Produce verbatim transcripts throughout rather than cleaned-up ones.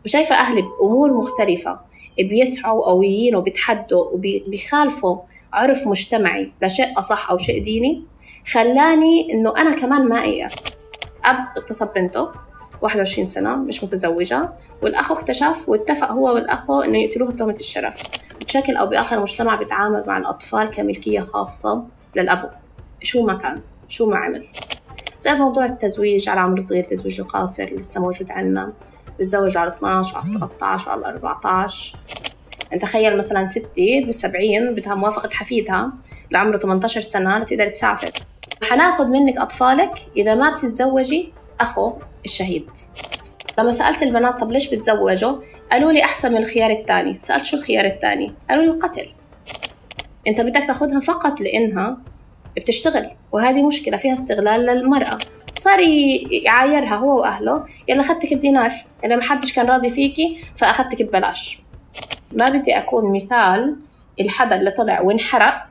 وشايفة أهلي بأمور مختلفة بيسعوا قويين وبيتحدوا وبيخالفوا عرف مجتمعي لشيء أصح أو شيء ديني، خلاني إنه أنا كمان ما أيأس. أب اغتصب بنته واحد وعشرين سنة مش متزوجة، والأخ اكتشف واتفق هو والأخو إنه يقتلوه بتهمة الشرف. بشكل أو بآخر المجتمع بيتعامل مع الأطفال كملكية خاصة للأبو شو ما كان شو ما عمل. زي موضوع التزويج على عمر صغير، تزويج القاصر لسه موجود عنا، بتزوجوا على اثناشر وعلى ثلاثة عشر وعلى أربعة عشر. انت تخيل مثلا ستي بالسبعين بدها موافقة حفيدها لعمره ثمانية عشر سنة لتقدر تسافر. حناخد منك أطفالك إذا ما بتتزوجي أخو الشهيد. لما سألت البنات طب ليش بتزوجوا، قالوا لي أحسن من الخيار الثاني. سألت شو الخيار الثاني، قالوا لي القتل. انت بدك تاخدها فقط لأنها بتشتغل، وهذه مشكلة فيها استغلال للمرأة. صار يعايرها هو وأهله، يلا أخذتك بدينار، يلا ما حدش كان راضي فيكي فأخذتك ببلاش. ما بدي أكون مثال الحدا اللي طلع وانحرق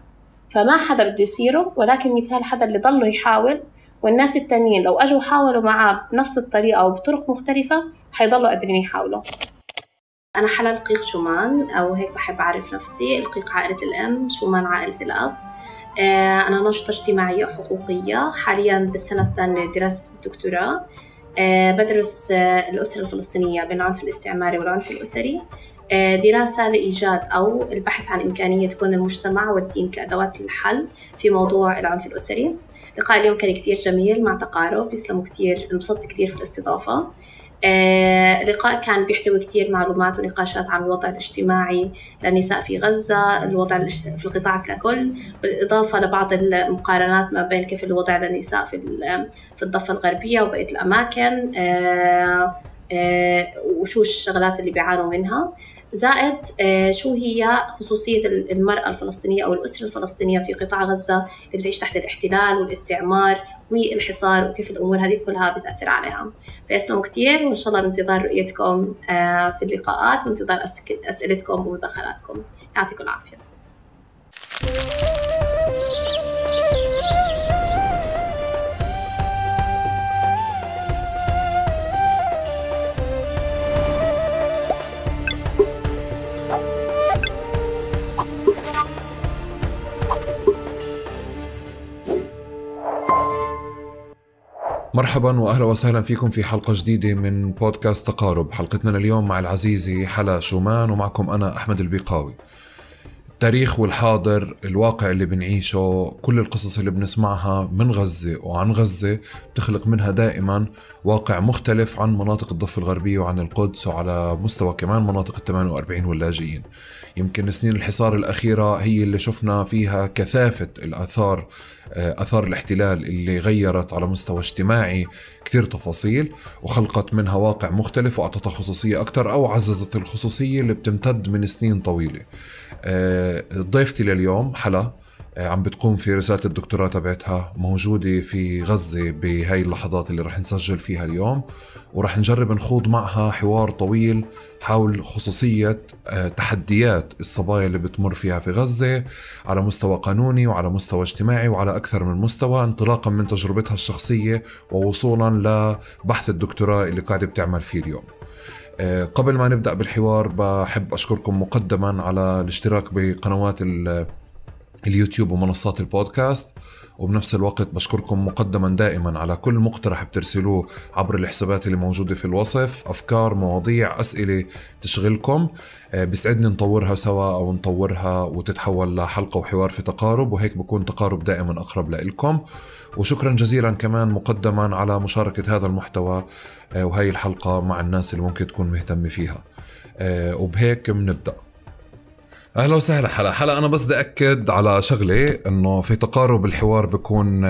فما حدا بده يصيره، ولكن مثال حدا اللي ضله يحاول، والناس التانيين لو أجوا حاولوا معاه بنفس الطريقة أو بطرق مختلفة حيضلوا قادرين يحاولوا. أنا حلا القيق شومان، أو هيك بحب أعرف نفسي. القيق عائلة الأم، شومان عائلة الأب. أنا ناشطة اجتماعية وحقوقية، حالياً بالسنة الثانية دراسة الدكتوراه. بدرس الأسرة الفلسطينية بين العنف الاستعماري والعنف الأسري، دراسة لإيجاد أو البحث عن إمكانية تكون المجتمع والدين كأدوات للحل في موضوع العنف الأسري. لقاء اليوم كان كتير جميل مع تقارب، يسلموا كتير، انبسطت كتير في الاستضافة. آه، اللقاء كان بيحتوي كتير معلومات ونقاشات عن الوضع الاجتماعي للنساء في غزة، الوضع في القطاع ككل، بالإضافة لبعض المقارنات ما بين كيف الوضع للنساء في في الضفة الغربية وبقية الأماكن، آه، آه، وشو الشغلات اللي بيعانوا منها، زائد شو هي خصوصية المرأة الفلسطينية أو الأسرة الفلسطينية في قطاع غزة اللي بتعيش تحت الاحتلال والاستعمار والحصار، وكيف الأمور هذه كلها بتأثر عليها. فيسلموا كتير، وإن شاء الله بانتظار رؤيتكم في اللقاءات وانتظار أسئلتكم ومداخلاتكم. يعطيكم العافية. مرحبا وأهلا وسهلا فيكم في حلقة جديدة من بودكاست تقارب. حلقتنا اليوم مع العزيزة حلا شومان، ومعكم أنا أحمد البيقاوي. التاريخ والحاضر، الواقع اللي بنعيشه، كل القصص اللي بنسمعها من غزة وعن غزة بتخلق منها دائما واقع مختلف عن مناطق الضفة الغربية وعن القدس، وعلى مستوى كمان مناطق الثمانية وأربعين واللاجئين. يمكن سنين الحصار الأخيرة هي اللي شفنا فيها كثافة الآثار، آثار الاحتلال اللي غيرت على مستوى اجتماعي كتير تفاصيل وخلقت منها واقع مختلف وأعطتها خصوصية أكتر أو عززت الخصوصية اللي بتمتد من سنين طويلة. ضيفتي لليوم حلا عم بتقوم في رسالة الدكتوراه تبعتها، موجودة في غزة بهاي اللحظات اللي رح نسجل فيها اليوم، ورح نجرب نخوض معها حوار طويل حول خصوصية تحديات الصبايا اللي بتمر فيها في غزة على مستوى قانوني وعلى مستوى اجتماعي وعلى أكثر من مستوى، انطلاقا من تجربتها الشخصية ووصولا لبحث للدكتوراه اللي قاعدة بتعمل فيه اليوم. قبل ما نبدأ بالحوار بحب أشكركم مقدما على الاشتراك بقنوات اليوتيوب ومنصات البودكاست، وبنفس الوقت بشكركم مقدما دائما على كل مقترح بترسلوه عبر الحسابات اللي موجودة في الوصف، أفكار، مواضيع، أسئلة تشغلكم، بيسعدني نطورها سوا أو نطورها وتتحول لحلقة وحوار في تقارب، وهيك بكون تقارب دائما أقرب لإلكم. وشكرا جزيلا كمان مقدما على مشاركة هذا المحتوى وهي الحلقة مع الناس اللي ممكن تكون مهتمة فيها. وبهيك بنبدأ. أهلا وسهلا حلا. حلا أنا بس بدي أكد على شغلة، إنه في تقارب الحوار بيكون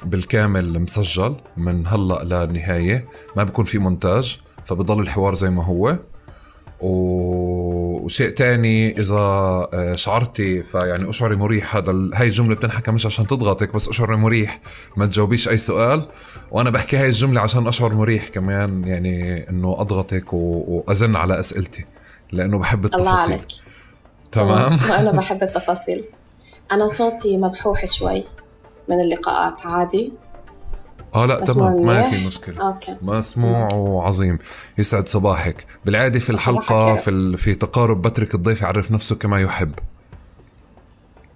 بالكامل مسجل من هلأ للنهاية، ما بيكون في مونتاج، فبضل الحوار زي ما هو. وشيء تاني، إذا شعرتي فيعني أشعري مريح، هذا هاي الجملة بتنحكى مش عشان تضغطك، بس أشعري مريح ما تجاوبيش أي سؤال، وأنا بحكي هاي الجملة عشان أشعر مريح كمان، يعني إنه أضغطك وأزن على أسئلتي لأنه بحب التفاصيل. الله عليك. تمام. وأنا بحب التفاصيل. أنا صوتي مبحوح شوي من اللقاءات، عادي. اه لا تمام، ما في مشكلة. أوكي. مسموع وعظيم. يسعد صباحك. بالعادة في الحلقة في ال... في تقارب بترك الضيف يعرف نفسه كما يحب،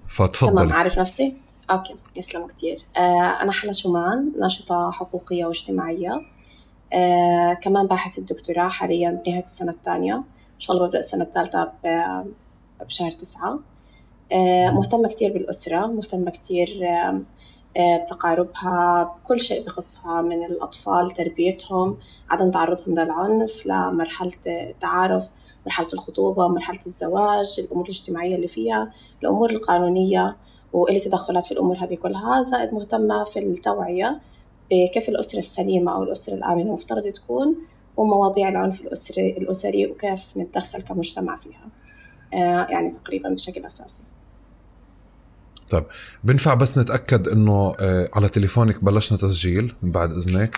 فتفضل. تمام، أعرف نفسي. أوكي، يسلموا كتير. آه أنا حلا شومان، ناشطة حقوقية واجتماعية، آه كمان باحث الدكتوراه حاليا بنهاية السنة الثانية، إن شاء الله ببدأ السنة الثالثة بشهر تسعة. آه مهتمة كتير بالأسرة، مهتمة كتير آه بتقاربها، بكل شيء بخصها من الأطفال، تربيتهم، عدم تعرضهم للعنف، لمرحلة التعارف، مرحلة الخطوبة، مرحلة الزواج، الأمور الاجتماعية اللي فيها، الأمور القانونية، وإلي تدخلات في الأمور هذه كلها. زائد مهتمة في التوعية بكيف الأسرة السليمة أو الأسرة الآمنة مفترض تكون، ومواضيع العنف الأسري, الأسري وكيف نتدخل كمجتمع فيها. آه يعني تقريبا بشكل أساسي. طيب بنفع بس نتأكد إنه آه على تليفونك بلشنا تسجيل من بعد إذنك؟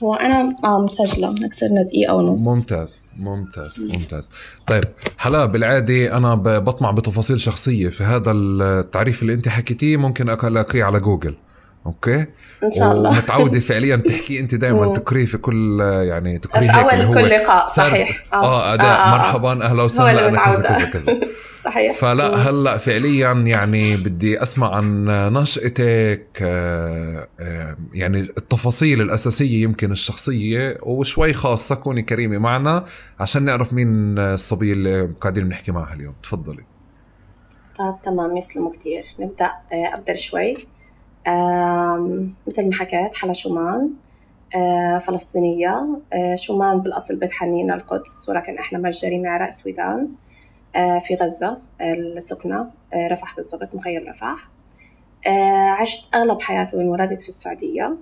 هو أنا آه مسجلة، أكثرنا دقيقة ونص. ممتاز ممتاز ممتاز. طيب حلا، بالعادة أنا بطمع بتفاصيل شخصية، في هذا التعريف اللي أنت حكيتيه ممكن ألاقيه على جوجل. أوكي إن شاء الله. ومتعودة فعليا تحكي أنت دائما تقري في كل يعني تقري في هيك أول هو كل لقاء. صحيح. آه, آه أداء آه آه مرحبا أهلا وسهلا أنا كذا كذا كذا. صحيح. فلا هلأ فعليا يعني بدي أسمع عن نشأتك، آه آه يعني التفاصيل الأساسية يمكن الشخصية وشوي خاصة، كوني كريمة معنا عشان نعرف مين الصبية اللي قاعدين بنحكي معها اليوم. تفضلي. طيب تمام، يسلموا كتير. نبدأ آه أبدأ شوي. مثل ما حكيت، حلا شومان، آه فلسطينية. آه شومان بالأصل بيت حنين القدس، ولكن إحنا متجرين عراق سويدان، آه في غزة السكنة، آه رفح بالضبط، مخيم رفح. آه عشت أغلب حياتي وانولدت في السعودية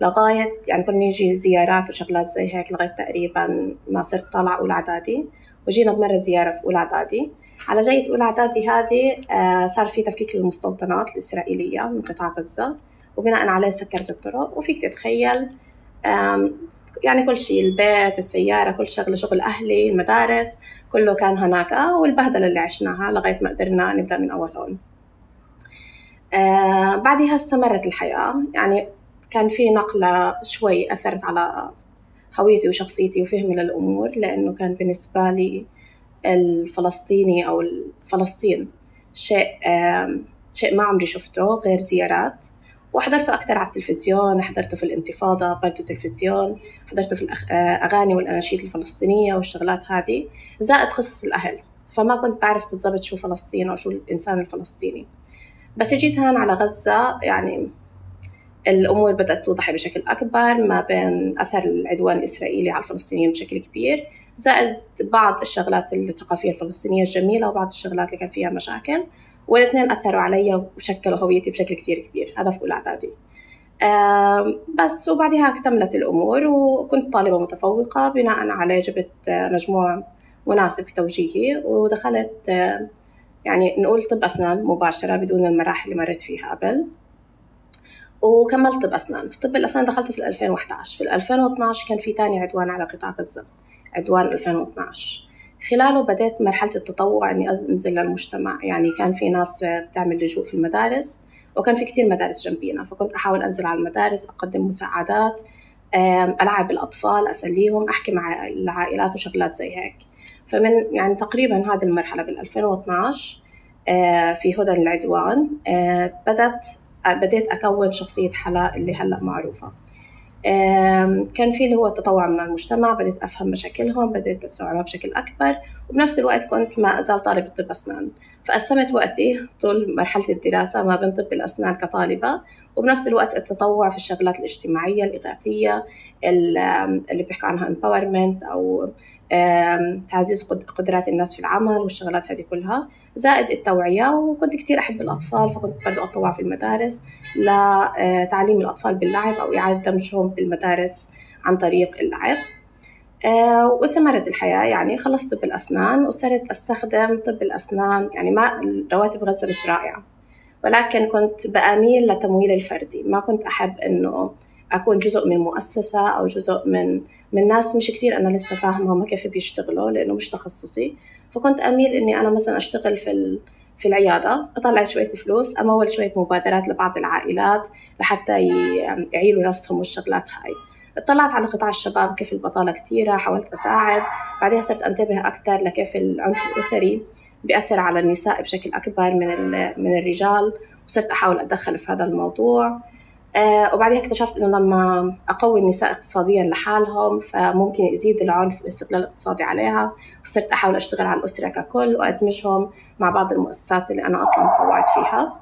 لغاية يعني كنا نيجي زيارات وشغلات زي هيك لغاية تقريبا ما صرت طالعة أولى إعدادي، وجينا بمرة زيارة في أولى إعدادي. على جاية أولى إعدادي هذه آه صار في تفكيك للمستوطنات الإسرائيلية من قطاع غزة، وبناء عليه سكرت الطرق. وفيك تتخيل يعني كل شيء، البيت، السيارة، كل شغلة، شغل أهلي، المدارس، كله كان هناك، والبهدلة اللي عشناها لغاية ما قدرنا نبدأ من أول هون. آه بعدها استمرت الحياة، يعني كان في نقلة شوي أثرت على هويتي وشخصيتي وفهمي للأمور، لأنه كان بالنسبة لي الفلسطيني أو فلسطين شيء آه شيء ما عمري شفته غير زيارات، وحضرته أكثر على التلفزيون، حضرته في الانتفاضة برضو تلفزيون، حضرته في الأغاني والأناشيد الفلسطينية والشغلات هذه، زائد قصص الأهل. فما كنت بعرف بالضبط شو فلسطين أو شو الإنسان الفلسطيني. بس جيت هون على غزة، يعني الأمور بدأت توضح بشكل أكبر، ما بين أثر العدوان الإسرائيلي على الفلسطينيين بشكل كبير، زائد بعض الشغلات الثقافية الفلسطينية الجميلة وبعض الشغلات اللي كان فيها مشاكل، والاثنين أثروا علي وشكلوا هويتي بشكل كتير كبير. هذا في أولى إعدادي. بس وبعدها اكتملت الأمور، وكنت طالبة متفوقة، بناء عليه جبت مجموع مناسب في توجيهي، ودخلت يعني نقول طب أسنان مباشرة بدون المراحل اللي مرت فيها قبل، وكملت طب أسنان. في طب الأسنان دخلته في ألفين وإحدى عشر. في ألفين واثني عشر كان في تاني عدوان على قطاع غزة، عدوان ألفين واثني عشر. خلاله بدأت مرحلة التطوع إني أنزل للمجتمع، يعني كان في ناس بتعمل لجوء في المدارس، وكان في كتير مدارس جنبينا، فكنت أحاول أنزل على المدارس، أقدم مساعدات، ألعب الأطفال، أسليهم، أحكي مع العائلات وشغلات زي هيك. فمن يعني تقريبا هذه المرحلة بال ألفين واثني عشر في هدى العدوان بدأت بديت أكون شخصية حلا اللي هلأ معروفة. كان في اللي هو التطوع مع المجتمع، بديت أفهم مشاكلهم، بديت أستوعبها بشكل أكبر، وبنفس الوقت كنت ما أزال طالبة طب أسنان، فقسمت وقتي طول مرحلة الدراسة ما بين طب الأسنان كطالبة، وبنفس الوقت التطوع في الشغلات الاجتماعية الإغاثية اللي بيحكوا عنها empowerment أو تعزيز قدرات الناس في العمل والشغلات هذه كلها، زائد التوعية. وكنت كتير أحب الأطفال، فكنت برضو أتطوع في المدارس لتعليم الأطفال باللعب أو إعادة دمجهم بالمدارس عن طريق اللعب. واستمرت الحياة، يعني خلصت طب الأسنان وصرت أستخدم طب الأسنان، يعني ما رواتب غزة مش رائعة، ولكن كنت بأميل لتمويل الفردي، ما كنت أحب إنه أكون جزء من مؤسسة أو جزء من من ناس مش كتير أنا لسه فاهمة هم كيف بيشتغلوا، لأنه مش تخصصي. فكنت أميل إني أنا مثلا أشتغل في في العيادة، أطلع شوية فلوس، أمول شوية مبادرات لبعض العائلات لحتى يعيلوا نفسهم والشغلات هاي. اطلعت على قطاع الشباب كيف البطالة كتيرة، حاولت أساعد. بعدها صرت أنتبه أكتر لكيف العنف الأسري بيأثر على النساء بشكل أكبر من من الرجال، وصرت أحاول أتدخل في هذا الموضوع. أه وبعدها اكتشفت إنه لما أقوي النساء اقتصاديا لحالهم فممكن يزيد العنف والاستغلال الاقتصادي عليها، فصرت أحاول أشتغل على الأسرة ككل وأدمجهم مع بعض المؤسسات اللي أنا أصلا طوعت فيها.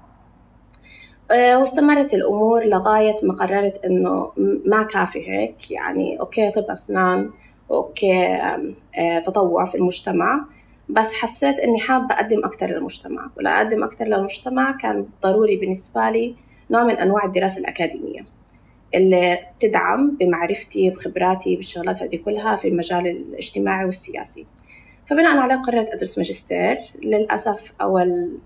أه واستمرت الأمور لغاية ما قررت إنه ما كافي هيك، يعني أوكي طب أسنان وأوكي أه تطوع في المجتمع، بس حسيت إني حابة أقدم أكتر للمجتمع، ولا أقدم أكتر للمجتمع كان ضروري بالنسبة لي نوع من أنواع الدراسة الأكاديمية اللي تدعم بمعرفتي بخبراتي بالشغلات هذه كلها في المجال الاجتماعي والسياسي. فبناء عليه قررت أدرس ماجستير. للأسف أول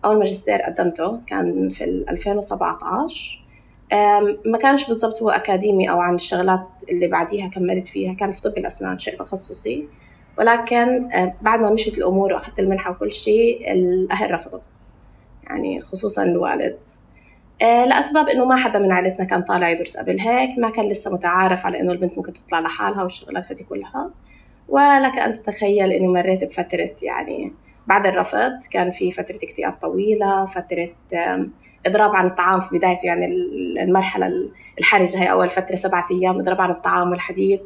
أول ماجستير قدمته كان في ألفين وسبعة عشر، ما كانش بالضبط هو أكاديمي أو عن الشغلات اللي بعديها كملت فيها، كان في طب الأسنان شيء تخصصي، ولكن بعد ما مشيت الأمور وأخذت المنحة وكل شيء الأهل رفضوا، يعني خصوصا الوالد، لأسباب إنه ما حدا من عائلتنا كان طالع يدرس قبل هيك، ما كان لسه متعارف على إنه البنت ممكن تطلع لحالها والشغلات هذه كلها. ولك أن تتخيل إني مريت بفترة، يعني بعد الرفض كان في فترة اكتئاب طويلة، فترة إضراب عن الطعام في بدايته، يعني المرحلة الحرجة هي أول فترة سبعة أيام إضراب عن الطعام والحديث.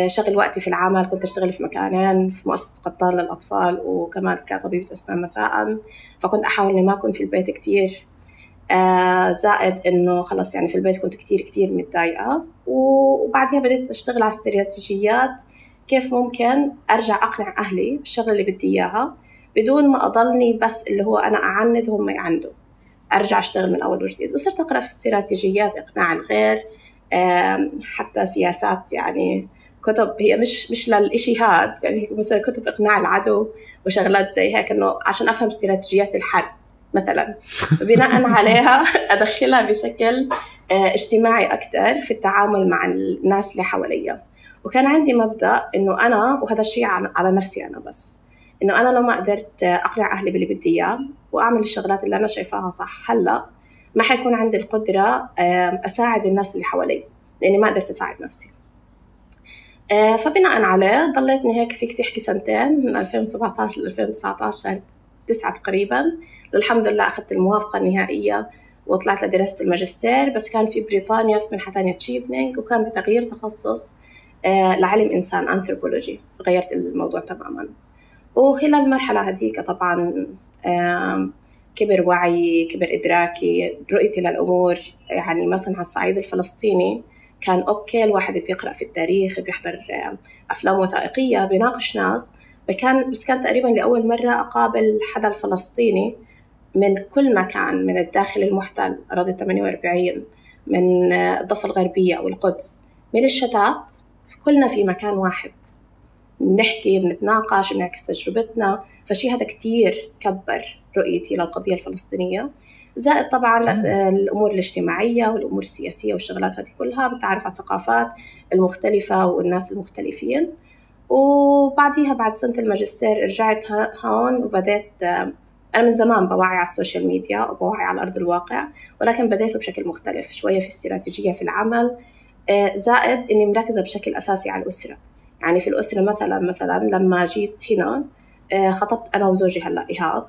شغل وقتي في العمل، كنت أشتغل في مكانين، في مؤسسة قطان للأطفال وكمان كطبيبة أسنان مساء، فكنت أحاول إني ما أكون في البيت كتير. زائد إنه خلص يعني في البيت كنت كتير كتير متضايقة. وبعدها بديت أشتغل على استراتيجيات كيف ممكن أرجع أقنع أهلي بالشغل اللي بدي إياها بدون ما أضلني بس اللي هو أنا أعند وهم يعندوا، أرجع أشتغل من أول وجديد. وصرت أقرأ في استراتيجيات إقناع الغير، حتى سياسات، يعني كتب هي مش مش للإشي هاد، يعني مثلا كتب إقناع العدو وشغلات زي هيك، إنه عشان أفهم استراتيجيات الحرب مثلا، بناء عليها أدخلها بشكل اجتماعي أكتر في التعامل مع الناس اللي حواليا. وكان عندي مبدأ إنه أنا، وهذا الشيء على نفسي أنا بس، إنه أنا لو ما قدرت أقنع أهلي باللي بدي إياه وأعمل الشغلات اللي أنا شايفاها صح هلأ، ما حيكون عندي القدرة أساعد الناس اللي حوالي، لأني ما قدرت أساعد نفسي. فبناء عليه ضليتني هيك فيك تحكي سنتين، من ألفين وسبعة عشر ل ألفين وتسعة عشر، تسعة تقريبا. الحمد لله أخذت الموافقة النهائية وطلعت لدراسة الماجستير، بس كان في بريطانيا في منحة تانية تشيفنينج، وكان بتغيير تخصص لعلم إنسان أنثروبولوجي، غيرت الموضوع تماما. وخلال المرحلة هذيك طبعا كبر وعي، كبر إدراكي، رؤيتي للأمور. يعني مثلا على الصعيد الفلسطيني كان أوكي الواحد بيقرأ في التاريخ، بيحضر أفلام وثائقية، بيناقش ناس، كان بس كان تقريبا لأول مرة أقابل حدا الفلسطيني من كل مكان، من الداخل المحتل أراضي ثمانية وأربعين، من الضفة الغربية أو القدس، من الشتات، كلنا في مكان واحد بنحكي، بنتناقش، بنعكس تجربتنا. فشي هذا كتير كبر رؤيتي للقضية الفلسطينية. زائد طبعا الأمور الاجتماعية والأمور السياسية والشغلات هذه كلها، بتعرف على الثقافات المختلفة والناس المختلفين. وبعديها بعد سنة الماجستير رجعت هون وبدأت، أنا من زمان بوعي على السوشيال ميديا وبوعي على أرض الواقع، ولكن بديته بشكل مختلف شوية، في استراتيجية في العمل، زائد إني مركزة بشكل أساسي على الأسرة. يعني في الأسرة مثلا مثلا لما جيت هنا خطبت أنا وزوجي هلأ إيهاب،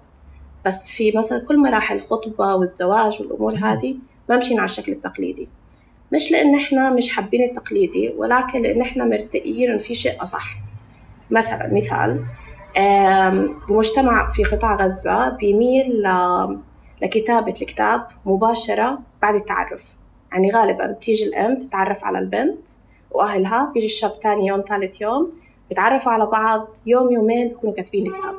بس في مثلا كل مراحل الخطبة والزواج والأمور هذه ما مشينا على الشكل التقليدي، مش لأن إحنا مش حابين التقليدي، ولكن لأن إحنا مرتئين إن في شيء أصح. مثلا مثال، المجتمع في قطاع غزة بيميل لكتابة الكتاب مباشرة بعد التعرف، يعني غالبا بتيجي الأم تتعرف على البنت وأهلها، بيجي الشاب تاني يوم ثالث يوم بيتعرفوا على بعض، يوم يومين بيكونوا كاتبين الكتاب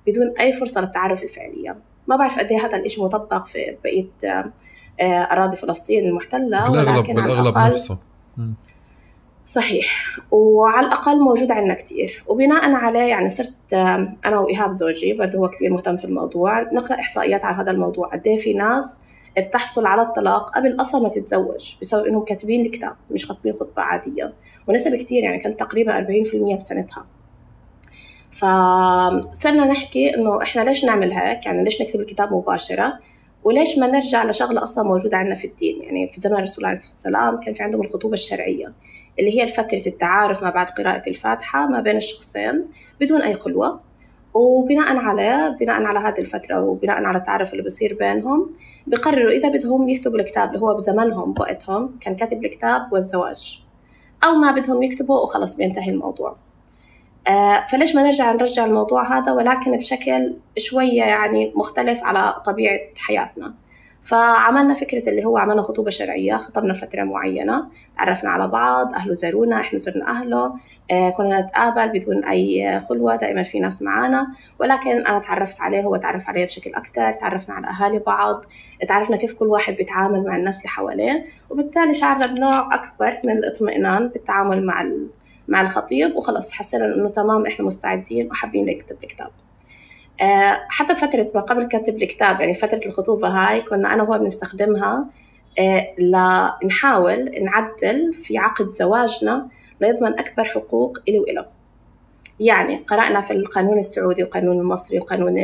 بدون أي فرصة للتعرف الفعلية. ما بعرف قد إيه هذا الإشي مطبق في بقية أراضي فلسطين المحتلة، ولكن بالأغلب نفسه صحيح، وعلى الأقل موجود عندنا كتير. وبناء عليه يعني صرت أنا وإيهاب زوجي برضه هو كتير مهتم في الموضوع، نقرأ إحصائيات عن هذا الموضوع، قد إيه في ناس بتحصل على الطلاق قبل أصلا ما تتزوج بسبب إنهم كاتبين الكتاب مش خطبين خطبة عادية، ونسبة كتير، يعني كانت تقريبا أربعين بالمية بسنتها. فصرنا نحكي إنه إحنا ليش نعمل هيك، يعني ليش نكتب الكتاب مباشرة، وليش ما نرجع لشغلة أصلا موجودة عندنا في الدين. يعني في زمن الرسول عليه الصلاة والسلام كان في عندهم الخطوبة الشرعية اللي هي فترة التعارف ما بعد قراءة الفاتحة ما بين الشخصين بدون أي خلوة، وبناء على بناء على هذه الفترة وبناء على التعارف اللي بصير بينهم بيقرروا إذا بدهم يكتبوا الكتاب اللي هو بزمنهم بوقتهم كان كاتب الكتاب والزواج، أو ما بدهم يكتبوا وخلص بينتهي الموضوع. آه فليش ما نرجع نرجع الموضوع هذا ولكن بشكل شوية يعني مختلف على طبيعة حياتنا. فعملنا فكرة اللي هو عملنا خطوبة شرعية، خطبنا فترة معينة، تعرفنا على بعض، أهله زارونا، إحنا زرنا أهله، آه كنا نتقابل بدون أي خلوة، دائما في ناس معانا، ولكن أنا تعرفت عليه هو تعرف عليه بشكل أكتر، تعرفنا على أهالي بعض، تعرفنا كيف كل واحد بيتعامل مع الناس اللي حواليه، وبالتالي شعرنا بنوع أكبر من الاطمئنان بالتعامل مع مع الخطيب، وخلص حسنا إنه تمام إحنا مستعدين وحابين نكتب الكتاب. أه حتى فترة ما قبل كتب الكتاب يعني فترة الخطوبة هاي كنا أنا وهو بنستخدمها أه لنحاول نعدل في عقد زواجنا ليضمن أكبر حقوق إلي وإله. يعني قرأنا في القانون السعودي والقانون المصري والقانون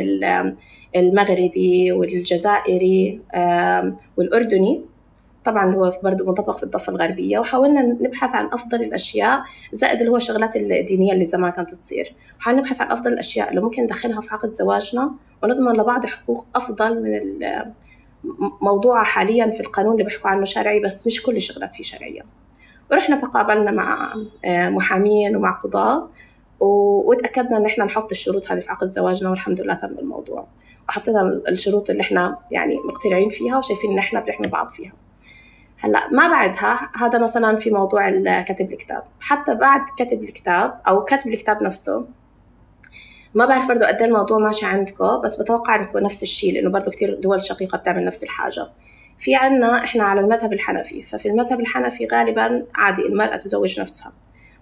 المغربي والجزائري أه والأردني، طبعاً هو برضو منطبق في الضفة الغربية، وحاولنا نبحث عن أفضل الأشياء زائد اللي هو شغلات الدينية اللي زمان كانت تصير، حاولنا نبحث عن أفضل الأشياء اللي ممكن ندخلها في عقد زواجنا ونضمن لبعض حقوق أفضل من الموضوع حالياً في القانون اللي بيحكوا عنه شرعي بس مش كل الشغلات فيه شرعية. ورحنا تقابلنا مع محامين ومع قضاة وتأكدنا إن إحنا نحط الشروط هذه في عقد زواجنا، والحمد لله تم الموضوع وحطينا الشروط اللي إحنا يعني مقتنعين فيها وشايفين إن إحنا بنحمي بعض فيها. هلا ما بعدها هذا مثلا في موضوع كتب الكتاب، حتى بعد كتب الكتاب او كتب الكتاب نفسه ما بعرف برضو قد ايه الموضوع ماشي عندكم، بس بتوقع انكم نفس الشيء لانه برضو كتير دول شقيقة بتعمل نفس الحاجة. في عنا احنا على المذهب الحنفي، ففي المذهب الحنفي غالبا عادي المرأة تزوج نفسها،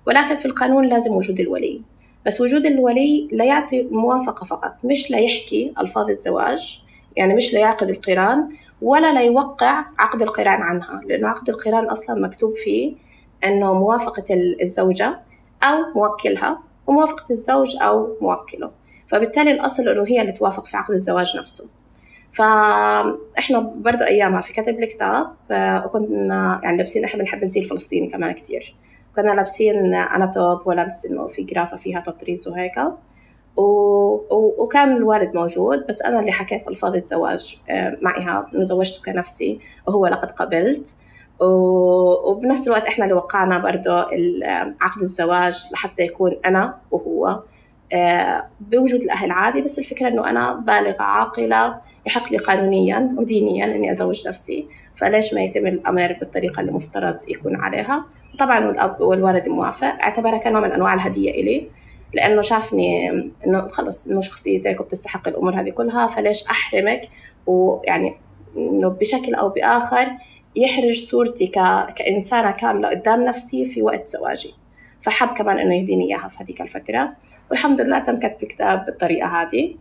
ولكن في القانون لازم وجود الولي، بس وجود الولي لا يعطي موافقة فقط، مش لا يحكي ألفاظ الزواج، يعني مش لا يعقد القران ولا لا يوقع عقد القران عنها، لأنه عقد القران أصلا مكتوب فيه أنه موافقة الزوجة أو موكلها وموافقة الزوج أو موكله، فبالتالي الأصل أنه هي اللي توافق في عقد الزواج نفسه. فإحنا برضو أيامها في كتب الكتاب وكنا يعني لابسين، إحنا بنحب الزي الفلسطيني كمان كتير، كنا لابسين أنا توب ولابس إنه في جرافة فيها تطريز وهيك، و... وكان الوالد موجود، بس أنا اللي حكيت ألفاظ الزواج مع إيهاب إنه زوجته كنفسي وهو لقد قبلت، و... وبنفس الوقت إحنا اللي وقعنا برضو عقد الزواج لحتى يكون أنا وهو بوجود الأهل عادي، بس الفكرة إنه أنا بالغة عاقلة يحق لي قانونيا ودينيا إني أزوج نفسي، فليش ما يتم الأمر بالطريقة اللي مفترض يكون عليها. وطبعا الأب والوالد موافق، اعتبرها كنوع من أنواع الهدية إلي، لأنه شافني إنه خلص إنه شخصيتك وبتستحق الأمور هذه كلها، فليش أحرمك، ويعني إنه بشكل أو بآخر يحرج صورتي ك... كإنسانة كاملة قدام نفسي في وقت زواجي، فحب كمان إنه يهديني إياها في هذيك الفترة، والحمد لله تم كتب الكتاب بالطريقة هذه.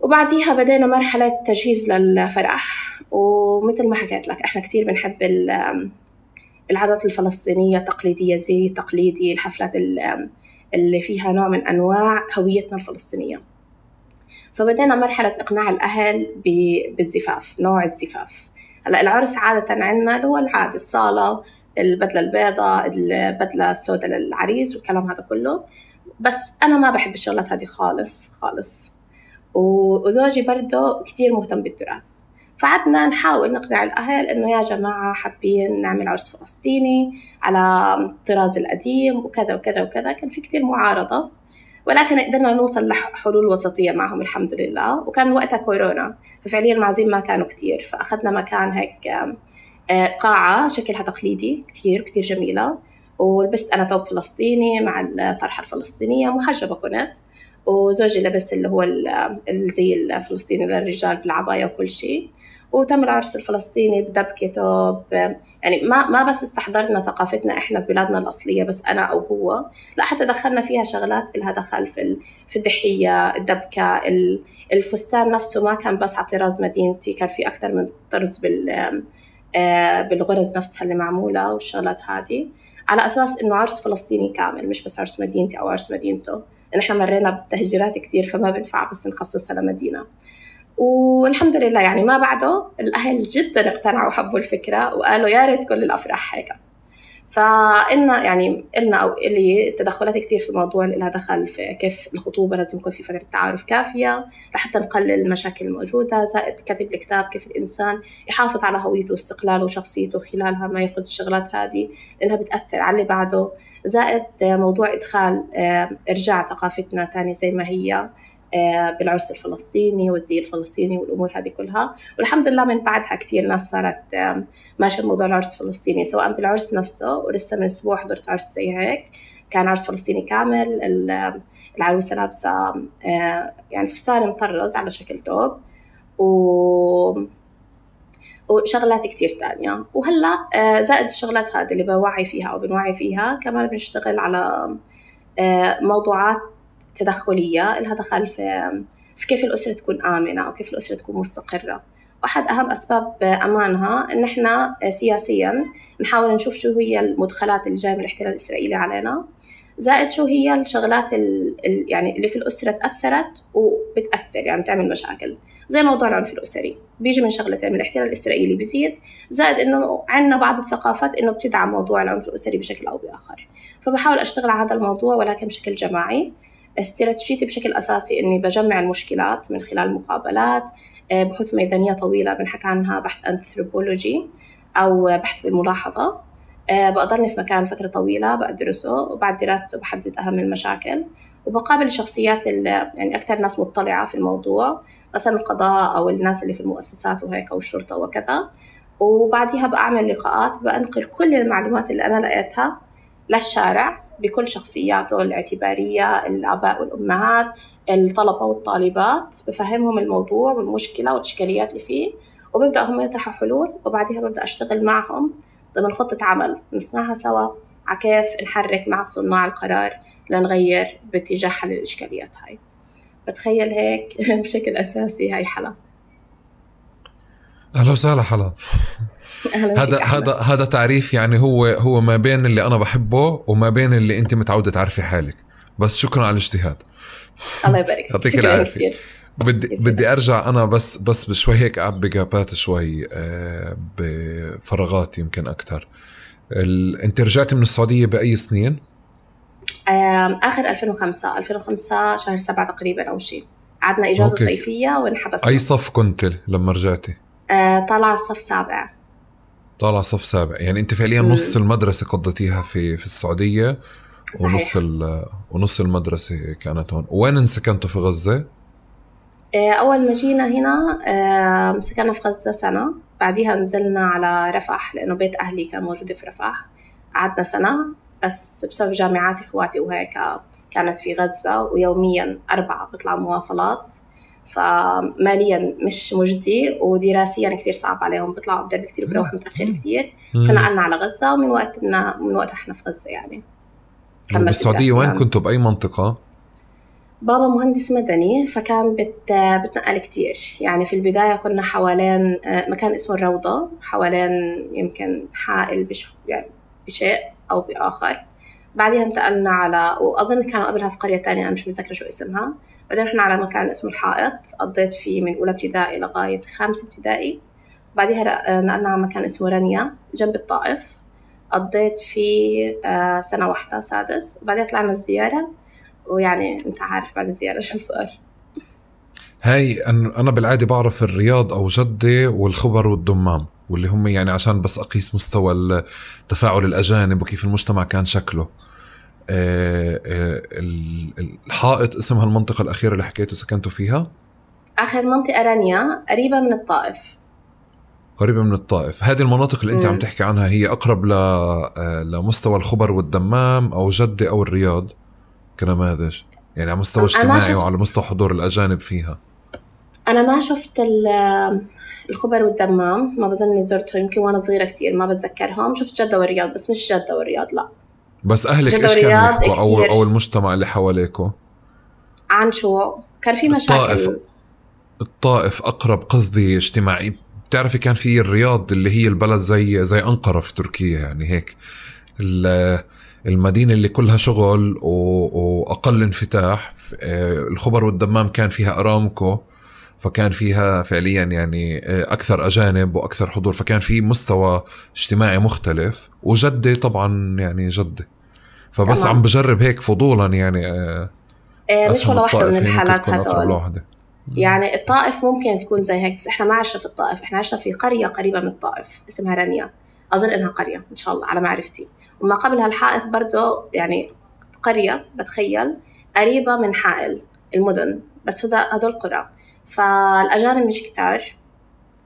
وبعديها بدينا مرحلة تجهيز للفرح، ومثل ما حكيت لك إحنا كتير بنحب العادات الفلسطينية التقليدية، زي تقليدي، الحفلات اللي فيها نوع من أنواع هويتنا الفلسطينية. فبدينا مرحلة إقناع الأهل بالزفاف، نوع الزفاف. هلا العرس عادة عندنا اللي هو العادي، الصالة، البدلة البيضاء، البدلة السوداء للعريس والكلام هذا كله، بس أنا ما بحب الشغلات هذه خالص خالص، وزوجي برضه كتير مهتم بالتراث، فعدنا نحاول نقنع الأهل إنه يا جماعة حابين نعمل عرس فلسطيني على الطراز القديم وكذا وكذا وكذا. كان في كتير معارضة، ولكن قدرنا نوصل لحلول وسطية معهم الحمد لله. وكان وقتها كورونا، ففعليا المعازيم ما كانوا كتير، فأخذنا مكان هيك قاعة شكلها تقليدي كتير كتير جميلة، ولبست أنا توب فلسطيني مع الطرحة الفلسطينية، محجبة كنت، وزوجي لبس اللي هو الزي الفلسطيني للرجال بالعباية وكل شيء. وتم العرس الفلسطيني بدبكة توب، يعني ما ما بس استحضرنا ثقافتنا إحنا ببلادنا الأصلية بس أنا أو هو، لا حتى دخلنا فيها شغلات إلها دخل في في الضحية، الدبكة، الفستان نفسه ما كان بس على طراز مدينتي، كان في أكثر من طرز بال بالغرز نفسها اللي معمولة والشغلات هذه. على أساس إنه عرس فلسطيني كامل، مش بس عرس مدينتي أو عرس مدينته، لأن إحنا مرينا بتهجيرات كتير فما بنفع بس نخصصها لمدينة. والحمد لله يعني ما بعده الأهل جدا اقتنعوا وحبوا الفكرة وقالوا يا ريت كل الأفراح هيك. فإلنا يعني إلنا أو إلي تدخلات كتير في الموضوع اللي لها دخل في كيف الخطوبة لازم يكون في فترة تعارف كافية لحتى نقلل المشاكل الموجودة، زائد كتب الكتاب كيف الإنسان يحافظ على هويته واستقلاله وشخصيته خلالها ما يفقد الشغلات هذه لأنها بتأثر على اللي بعده، زائد موضوع إدخال إرجاع ثقافتنا تاني زي ما هي بالعرس الفلسطيني والزي الفلسطيني والأمور هذه كلها. والحمد لله من بعدها كتير ناس صارت ماشية بموضوع العرس الفلسطيني، سواء بالعرس نفسه، ولسه من أسبوع حضرت عرس زي هيك كان عرس فلسطيني كامل، العروسة لابسة يعني فستان مطرز على شكل توب و وشغلات كتير تانية. وهلأ زائد الشغلات هذه اللي بوعي فيها أو بنوعي فيها كمان بنشتغل على موضوعات تدخلية لها دخل في في كيف الأسرة تكون آمنة أو كيف الأسرة تكون مستقرة. واحد أهم أسباب أمانها إن إحنا سياسياً نحاول نشوف شو هي المدخلات اللي جاية من الاحتلال الإسرائيلي علينا، زائد شو هي الشغلات يعني اللي في الأسرة تأثرت وبتأثر يعني بتعمل مشاكل، زي موضوع العنف الأسري بيجي من شغلتين، من الاحتلال الإسرائيلي بيزيد، زائد إنه عندنا بعض الثقافات إنه بتدعم موضوع العنف الأسري بشكل أو بآخر. فبحاول أشتغل على هذا الموضوع ولكن بشكل جماعي. استراتيجيتي بشكل أساسي إني بجمع المشكلات من خلال مقابلات، بحوث ميدانية طويلة بنحكي عنها بحث أنثروبولوجي أو بحث بالملاحظة، بقضلني في مكان فترة طويلة بدرسه، وبعد دراسته بحدد أهم المشاكل وبقابل الشخصيات اللي يعني أكثر ناس مطلعة في الموضوع، مثلا القضاء أو الناس اللي في المؤسسات وهيك أو الشرطة وكذا، وبعدها بأعمل لقاءات بأنقل كل المعلومات اللي أنا لقيتها للشارع بكل شخصياته الاعتبارية، الآباء والأمهات، الطلبة والطالبات، بفهمهم الموضوع والمشكلة والإشكاليات اللي فيه، وببدأ هم يطرحوا حلول، وبعدها ببدأ أشتغل معهم ضمن خطة عمل نصنعها سوا على كيف نحرك مع صناع القرار لنغير باتجاه حل الإشكاليات هاي. بتخيل هيك بشكل أساسي هاي حلا. أهلا وسهلا حلا. هذا هذا هذا تعريف يعني هو هو ما بين اللي أنا بحبه وما بين اللي أنت متعودة تعرفي حالك. بس شكرا على الاجتهاد. الله يبارك. يعطيك العافية. بدي بدي أرجع أنا بس بس بشوي هيك أعبي جابات شوي بفراغات يمكن أكتر. أنت رجعتي من السعودية بأي سنين؟ آخر ألفين وخمسة ألفين وخمسة شهر سبعة تقريبا أو شيء. عدنا إجازة أوكي. صيفية ونحبسنا. أي صف كنت لما رجعتي؟ طالع الصف سابع. طالع صف سابع، يعني أنت فعليا م. نص المدرسة قضيتيها في في السعودية. صحيح. ونص ونص المدرسة كانت هون. وين سكنتوا في غزة؟ أول ما جينا هنا سكننا في غزة سنة، بعديها نزلنا على رفح لأنه بيت أهلي كان موجود في رفح، قعدنا سنة بس بسبب جامعات إخواتي وهيك كانت في غزة، ويوميا أربعة بطلع مواصلات، فماليا مش مجدي ودراسيا كتير صعب عليهم، بيطلعوا بدرب كتير وبروح متأخر كتير، فنقلنا على غزة. ومن وقتنا من وقت احنا في غزة يعني. بالسعودية وين كنتوا بأي منطقة؟ بابا مهندس مدني فكان بت بتنقل كتير، يعني في البداية كنا حوالين مكان اسمه الروضة، حوالين يمكن حائل بش يعني بشيء أو بآخر. بعدها انتقلنا على، وأظن كانوا قبلها في قرية تانية أنا مش متذكرة شو اسمها. بعدين رحنا على مكان اسمه الحائط، قضيت فيه من أولى ابتدائي لغاية خامسة ابتدائي. بعدها نقلنا على مكان اسمه رنيا جنب الطائف، قضيت فيه سنة واحدة سادس. وبعدين طلعنا الزيارة، ويعني انت عارف بعد الزيارة شو صار. هاي أنا بالعادة بعرف الرياض أو جدة والخبر والدمام، واللي هم يعني عشان بس أقيس مستوى تفاعل الأجانب وكيف المجتمع كان شكله. الحائط اسمها المنطقة الأخيرة اللي حكيتوا سكنتوا فيها؟ آخر منطقة رانيا قريبة من الطائف. قريبة من الطائف. هذه المناطق اللي أنت عم تحكي عنها هي أقرب لمستوى الخبر والدمام أو جدة أو الرياض كنماذج، يعني على مستوى اجتماعي وعلى مستوى حضور الأجانب فيها؟ أنا ما شفت الخبر والدمام، ما بظن زرتهم، يمكن وأنا صغيرة كتير ما بتذكرهم. شفت جدة والرياض بس مش جدة والرياض لا. بس أهلك إيش كانوا يحكوا أو أو المجتمع اللي حواليكوا عن شو كان في مشاكل؟ الطائف الطائف أقرب قصدي اجتماعي. بتعرفي كان في الرياض اللي هي البلد زي زي أنقرة في تركيا، يعني هيك المدينة اللي كلها شغل وأقل انفتاح. الخبر والدمام كان فيها أرامكو، فكان فيها فعليا يعني أكثر أجانب وأكثر حضور، فكان في مستوى اجتماعي مختلف. وجدة طبعا يعني جدة، فبس طبعا. عم بجرب هيك فضولا يعني إيه مش ولا واحدة من الحالات هدول. يعني الطائف ممكن تكون زي هيك، بس إحنا ما عشنا في الطائف، إحنا عشنا في قرية قريبة من الطائف اسمها رانيا، أظن إنها قرية إن شاء الله على معرفتي. وما قبل هالحائط برضو يعني قرية بتخيل قريبة من حائل المدن، بس هدول قرى. فالأجانب مش كتار،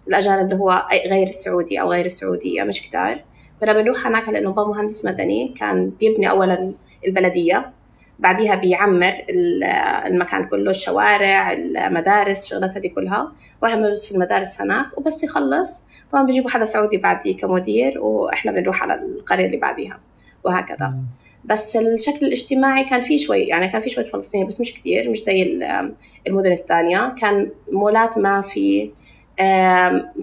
الأجانب اللي هو غير السعودي أو غير السعودية مش كتار. كنا بنروح هناك لأنه بابا مهندس مدني، كان بيبني أولا البلدية، بعديها بيعمر المكان كله، الشوارع المدارس شغلات هذه كلها، وإحنا بندرس في المدارس هناك. وبس يخلص طبعا بيجيبوا حدا سعودي بعديه كمدير، وإحنا بنروح على القرية اللي بعديها وهكذا. بس الشكل الاجتماعي كان فيه شوي، يعني كان فيه شوية فلسطينيين بس مش كتير، مش زي المدن الثانية. كان مولات ما في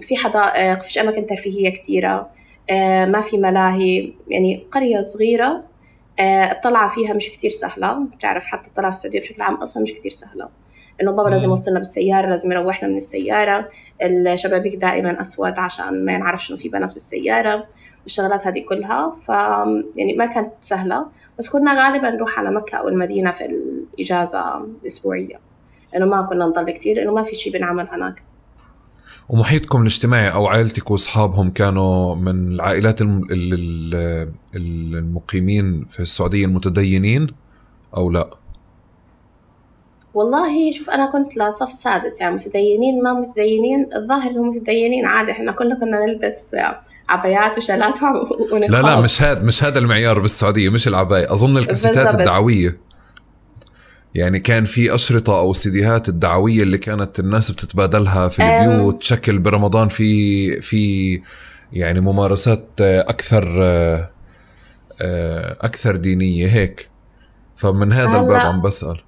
في حدائق، فيش أماكن ترفيهية كتيرة، ما في ملاهي، يعني قرية صغيرة. الطلعة فيها مش كتير سهلة، بتعرف حتى الطلعة في السعودية بشكل عام أصلا مش كتير سهلة، إنه بابا لازم يوصلنا بالسيارة، لازم يروحنا من السيارة، الشبابيك دائما أسود عشان ما نعرفش إنه في بنات بالسيارة والشغلات هذه كلها. ف يعني ما كانت سهلة، بس كنا غالبا نروح على مكة أو المدينة في الإجازة الأسبوعية، إنه ما كنا نضل كتير لأنه ما في شيء بنعمل هناك. ومحيطكم الاجتماعي أو عائلتك وأصحابهم كانوا من العائلات المقيمين في السعودية المتدينين أو لا؟ والله شوف، أنا كنت لصف سادس، يعني متدينين ما متدينين، الظاهر إنهم متدينين عادي. إحنا كلنا كنا نلبس عبايات وشالات ونقاب. لا لا مش هذا مش هذا المعيار بالسعودية، مش العباية، أظن الكاسيتات بالزبط. الدعوية، يعني كان في أشرطة أو سيديهات الدعوية اللي كانت الناس بتتبادلها في البيوت، شكل برمضان في في يعني ممارسات أكثر أكثر دينية هيك. فمن هذا الباب عم بسأل.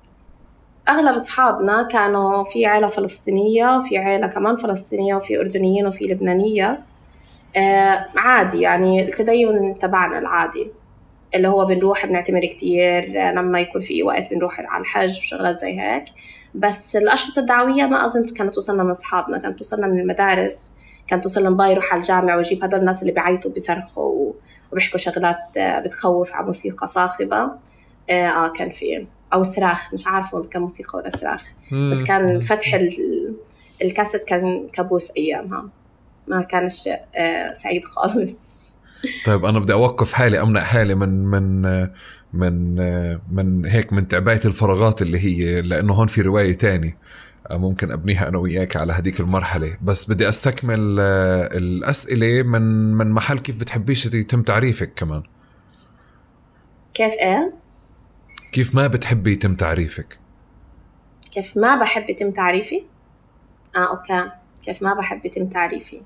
أغلب أصحابنا كانوا في عائلة فلسطينية، وفي عائلة كمان فلسطينية، وفي أردنيين، وفي لبنانية. آه عادي يعني التدين تبعنا العادي اللي هو بنروح بنعتمر كتير لما يكون في وقت، بنروح على الحج وشغلات زي هيك. بس الأشرطة الدعوية ما أظن كانت توصلنا من أصحابنا، كانت توصلنا من المدارس، كانت توصلنا باي يروح على الجامعة ويجيب هذول الناس اللي بيعيطوا بيصرخوا وبيحكوا شغلات بتخوف على موسيقى صاخبة. آه كان في أو صراخ، مش عارفة كان موسيقى ولا صراخ، بس كان فتح الكاسيت كان كابوس أيامها، ما كانش آه سعيد خالص. طيب أنا بدي أوقف حالي، أمنع حالي من من من من هيك من تعبئة الفراغات اللي هي، لأنه هون في رواية تاني ممكن أبنيها أنا وياك على هديك المرحلة. بس بدي أستكمل الأسئلة من من محل كيف بتحبيش يتم تعريفك كمان. كيف إيه؟ كيف ما بتحبي يتم تعريفك؟ كيف ما بحب يتم تعريفي؟ آه أوكي. كيف ما بحب يتم تعريفي؟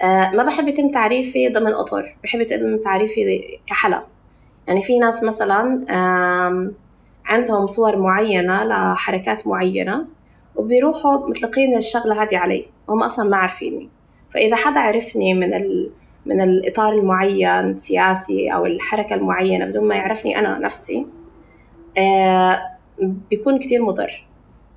آه ما بحب يتم تعريفي ضمن أطر، بحب يتم تعريفي كحلا. يعني في ناس مثلا عندهم صور معينة لحركات معينة وبيروحوا مطلقين الشغلة هذه علي، هم أصلا ما عارفيني. فإذا حدا عرفني من ال من الإطار المعين سياسي أو الحركة المعينة بدون ما يعرفني أنا نفسي، آه بيكون كتير مضر.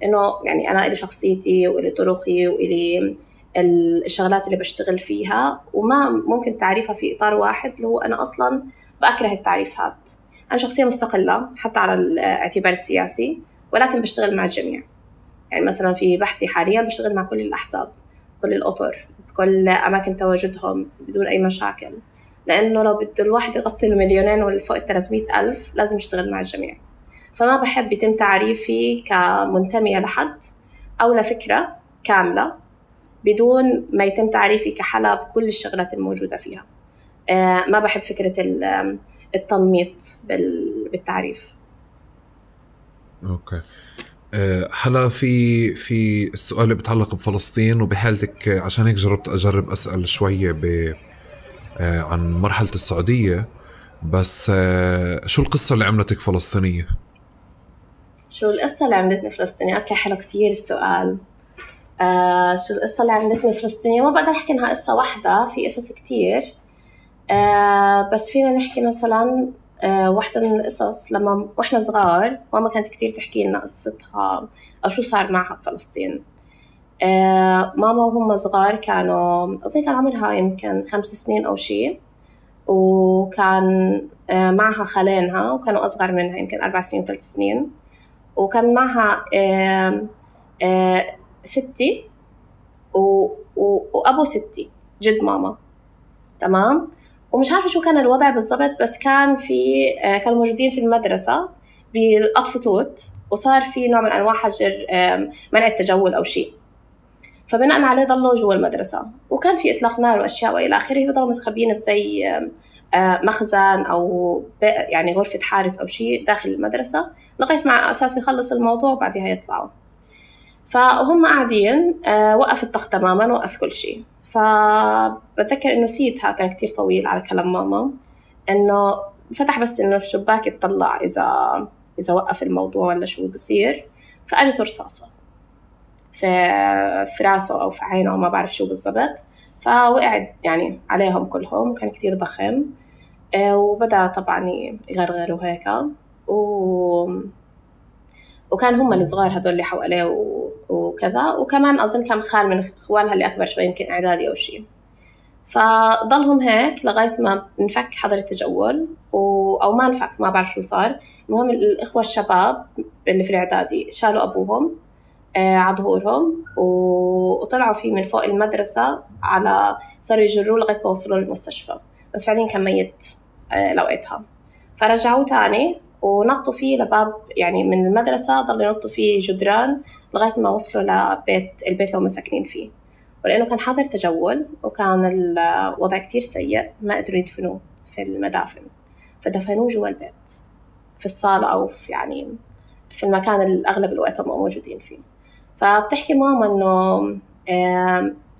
إنه يعني أنا إلي شخصيتي وإلي طرقي وإلي الشغلات اللي بشتغل فيها، وما ممكن تعريفها في إطار واحد اللي هو أنا أصلاً بأكره التعريفات. أنا شخصية مستقلة حتى على الاعتبار السياسي، ولكن بشتغل مع الجميع. يعني مثلاً في بحثي حالياً بشتغل مع كل الأحزاب، كل الأطر، كل أماكن تواجدهم بدون أي مشاكل، لأنه لو بده الواحد يغطي المليونين والفوق الثلاثمائة ألف لازم يشتغل مع الجميع. فما بحب يتم تعريفي كمنتمية لحد أو لفكرة كاملة بدون ما يتم تعريفي كحلا بكل الشغلات الموجودة فيها. آه ما بحب فكرة التنميط بالتعريف. أوكي. أه حلا في في السؤال اللي بيتعلق بفلسطين وبحالتك، عشان هيك جربت أجرب أسأل شوية ب أه عن مرحلة السعودية. بس أه شو القصة اللي عملتك فلسطينية؟ شو القصة اللي عملتني فلسطينية؟ أوكي حلو كتير السؤال. آه شو القصة اللي عملتني فلسطينية؟ ما بقدر أحكي إنها قصة واحدة، في قصص كتير. آه بس فينا نحكي مثلا آه واحدة من القصص لما وإحنا صغار ماما كانت كتير تحكي لنا قصتها أو شو صار معها بفلسطين. آه ماما وهم صغار كانوا أظن كان عمرها يمكن خمس سنين أو شيء، وكان آه معها خالينها وكانوا أصغر منها يمكن أربع سنين وثلاث سنين، وكان معها آه آه ستي و... و... وأبو ستي جد ماما. تمام. ومش عارفة شو كان الوضع بالضبط، بس كان في آه كانوا موجودين في المدرسة بالقطف توت، وصار في نوع من أنواع حجر آه منع التجول أو شيء، فبناء عليه ضلوا جوا المدرسة، وكان في إطلاق نار وأشياء وإلى آخره، فضلوا متخبيين في زي آه مخزن أو يعني غرفة حارس أو شيء داخل المدرسة لغاية مع أساس يخلص الموضوع وبعدها يطلعوا. فهم قاعدين آه وقف الضغط تماما، وقف كل شيء. فبتذكر إنه سيدها كان كتير طويل على كلام ماما، إنه فتح بس إنه في شباك يطلع إذا إذا وقف الموضوع ولا شو بصير، فأجت رصاصة في في راسه أو في عينه ما بعرف شو بالضبط، فوقعد يعني عليهم كلهم، وكان كتير ضخم آه وبدأ طبعا يغرغر وهيك، و وكان هم الصغار هدول اللي حواليه وكذا، وكمان أظن كان خال من إخوانها اللي أكبر شوي يمكن إعدادي أو شيء. فضلهم هيك لغاية ما نفك حظر التجول و... أو ما نفك، ما بعرف شو صار. المهم الإخوة الشباب اللي في الإعدادي شالوا أبوهم آه على ظهورهم و... وطلعوا فيه من فوق المدرسة، على صاروا يجروه لغاية ما وصلوا للمستشفى، بس فعليا كان ميت آه لوقتها. فرجعوه تاني ونطوا فيه لباب يعني من المدرسة، ضلوا ينطوا فيه جدران لغاية ما وصلوا لبيت البيت اللي هم ساكنين فيه. ولأنه كان حظر تجول وكان الوضع كتير سيء، ما قدروا يدفنوه في المدافن، فدفنوه جوا البيت في الصالة أو في يعني في المكان اللي أغلب الوقت هم موجودين فيه. فبتحكي ماما إنه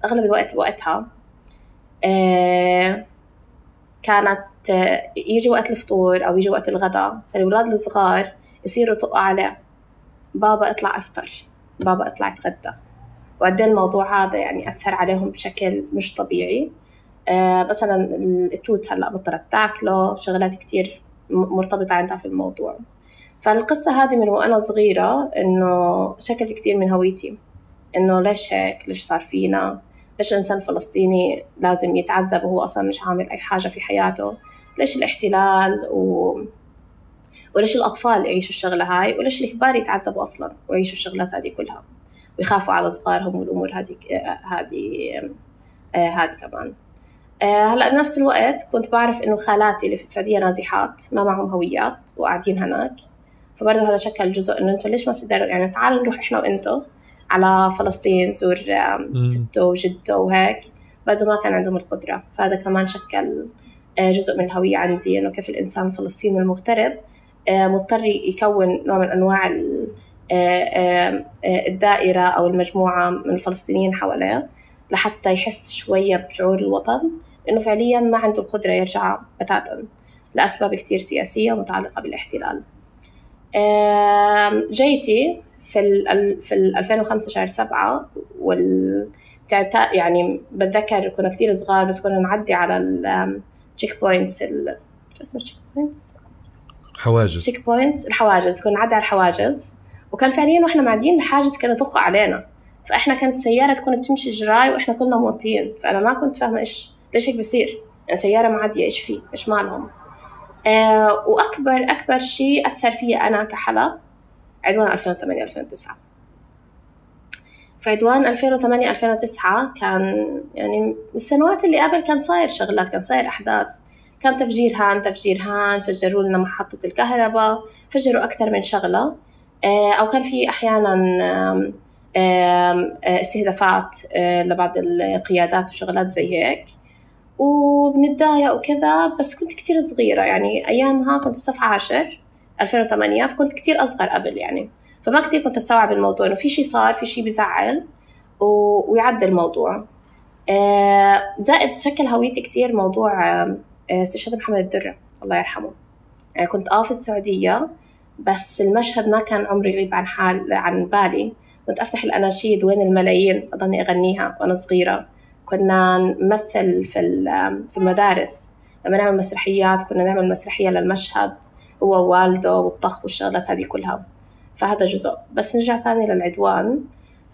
أغلب الوقت بوقتها كانت يجي وقت الفطور أو يجي وقت الغداء، فالولاد الصغار يصيروا طقوا عليه: بابا اطلع افطر، بابا اطلع اتغدى. وقد الموضوع هذا يعني أثر عليهم بشكل مش طبيعي. آه مثلا التوت هلأ بطلت تاكله، شغلات كتير مرتبطة عندها في الموضوع. فالقصة هذه من وأنا صغيرة إنه شكل كتير من هويتي، إنه ليش هيك، ليش صار فينا، ليش الإنسان الفلسطيني لازم يتعذب وهو أصلا مش عامل أي حاجة في حياته، ليش الاحتلال و... وليش الأطفال يعيشوا الشغلة هاي، وليش الكبار يتعذبوا أصلا ويعيشوا الشغلات هذه كلها ويخافوا على صغارهم والأمور هذه هذه آه هذه كمان. آه هلأ بنفس الوقت كنت بعرف إنه خالاتي اللي في السعودية نازحات ما معهم هويات وقاعدين هناك، فبرضه هذا شكل جزء إنه أنتوا ليش ما بتقدروا يعني تعالوا نروح إحنا وإنتوا على فلسطين زور ستو وجدو وهيك، برضه ما كان عندهم القدرة. فهذا كمان شكل آه جزء من الهوية عندي، إنه كيف الإنسان الفلسطيني المغترب آه مضطر يكون نوع من أنواع الدائرة أو المجموعة من الفلسطينيين حواليه لحتى يحس شوية بشعور الوطن، لأنه فعليا ما عنده القدرة يرجع بتاتا لأسباب كتير سياسية متعلقة بالاحتلال. جيتي في ال في ألفين وخمسة شهر سبعة وال يعني بتذكر كنا كتير صغار، بس كنا نعدي على التشيك بوينتس ال اسمه تشيك بوينتس حواجز تشيك بوينتس الحواجز كنا نعدي على الحواجز، وكان فعليا واحنا معديين الحاجز كانوا يطخوا علينا، فاحنا كانت السياره تكون بتمشي جراي واحنا كلنا موطيين، فانا ما كنت فاهمه ايش ليش هيك بصير، يعني سياره معديه ايش فيه ايش مالهم. آه واكبر اكبر شيء اثر فيا انا كحلا عدوان ألفين وثمانية ألفين وتسعة. في عدوان ألفين وثمانية ألفين وتسعة كان يعني السنوات اللي قبل كان صاير شغلات، كان صاير احداث، كان تفجير هان تفجير هان فجروا لنا محطة الكهرباء، فجروا أكثر من شغلة، أو كان في أحيانا استهدافات لبعض القيادات وشغلات زي هيك، وبنتضايق وكذا. بس كنت كتير صغيرة، يعني أيامها كنت بصف عاشر ألفين وثمانية، فكنت كتير أصغر قبل يعني، فما كتير كنت أستوعب الموضوع إنه في شيء صار، في شيء بزعل ويعدي الموضوع. زائد شكل هويتي كتير موضوع استشهاد محمد الدرة الله يرحمه. يعني كنت آه في السعودية، بس المشهد ما كان عمري غريب عن حال عن بالي. كنت أفتح الأناشيد وين الملايين أضلني أغنيها وأنا صغيرة، كنا نمثل في في المدارس لما نعمل مسرحيات كنا نعمل مسرحية للمشهد هو ووالده والطخ والشغلات هذه كلها. فهذا جزء. بس نرجع ثاني للعدوان.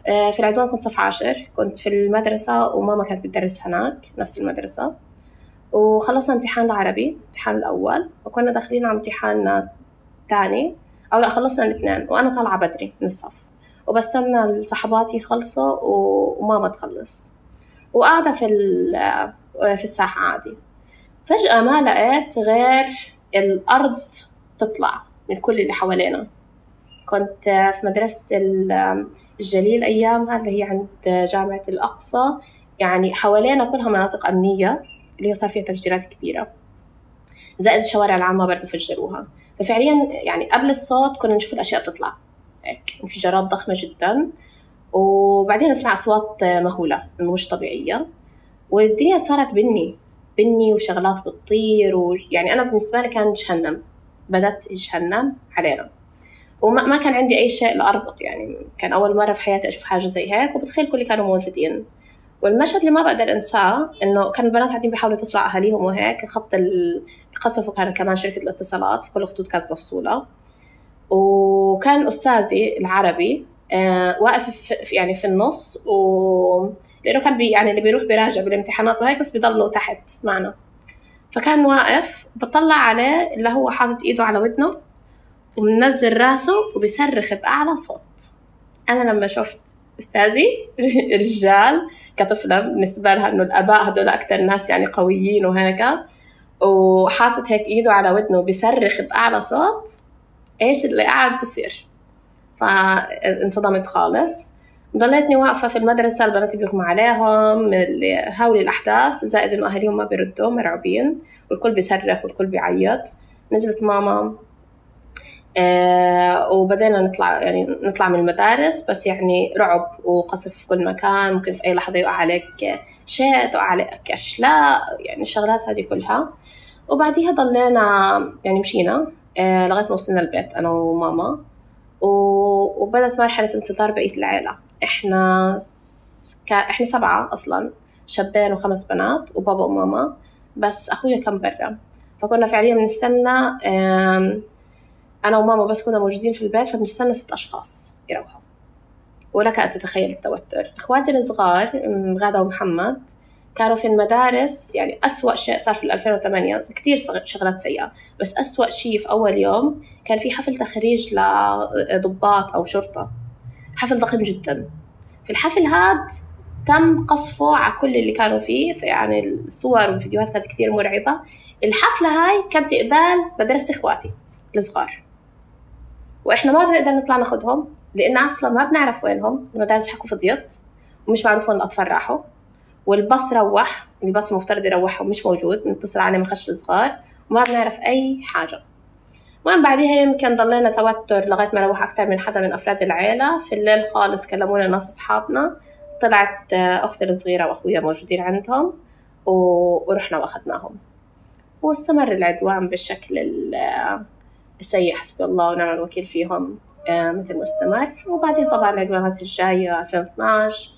في العدوان كنت صف عاشر، كنت في المدرسة وماما كانت بتدرس هناك نفس المدرسة، وخلصنا امتحان العربي امتحان الأول وكنا داخلين على امتحان تاني أو لا خلصنا الاثنين، وأنا طالعة بدري من الصف وبستنى الصحباتي يخلصوا وماما تخلص وقاعدة في في الساحة عادي. فجأة ما لقيت غير الأرض تطلع من كل اللي حوالينا. كنت في مدرسة الجليل أيامها اللي هي عند جامعة الأقصى، يعني حوالينا كلها مناطق أمنية اللي صار فيها تفجيرات كبيرة، زائد الشوارع العامة برضو فجروها. ففعليا يعني قبل الصوت كنا نشوف الأشياء تطلع هيك، انفجارات ضخمة جدا، وبعدين نسمع أصوات مهولة مش طبيعية، والدنيا صارت بني بني وشغلات بتطير، ويعني أنا بالنسبة لي كان جهنم، بدت جهنم علينا، وما ما كان عندي أي شيء لأربط. يعني كان أول مرة في حياتي أشوف حاجة زي هيك، وبتخيل كل اللي كانوا موجودين. والمشهد اللي ما بقدر أنساه إنه كان البنات قاعدين بيحاولوا يتصلوا على أهاليهم وهيك، خط القصف وكان كمان شركة الاتصالات في كل الخطوط كانت مفصولة، وكان أستاذي العربي آه واقف في يعني في النص، و لأنه كان بي يعني اللي بيروح بيراجع بالامتحانات وهيك بس بيضلوا تحت معنا، فكان واقف بطلع عليه اللي هو حاطط إيده على ودنه ومنزل راسه وبيصرخ بأعلى صوت. أنا لما شفت أستاذي رجال كطفلة بالنسبة لها إنه الآباء هدول أكتر ناس يعني قويين وهيك، وحاطط هيك إيده على ودنه وبيصرخ بأعلى صوت، إيش اللي قاعد بصير؟ فانصدمت خالص. ضليتني واقفة في المدرسة، البنات بيغمى عليهم من هول الأحداث، زائد إنه أهليهم ما بيردوا مرعوبين، والكل بيصرخ والكل بيعيط. نزلت ماما آه وبدينا نطلع يعني نطلع من المدارس، بس يعني رعب وقصف في كل مكان، ممكن في أي لحظة يقع عليك شيء، تقع عليك أشلاء، يعني الشغلات هذه كلها. وبعديها ضلينا يعني مشينا آه لغاية ما وصلنا البيت أنا وماما، وبدأت مرحلة انتظار بقية العائلة. إحنا ك... إحنا سبعة أصلاً، شابين وخمس بنات وبابا وماما، بس أخويا كان برا، فكنا فعلياً بنستنى أنا وماما بس كنا موجودين في البيت، فبنستنى ست أشخاص يروحوا. ولك أن تتخيل التوتر. إخواتي الصغار غادة ومحمد كانوا في المدارس، يعني أسوأ شيء صار في ألفين وثمانية، كتير شغلات سيئة، بس أسوأ شيء في أول يوم كان في حفل تخريج لضباط أو شرطة، حفل ضخم جدا. في الحفل هاد تم قصفه على كل اللي كانوا فيه، يعني الصور والفيديوهات كانت كتير مرعبة. الحفلة هاي كانت إقبال مدرسة إخواتي الصغار، وإحنا ما بنقدر نطلع ناخدهم لأن أصلا ما بنعرف وينهم، المدارس حكوا فضيت ومش معروف وين الأطفال راحوا، والباص روح، الباص المفترض يروحهم مش موجود، نتصل عليه من خش الصغار وما بنعرف أي حاجة. ومن بعدها يمكن ضلينا توتر لغاية ما روح أكتر من حدا من أفراد العائلة. في الليل خالص كلمونا ناس أصحابنا، طلعت أختي الصغيرة وأخويا موجودين عندهم ورحنا وأخذناهم، واستمر العدوان بالشكل السيء حسبي الله ونعم الوكيل فيهم مثل ما استمر. وبعدين طبعا العدوانات الجاية ألفين واثناشر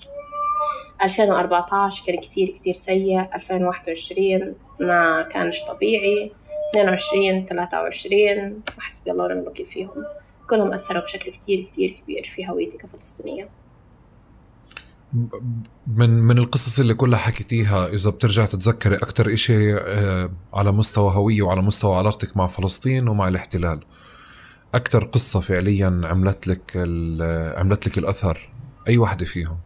ألفين وأربعة عشر كان كتير كتير سيء، ألفين وواحد وعشرين ما كانش طبيعي، اثنين وعشرين ثلاثة وعشرين حسبي الله ونعم الوكيل فيهم، كلهم أثروا بشكل كتير كتير كبير في هويتي كفلسطينية. من من القصص اللي كلها حكيتيها، إذا بترجع تتذكري أكتر إشي على مستوى هوية وعلى مستوى علاقتك مع فلسطين ومع الاحتلال، أكتر قصة فعليا عملت لك عملت لك الأثر، أي واحدة فيهم؟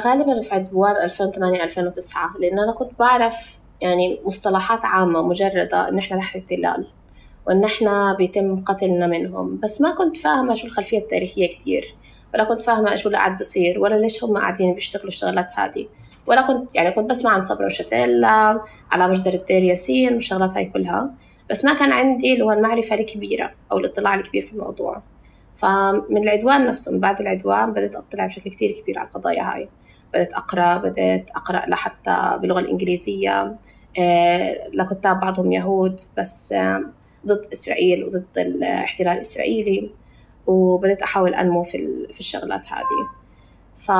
غالبا في عدوان ألفين وثمانية ألفين وتسعة، لأن أنا كنت بعرف يعني مصطلحات عامة مجردة إن إحنا تحت احتلال وإن إحنا بيتم قتلنا منهم، بس ما كنت فاهمة شو الخلفية التاريخية كتير، ولا كنت فاهمة شو اللي قاعد بصير، ولا ليش هم قاعدين بيشتغلوا الشغلات هذه، ولا كنت يعني كنت بسمع عن صبرا وشتيلا على مجزرة دير ياسين والشغلات هاي كلها، بس ما كان عندي اللي هو المعرفة الكبيرة أو الاطلاع الكبير في الموضوع. فمن العدوان نفسه، من بعد العدوان بدأت أطلع بشكل كتير كبير على القضايا هاي، بدأت أقرأ بدأت أقرأ لحتى باللغة الإنجليزية لكتاب بعضهم يهود بس ضد إسرائيل وضد الاحتلال الإسرائيلي، وبدأت أحاول أنمو في في الشغلات هذه. ف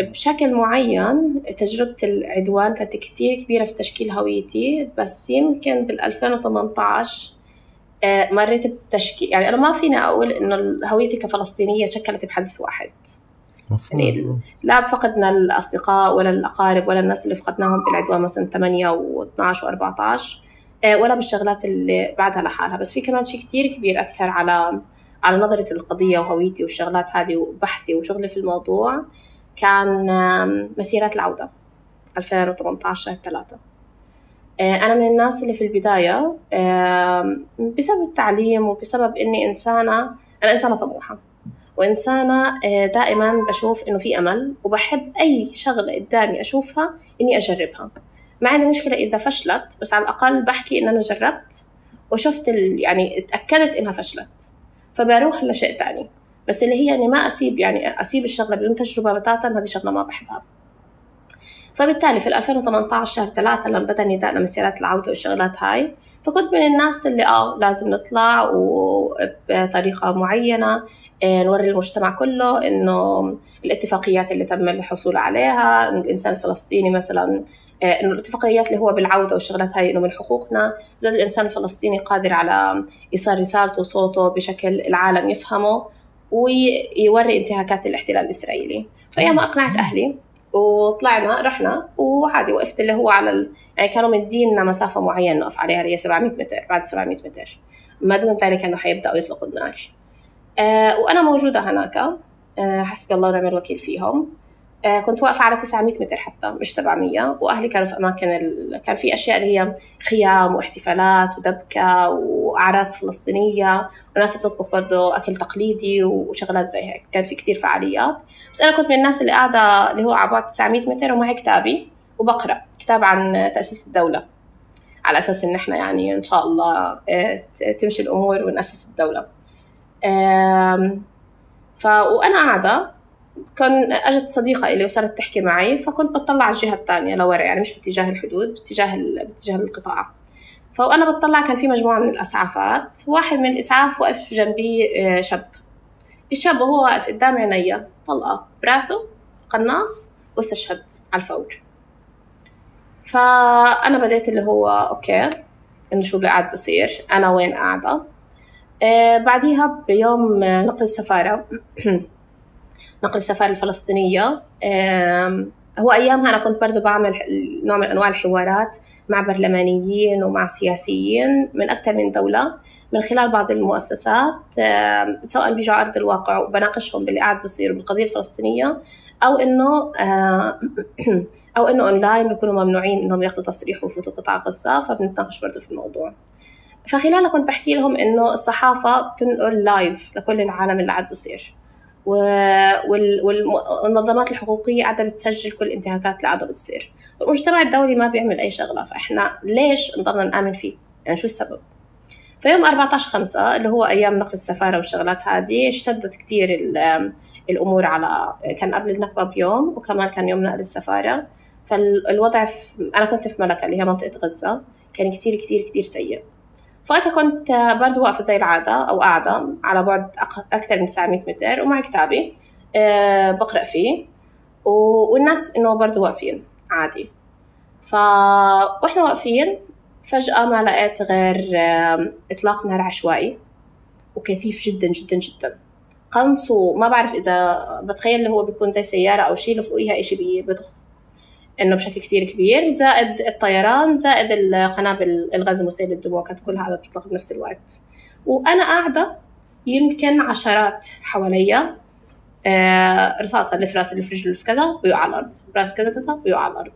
بشكل معين تجربة العدوان كانت كتير كبيرة في تشكيل هويتي، بس يمكن بالألفين وثمانية عشر مريت بتشكيل، يعني أنا ما فينا أقول إنه هويتي كفلسطينية شكلت بحدث واحد. يعني لا فقدنا الأصدقاء ولا الأقارب ولا الناس اللي فقدناهم بالعدوان مثلا ثمانية واثناعش وأربعة عشر ولا بالشغلات اللي بعدها لحالها، بس في كمان شيء كتير كبير أثر على على نظرة القضية وهويتي والشغلات هذه وبحثي وشغلي في الموضوع، كان مسيرات العودة ألفين وثمانية عشر ثلاثة. أنا من الناس اللي في البداية بسبب التعليم وبسبب إني إنسانة أنا إنسانة طموحة وإنسانة دائما بشوف إنه في أمل، وبحب أي شغلة قدامي أشوفها إني أجربها. ما عندي مشكلة إذا فشلت، بس على الأقل بحكي إن أنا جربت وشفت يعني اتأكدت إنها فشلت، فبروح لشيء تاني. بس اللي هي يعني ما أسيب يعني أسيب الشغلة بدون تجربة بتاتا، هذه شغلة ما بحبها. فبالتالي في ألفين وثمانية عشر ثلاثة لما بدأ نداء لمسيرات العودة والشغلات هاي، فكنت من الناس اللي آه لازم نطلع وبطريقة معينة نوري المجتمع كله إنه الاتفاقيات اللي تم الحصول عليها، إنه الإنسان الفلسطيني مثلا، إنه الاتفاقيات اللي هو بالعودة والشغلات هاي إنه من حقوقنا، زاد الإنسان الفلسطيني قادر على إيصال رسالته وصوته بشكل العالم يفهمه ويوري انتهاكات الاحتلال الإسرائيلي. فأيام أقنعت أهلي وطلعنا رحنا وعادي وقفت اللي هو على ال... يعني كانوا مديننا مسافة معينة نقف عليها اللي هي سبعمية متر، بعد سبعمية متر ما دون ذلك أنه حيبدأوا يطلقوا النار. آه وأنا موجودة هناك، آه حسبي الله ونعم الوكيل فيهم. آه كنت واقفة على تسعمية متر حتى مش سبعمية، وأهلي كانوا في أماكن ال... كان في أشياء اللي هي خيام واحتفالات ودبكة وأعراس فلسطينية وناس بتطبخ برضو أكل تقليدي وشغلات زي هيك، كان في كتير فعاليات. بس أنا كنت من الناس اللي قاعدة اللي هو على بعد تسعمية متر ومعي كتابي وبقرأ كتاب عن تأسيس الدولة، على أساس إن إحنا يعني إن شاء الله تمشي الأمور ونأسس الدولة. ف وأنا قاعدة كان أجت صديقة إلي وصارت تحكي معي، فكنت بتطلع على الجهة الثانية لورا، يعني مش باتجاه الحدود، باتجاه ال... باتجاه القطاع. فأنا بتطلع كان في مجموعة من الإسعافات، واحد من الإسعاف وقف جنبي شاب. الشاب وهو واقف قدام عينيا طلقة براسه قناص واستشهد على الفور. فأنا بديت اللي هو أوكي إنه شو اللي قاعد بصير، أنا وين قاعدة. آه بعديها بيوم نقل السفارة نقل السفارة الفلسطينية، آه هو أيامها أنا كنت برضو بعمل نوع من أنواع الحوارات مع برلمانيين ومع سياسيين من أكثر من دولة من خلال بعض المؤسسات، سواء بيجوا على أرض الواقع وبناقشهم باللي قاعد بصير بالقضية الفلسطينية، أو إنه أو إنه أونلاين بيكونوا ممنوعين إنهم ياخدوا تصريح ويفوتوا قطاع غزة، فبنتناقش برضو في الموضوع. فخلالها كنت بحكي لهم إنه الصحافة بتنقل لايف لكل العالم اللي قاعد بصير، والمنظمات الحقوقية قاعدة بتسجل كل انتهاكات اللي قاعدة بتصير، والمجتمع الدولي ما بيعمل أي شغلة، فإحنا ليش نضلنا نآمن فيه؟ يعني شو السبب؟ في يوم أربعة عشر خمسة اللي هو أيام نقل السفارة والشغلات هذه، اشتدت كتير الأمور على، كان قبل النكبة بيوم وكمان كان يوم نقل السفارة. فالوضع في... أنا كنت في ملكة اللي هي منطقة غزة، كان كتير كتير كتير سيء. فأنا كنت برضو واقفة زي العادة أو قاعدة على بعد أكثر من تسعمية متر ومع كتابي أه بقرأ فيه، والناس إنه برضو واقفين عادي. فإحنا واقفين فجأة ما لقيت غير إطلاق نار عشوائي وكثيف جدا جدا جدا، قنص، وما بعرف إذا بتخيل اللي هو بيكون زي سيارة أو شيء لفوقيها إشي بيضخ إنه بشكل كتير كبير، زائد الطيران، زائد القنابل الغاز مسيل للدموع، كانت كلها قاعدة تطلق بنفس الوقت. وأنا قاعدة يمكن عشرات حواليا، آه رصاصة اللي في راسي اللي في رجلي اللي في كذا ويقع على الأرض، راسي كذا كذا ويقع على الأرض.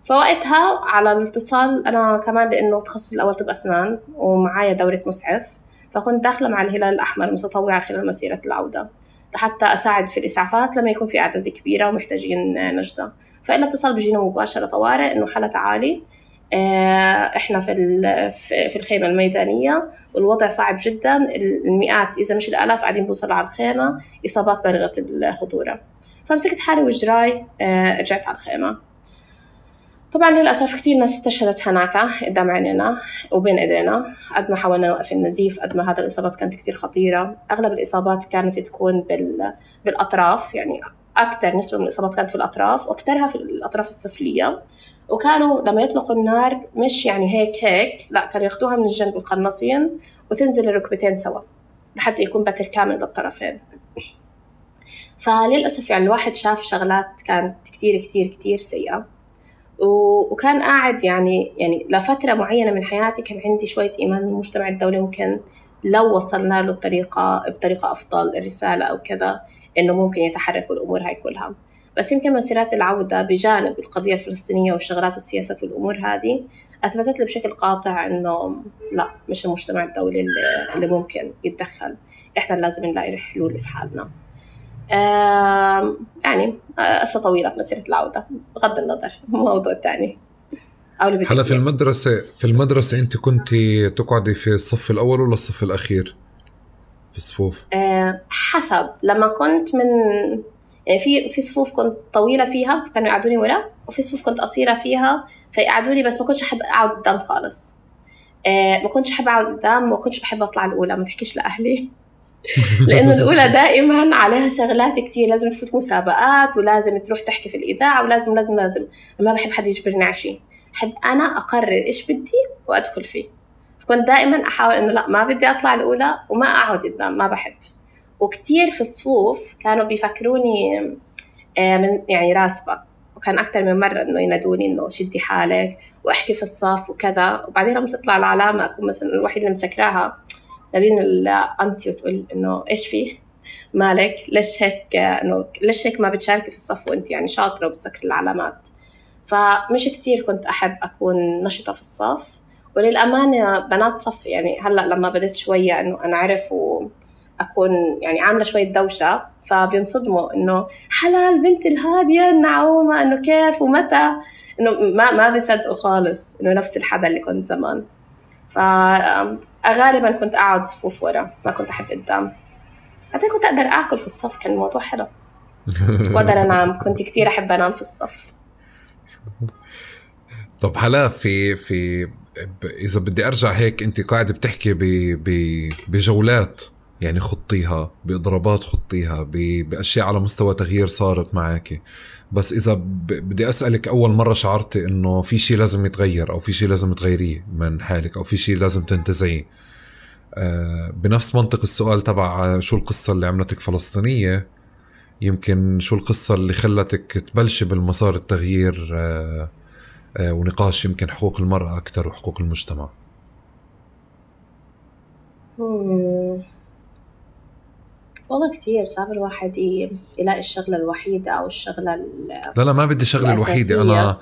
فوقتها على الاتصال أنا كمان لأنه تخصصي الأول طب أسنان ومعايا دورة مسعف، فكنت داخلة مع الهلال الأحمر متطوعة خلال مسيرة العودة لحتى أساعد في الإسعافات لما يكون في أعداد كبيرة ومحتاجين نجدة. فإلا اتصال بيجينا مباشرة طوارئ إنه حالة عالي، إحنا في في الخيمة الميدانية والوضع صعب جدا، المئات إذا مش الآلاف قاعدين بوصلوا على الخيمة، إصابات بالغة الخطورة. فمسكت حالي وجراي، رجعت على الخيمة. طبعا للأسف كتير ناس استشهدت هناك قدام عينينا وبين إيدينا، قد ما حاولنا نوقف النزيف قد ما هذا الإصابات كانت كتير خطيرة. أغلب الإصابات كانت تكون بال بالأطراف، يعني أكثر نسبة من الإصابات كانت في الأطراف، وأكثرها في الأطراف السفلية. وكانوا لما يطلقوا النار مش يعني هيك هيك، لا، كانوا ياخدوها من الجنب القناصين وتنزل الركبتين سوا لحتى يكون بتر كامل للطرفين. فللأسف يعني الواحد شاف شغلات كانت كتير كتير كتير سيئة، وكان قاعد يعني يعني لفترة معينة من حياتي كان عندي شوية إيمان بالمجتمع الدولي، ممكن لو وصلنا له الطريقة بطريقة أفضل الرسالة أو كذا إنه ممكن يتحركوا الأمور هاي كلها. بس يمكن مسيرات العودة بجانب القضية الفلسطينية والشغلات والسياسة في الأمور هذه أثبتت لي بشكل قاطع إنه لا، مش المجتمع الدولي اللي, اللي ممكن يتدخل، إحنا لازم نلاقي حلول في حالنا. آه يعني قصة طويلة مسيرة العودة بغض النظر موضوع تاني. هلا في المدرسة في المدرسة أنت كنت تقعدي في الصف الأول ولا الصف الأخير في الصفوف؟ آه حسب. لما كنت من يعني في في صفوف كنت طويلة فيها فكانوا يقعدوني ورا، وفي صفوف كنت قصيرة فيها فيقعدوني، بس ما كنتش أحب أقعد قدام خالص. آه ما كنتش أحب أقعد قدام، ما كنتش بحب أطلع الأولى، ما تحكيش لأهلي لأنه الأولى دائما عليها شغلات كتير، لازم تفوت مسابقات ولازم تروح تحكي في الإذاعة ولازم لازم لازم ما بحب حد يجبرني على شيء، بحب أنا أقرر إيش بدي وأدخل فيه. فكنت دائما أحاول إنه لا، ما بدي أطلع الأولى وما أقعد قدام، ما بحب. وكتير في الصفوف كانوا بيفكروني من يعني راسبة، وكان أكتر من مرة إنه ينادوني إنه شدي حالك وأحكي في الصف وكذا. وبعدين لما تطلع العلامة أكون مثلا الوحيد اللي مسكراها، تدين الأنتي وتقول إنه إيش فيه مالك، ليش هيك، إنه ليش هيك ما بتشاركي في الصف وأنت يعني شاطرة وبتذكر العلامات. فمش كتير كنت أحب أكون نشطة في الصف. وللأمانة بنات صف يعني هلأ لما بديت شوية إنه أنا أعرف وأكون يعني عاملة شوية دوشة، فبينصدموا إنه حلا البنت الهادية النعومة، إنه كيف ومتى، إنه ما ما بيصدقوا خالص إنه نفس الحدا اللي كنت زمان. فغالبا كنت أقعد صفوف ورا، ما كنت أحب قدام. حتى كنت أقدر أكل في الصف، كان الموضوع حلو. وأقدر أنام، كنت كتير أحب أنام في الصف. طب هلا في في إذا بدي أرجع هيك، أنت قاعدة بتحكي بجولات يعني خطيها، بإضرابات خطيها، بأشياء على مستوى تغيير صارت معك. بس إذا بدي أسألك، أول مرة شعرتي إنه في شيء لازم يتغير أو في شيء لازم تغيريه من حالك أو في شيء لازم تنتزعيه؟ آه بنفس منطق السؤال تبع شو القصة اللي عملتك فلسطينية، يمكن شو القصة اللي خلتك تبلش بالمسار التغيير آه آه ونقاش يمكن حقوق المرأة أكتر وحقوق المجتمع؟ والله كتير صعب الواحد يلاقي الشغلة الوحيدة أو الشغلة لا لا ما بدي الشغلة الوحيدة، أنا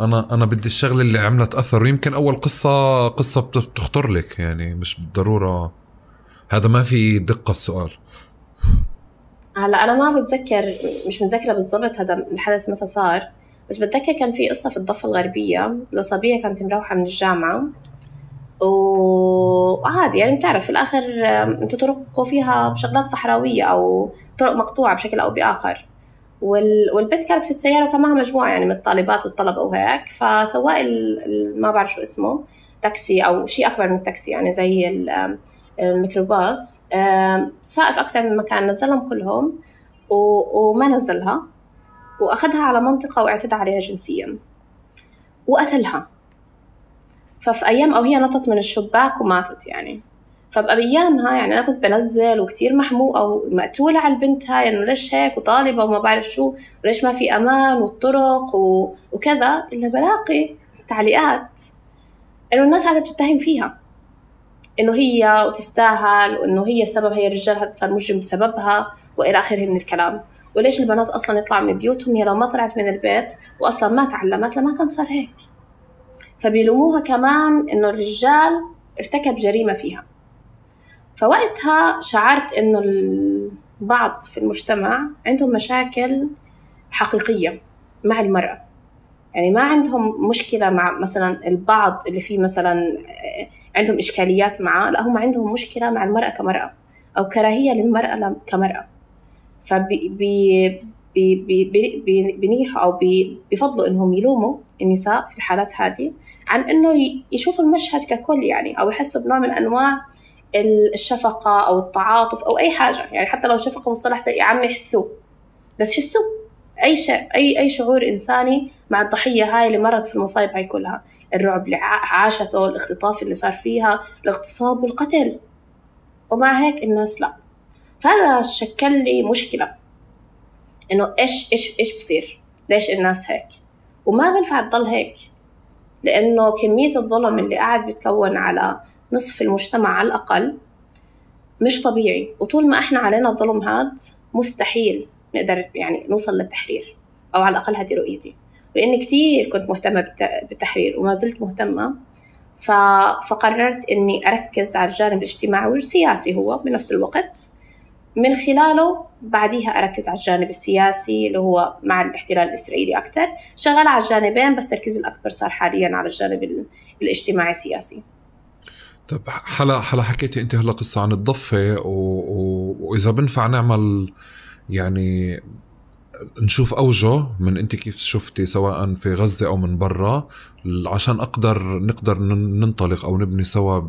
أنا أنا بدي الشغلة اللي عملت أثر. ويمكن أول قصة قصة بتخطر لك، يعني مش بالضرورة هذا، ما في دقة السؤال. هلا أنا ما بتذكر، مش متذكرة بالضبط هذا الحدث متى صار، بس بتذكر كان في قصة في الضفة الغربية لصبية كانت مروحة من الجامعة، وعادي يعني بتعرف في الآخر أنتوا طرقوا فيها شغلات صحراوية أو طرق مقطوعة بشكل أو بآخر، والبنت كانت في السيارة وكان معها مجموعة يعني من الطالبات والطلبة وهيك. فسواق ما بعرف شو اسمه، تاكسي أو شيء أكبر من التاكسي يعني زي الميكروباص، سائف أكثر من مكان، نزلهم كلهم وما نزلها، وأخذها على منطقة واعتدى عليها جنسيا وقتلها. ففي أيام أو هي نطت من الشباك وماتت يعني. فبأيامها يعني أنا كنت بنزل وكتير محموقة ومقتولة على البنت هاي إنه ليش هيك وطالبة وما بعرف شو وليش ما في أمان والطرق وكذا، إلا بلاقي تعليقات إنه الناس قاعدة بتتهم فيها إنه هي وتستاهل وإنه هي السبب، هي الرجال هذا صار مجرم بسببها وإلى آخره من الكلام. وليش البنات أصلا يطلعوا من بيوتهم، هي لو ما طلعت من البيت وأصلا ما تعلمت لما كان صار هيك. فبيلوموها كمان إنه الرجال ارتكب جريمة فيها. فوقتها شعرت إنه البعض في المجتمع عندهم مشاكل حقيقية مع المرأة، يعني ما عندهم مشكلة مع مثلا البعض اللي فيه مثلا عندهم إشكاليات معه، لا هم عندهم مشكلة مع المرأة كمرأة أو كراهية للمرأة كمرأة. فبي بي بي بي بي بينيحوا أو بي بيفضلوا إنهم يلوموا النساء في الحالات هذه عن إنه يشوفوا المشهد ككل يعني، أو يحسوا بنوع من أنواع الشفقة أو التعاطف أو أي حاجة يعني، حتى لو شفقة مصطلح زي عم يحسوه بس حسوا أي شيء أي أي شعور إنساني مع الضحية هاي اللي مرت في المصايب هاي كلها، الرعب اللي عاشته، الاختطاف اللي صار فيها، الاغتصاب والقتل، ومع هيك الناس لا. فهذا شكل لي مشكلة إنه إيش إيش إيش بصير، ليش الناس هيك، وما بنفع تضل هيك، لأنه كمية الظلم اللي قاعد بيتكون على نصف المجتمع على الأقل مش طبيعي. وطول ما إحنا علينا الظلم هاد مستحيل نقدر يعني نوصل للتحرير، أو على الأقل هذه رؤيتي، لأني كتير كنت مهتمة بالتحرير وما زلت مهتمة. فقررت إني أركز على الجانب الاجتماعي والسياسي هو بنفس الوقت، من خلاله بعديها أركز على الجانب السياسي اللي هو مع الاحتلال الإسرائيلي أكتر. شغال على الجانبين بس تركيز الأكبر صار حاليا على الجانب الاجتماعي السياسي. طب حلا حلا حكيتي أنت هلا قصة عن الضفة و... و... وإذا بنفع نعمل يعني نشوف أوجه من أنت كيف شفتي سواء في غزة أو من برا، عشان أقدر نقدر ننطلق أو نبني سوا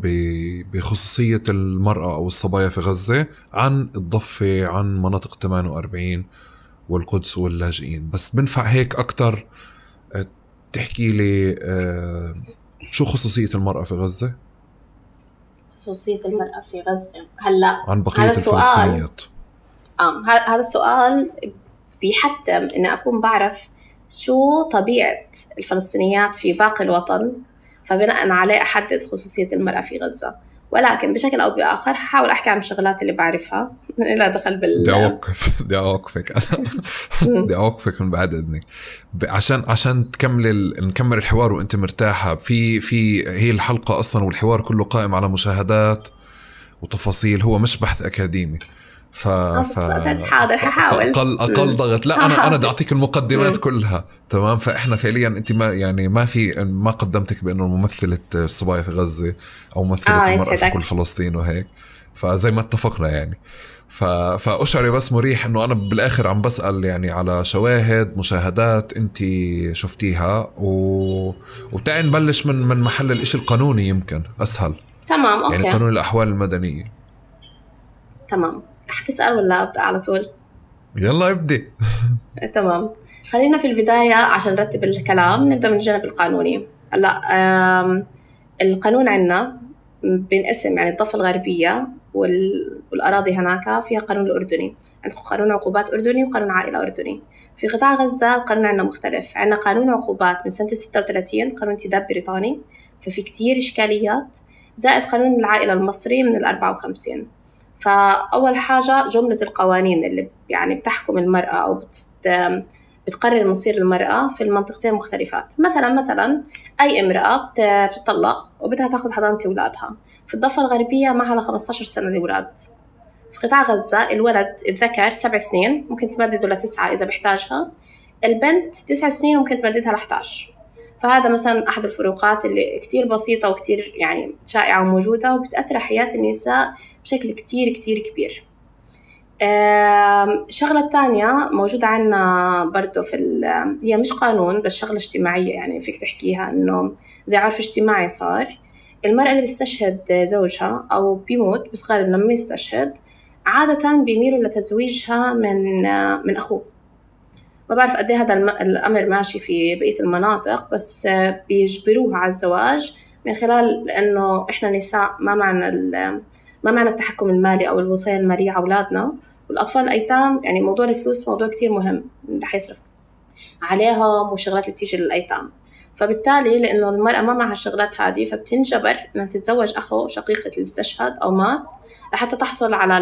بخصوصية المرأة أو الصبايا في غزة، عن الضفة، عن مناطق ثمانية وأربعين والقدس واللاجئين. بس بنفع هيك أكتر تحكي لي شو خصوصية المرأة في غزة؟ خصوصية المرأة في غزة هلا عن بقية الفلسطينيات. آه هذا السؤال بيحتم إن أكون بعرف شو طبيعة الفلسطينيات في باقي الوطن، فبناء عليه أحدد خصوصية المرأة في غزة. ولكن بشكل أو بآخر هحاول أحكي عن الشغلات اللي بعرفها لا دخل بال. بدي أوقف بدي أوقفك أنا بدي أوقفك من بعد إذنك عشان عشان تكمل نكمل الحوار وأنت مرتاحة. في في هي الحلقة أصلا والحوار كله قائم على مشاهدات وتفاصيل، هو مش بحث أكاديمي. ف ف حاضر هحاول اقل اقل ضغط. لا انا انا بدي اعطيك المقدمات كلها تمام. فاحنا فعليا انت ما يعني ما في ما قدمتك بانه ممثله الصبايا في غزه او ممثله آه المراه في كل فلسطين وهيك، فزي ما اتفقنا يعني. ف فاشعري بس مريح انه انا بالاخر عم بسال يعني على شواهد مشاهدات انت شفتيها، و... وبتاعي نبلش من من محل الاشي القانوني يمكن اسهل. تمام اوكي. يعني قانون الاحوال المدنيه. تمام. حتسأل ولا أبدأ على طول؟ يلا ابدي. تمام، خلينا في البداية عشان نرتب الكلام نبدأ من الجانب القانوني. هلا القانون عندنا بنقسم يعني الضفة الغربية والأراضي هناك فيها قانون الأردني، عندكم قانون عقوبات أردني وقانون عائلة أردني. في قطاع غزة القانون عندنا مختلف، عندنا قانون عقوبات من سنة ستة وثلاثين قانون انتداب بريطاني، ففي كتير إشكاليات، زائد قانون العائلة المصري من الأربعة وخمسين. فأول حاجة جملة القوانين اللي يعني بتحكم المرأة أو بتقرر مصير المرأة في المنطقتين مختلفات. مثلا مثلا أي امرأة بتطلق وبدها تاخد حضانة أولادها، في الضفة الغربية معها لخمسة عشر سنة الأولاد. في قطاع غزة الولد الذكر سبع سنين ممكن تمدده لتسعة إذا بحتاجها، البنت تسع سنين ممكن تمددها لحداش. فهذا مثلا أحد الفروقات اللي كتير بسيطة وكتير يعني شائعة وموجودة وبتأثر حياة النساء بشكل كتير كتير كبير. شغلة تانية موجودة عنا برضو في هي مش قانون بس شغلة اجتماعية، يعني فيك تحكيها إنه زي عرف اجتماعي صار. المرأة اللي بيستشهد زوجها أو بيموت، بس غالبا لما يستشهد عادة بيميلوا لتزويجها من من أخوه. ما بعرف قد ايه هذا الأمر ماشي في بقية المناطق، بس بيجبروها على الزواج من خلال لأنه إحنا نساء ما معنا ما معنا التحكم المالي أو الوصاية المالية على أولادنا والأطفال الأيتام. يعني موضوع الفلوس موضوع كتير مهم رح يصرف عليهم وشغلات اللي بتيجي للأيتام. فبالتالي لأنه المرأة ما معها الشغلات هذه فبتنجبر إنها تتزوج أخو شقيقة اللي استشهد أو مات لحتى تحصل على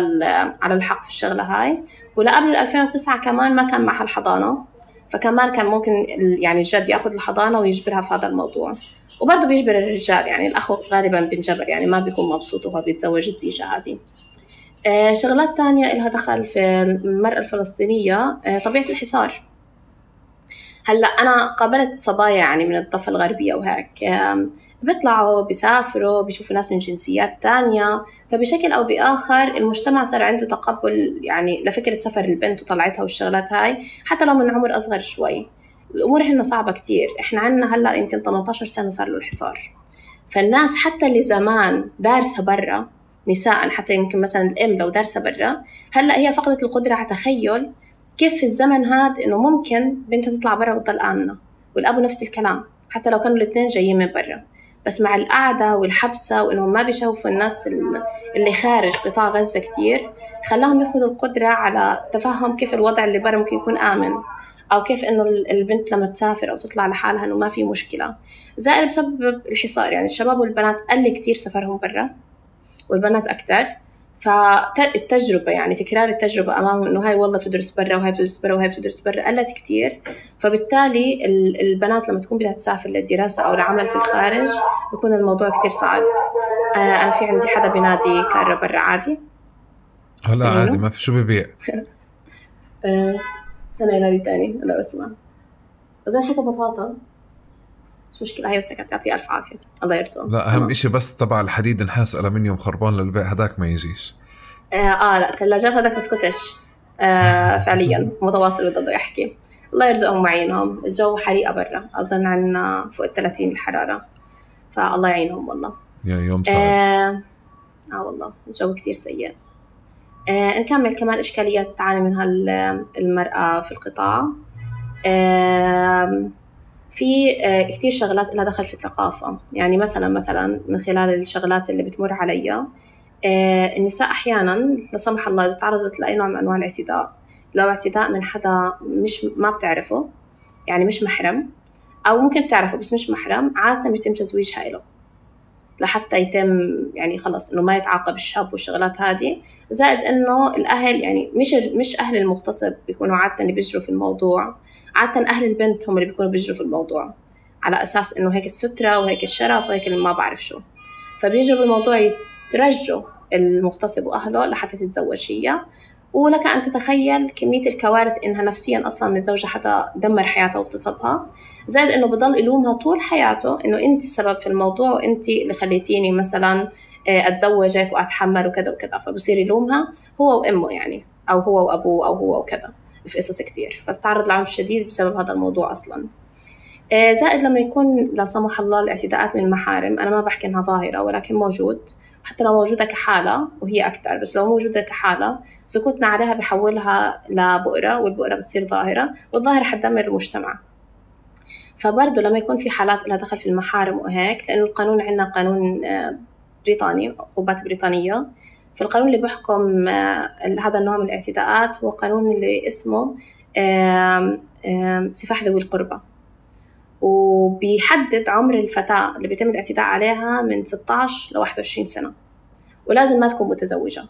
على الحق في الشغلة هاي. ولا قبل ألفين وتسعة كمان ما كان معها الحضانة، فكمان كان ممكن يعني الجد يأخذ الحضانة ويجبرها في هذا الموضوع. وبرضه بيجبر الرجال، يعني الأخو غالبا بينجبر، يعني ما بيكون مبسوط وهو بيتزوج الزيجة هذه. آه شغلات تانية إلها دخل في المرأة الفلسطينية، آه طبيعة الحصار. هلأ أنا قابلت صبايا يعني من الضفة الغربية وهيك، بيطلعوا بيسافروا بيشوفوا ناس من جنسيات تانية، فبشكل أو بآخر المجتمع صار عنده تقبل يعني لفكرة سفر البنت وطلعتها والشغلات هاي حتى لو من عمر أصغر شوي. الأمور هنا صعبة كتير، إحنا عنا هلأ يمكن ثمانية عشر سنة صار له الحصار، فالناس حتى اللي زمان دارسة برا نساء، حتى يمكن مثلا الأم لو دارسة برا هلأ هي فقدت القدرة على تخيل كيف في الزمن هاد إنه ممكن بنتها تطلع برا وتضل آمنة، والأب نفس الكلام حتى لو كانوا الاثنين جايين من برا، بس مع القعدة والحبسة وإنهم ما بيشوفوا الناس اللي خارج قطاع غزة كتير، خلاهم يفقدوا القدرة على تفهم كيف الوضع اللي برا ممكن يكون آمن، أو كيف إنه البنت لما تسافر أو تطلع لحالها إنه ما في مشكلة. زائد بسبب الحصار، يعني الشباب والبنات قل كتير سفرهم برا والبنات أكتر، فالتجربة يعني تكرار التجربة أمامهم إنه هاي والله بتدرس برا وهاي بتدرس برا وهاي بتدرس برا قلت كتير. فبالتالي البنات لما تكون بدها تسافر للدراسة أو لعمل في الخارج بيكون الموضوع كتير صعب. آه أنا في عندي حدا بينادي كارة برا عادي هلا عادي ما في شو ببيع. آه سنة ينادي تاني أنا بسمع أظن حكى بطاطا مش مشكلة هاي وسكت يعطيه ألف عافية الله يرزقه. لا أهم إشي بس تبع الحديد نحاس ألمنيوم خربان للبيع هداك ما يجيش. آه, آه لا ثلاجات هداك بسكتش آه فعليا متواصل بده يحكي الله يرزقهم ويعينهم. الجو حريقة برا أظن عنا فوق الثلاثين الحرارة فالله يعينهم والله. يا يوم صعب. آه, آه والله الجو كتير سيء. آه نكمل كمان إشكاليات تعاني منها المرأة في القطاع. آه في كتير شغلات لها دخل في الثقافة، يعني مثلا مثلا من خلال الشغلات اللي بتمر عليها النساء أحيانا لا سمح الله إذا تعرضت لأي نوع من أنواع الاعتداء، لو اعتداء من حدا مش ما بتعرفه يعني مش محرم، أو ممكن تعرفه بس مش محرم، عادة بيتم تزويجها له لحتى يتم يعني خلص إنه ما يتعاقب الشاب والشغلات هذه. زائد إنه الأهل يعني مش مش أهل المغتصب بيكونوا عادة اللي بيجروا في الموضوع، عادة أهل البنت هم اللي بيكونوا بيجروا في الموضوع على أساس إنه هيك السترة وهيك الشرف وهيك اللي ما بعرف شو، فبيجروا بالموضوع يترجوا المغتصب وأهله لحتى تتزوج هي. ولك أن تتخيل كمية الكوارث إنها نفسيا أصلا من زوجها حتى دمر حياتها واغتصبها. زائد إنه بضل يلومها طول حياته إنه أنت السبب في الموضوع وأنت اللي خليتيني مثلا أتزوجك وأتحمل وكذا وكذا، فبصير يلومها هو وأمه يعني أو هو وأبوه أو هو وكذا في قصص كتير، فبتعرض لعنف شديد بسبب هذا الموضوع أصلا. زائد لما يكون لا سمح الله الاعتداءات من المحارم، أنا ما بحكي إنها ظاهرة ولكن موجود، حتى لو موجودة كحالة وهي أكتر، بس لو موجودة كحالة سكوتنا عليها بحولها لبؤرة والبؤرة بتصير ظاهرة والظاهرة حتدمر المجتمع. فبرضه لما يكون في حالات لها دخل في المحارم وهيك، لأنه القانون عندنا قانون بريطاني عقوبات بريطانية، في القانون اللي بيحكم هذا النوع من الاعتداءات هو قانون اللي اسمه سفاح ذوي القربى، وبيحدد عمر الفتاة اللي بيتم الاعتداء عليها من ستة عشر ل واحد وعشرين سنة، ولازم ما تكون متزوجة.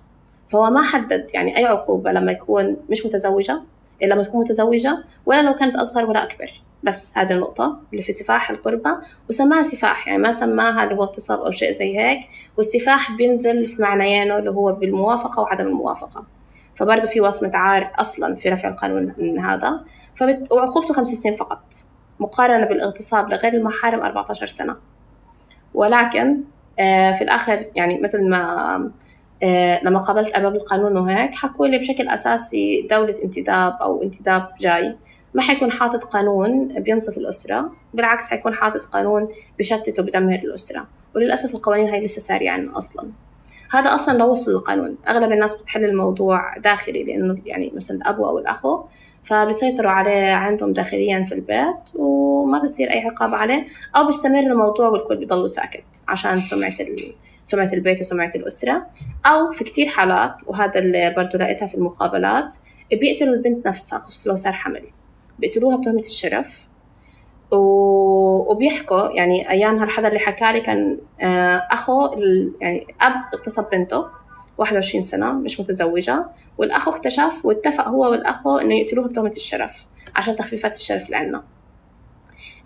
فهو ما حدد يعني أي عقوبة لما يكون مش متزوجة إلا لما تكون متزوجة، ولا لو كانت أصغر ولا أكبر. بس هذه النقطة اللي في سفاح القربى، وسماها سفاح يعني ما سماها اللي هو اغتصاب أو شيء زي هيك. والسفاح بينزل في معنيانه اللي هو بالموافقة وعدم الموافقة، فبرضه في وصمة عار أصلا في رفع القانون من هذا. فبت... وعقوبته خمس سنين فقط، مقارنة بالاغتصاب لغير المحارم أربعة عشر سنة. ولكن آه في الآخر يعني مثل ما آه لما قابلت أرباب القانون وهيك حكوا لي بشكل أساسي دولة انتداب أو انتداب جاي ما حيكون حاطط قانون بينصف الأسرة، بالعكس حيكون حاطط قانون بيشتت وبيدمر الأسرة. وللأسف القوانين هاي لسه سارية عنا أصلا. هذا أصلا لو وصلوا للقانون أغلب الناس بتحل الموضوع داخلي، لأنه يعني مثلا الأبو أو الأخو فبيسيطروا عليه عندهم داخليا في البيت وما بيصير أي عقاب عليه، أو بيستمر الموضوع والكل بيضلوا ساكت عشان سمعة سمعة البيت وسمعة الأسرة. أو في كتير حالات، وهذا اللي برضو لقيتها في المقابلات، بيقتلوا البنت نفسها خصوصا لو صار حمل، بيقتلوها بتهمة الشرف. وبيحكوا يعني أيام هالحدا اللي حكالي كان أخو يعني أب اغتصب بنته واحد وعشرين سنة مش متزوجة، والأخو اكتشف واتفق هو والأخو إنه يقتلوها بتهمة الشرف عشان تخفيفات الشرف اللي عنا.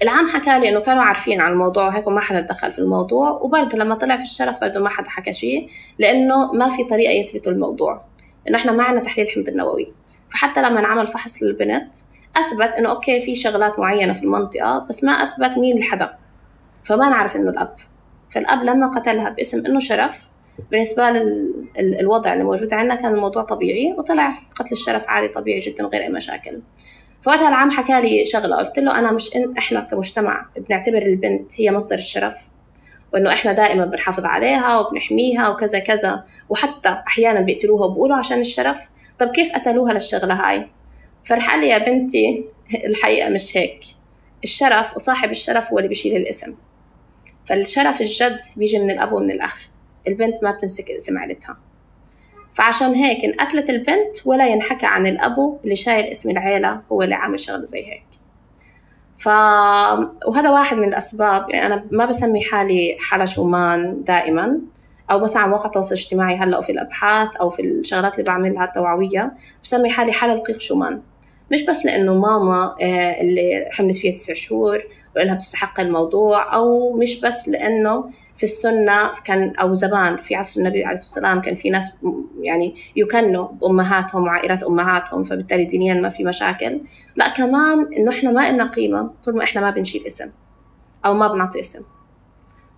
العام حكالي إنه كانوا عارفين عن الموضوع وهيك وما حدا دخل في الموضوع، وبرضه لما طلع في الشرف برضه ما حدا حكى شيء، لأنه ما في طريقة يثبتوا الموضوع، لأنه إحنا ما عنا تحليل الحمض النووي. فحتى لما نعمل فحص للبنت أثبت إنه أوكي في شغلات معينة في المنطقة، بس ما أثبت مين الحدا، فما نعرف إنه الأب. فالأب لما قتلها باسم إنه شرف، بالنسبة للوضع اللي موجود عندنا كان الموضوع طبيعي، وطلع قتل الشرف عادي طبيعي جدا غير أي مشاكل. فوقتها العام حكالي شغلة، قلت له أنا مش إن إحنا كمجتمع بنعتبر البنت هي مصدر الشرف، وإنه إحنا دائما بنحافظ عليها وبنحميها وكذا كذا، وحتى أحيانا بيقتلوها وبقولوا عشان الشرف. طب كيف قتلوها للشغلة هاي؟ فرح قال لي يا بنتي الحقيقة مش هيك، الشرف وصاحب الشرف هو اللي بيشيل الاسم. فالشرف الجد بيجي من الأب ومن الأخ، البنت ما بتمسك اسم عيلتها. فعشان هيك انقتلت البنت ولا ينحكى عن الأبو اللي شايل اسم العيلة هو اللي عامل شغل زي هيك. ف... وهذا واحد من الأسباب. يعني أنا ما بسمي حالي حالة شومان دائما، أو مثلا على مواقع التواصل الاجتماعي هلأ أو في الأبحاث أو في الشغلات اللي بعملها التوعوية، بسمي حالي حالة القيق شومان. مش بس لأنه ماما اللي حملت فيها تسع شهور وإنها بتستحق الموضوع، أو مش بس لأنه في السنة كان أو زمان في عصر النبي عليه الصلاة والسلام كان في ناس يعني يكنوا بأمهاتهم وعائلات أمهاتهم، فبالتالي دينيا ما في مشاكل. لا، كمان إنه إحنا ما إلنا قيمة طول ما إحنا ما بنشيل اسم أو ما بنعطي اسم.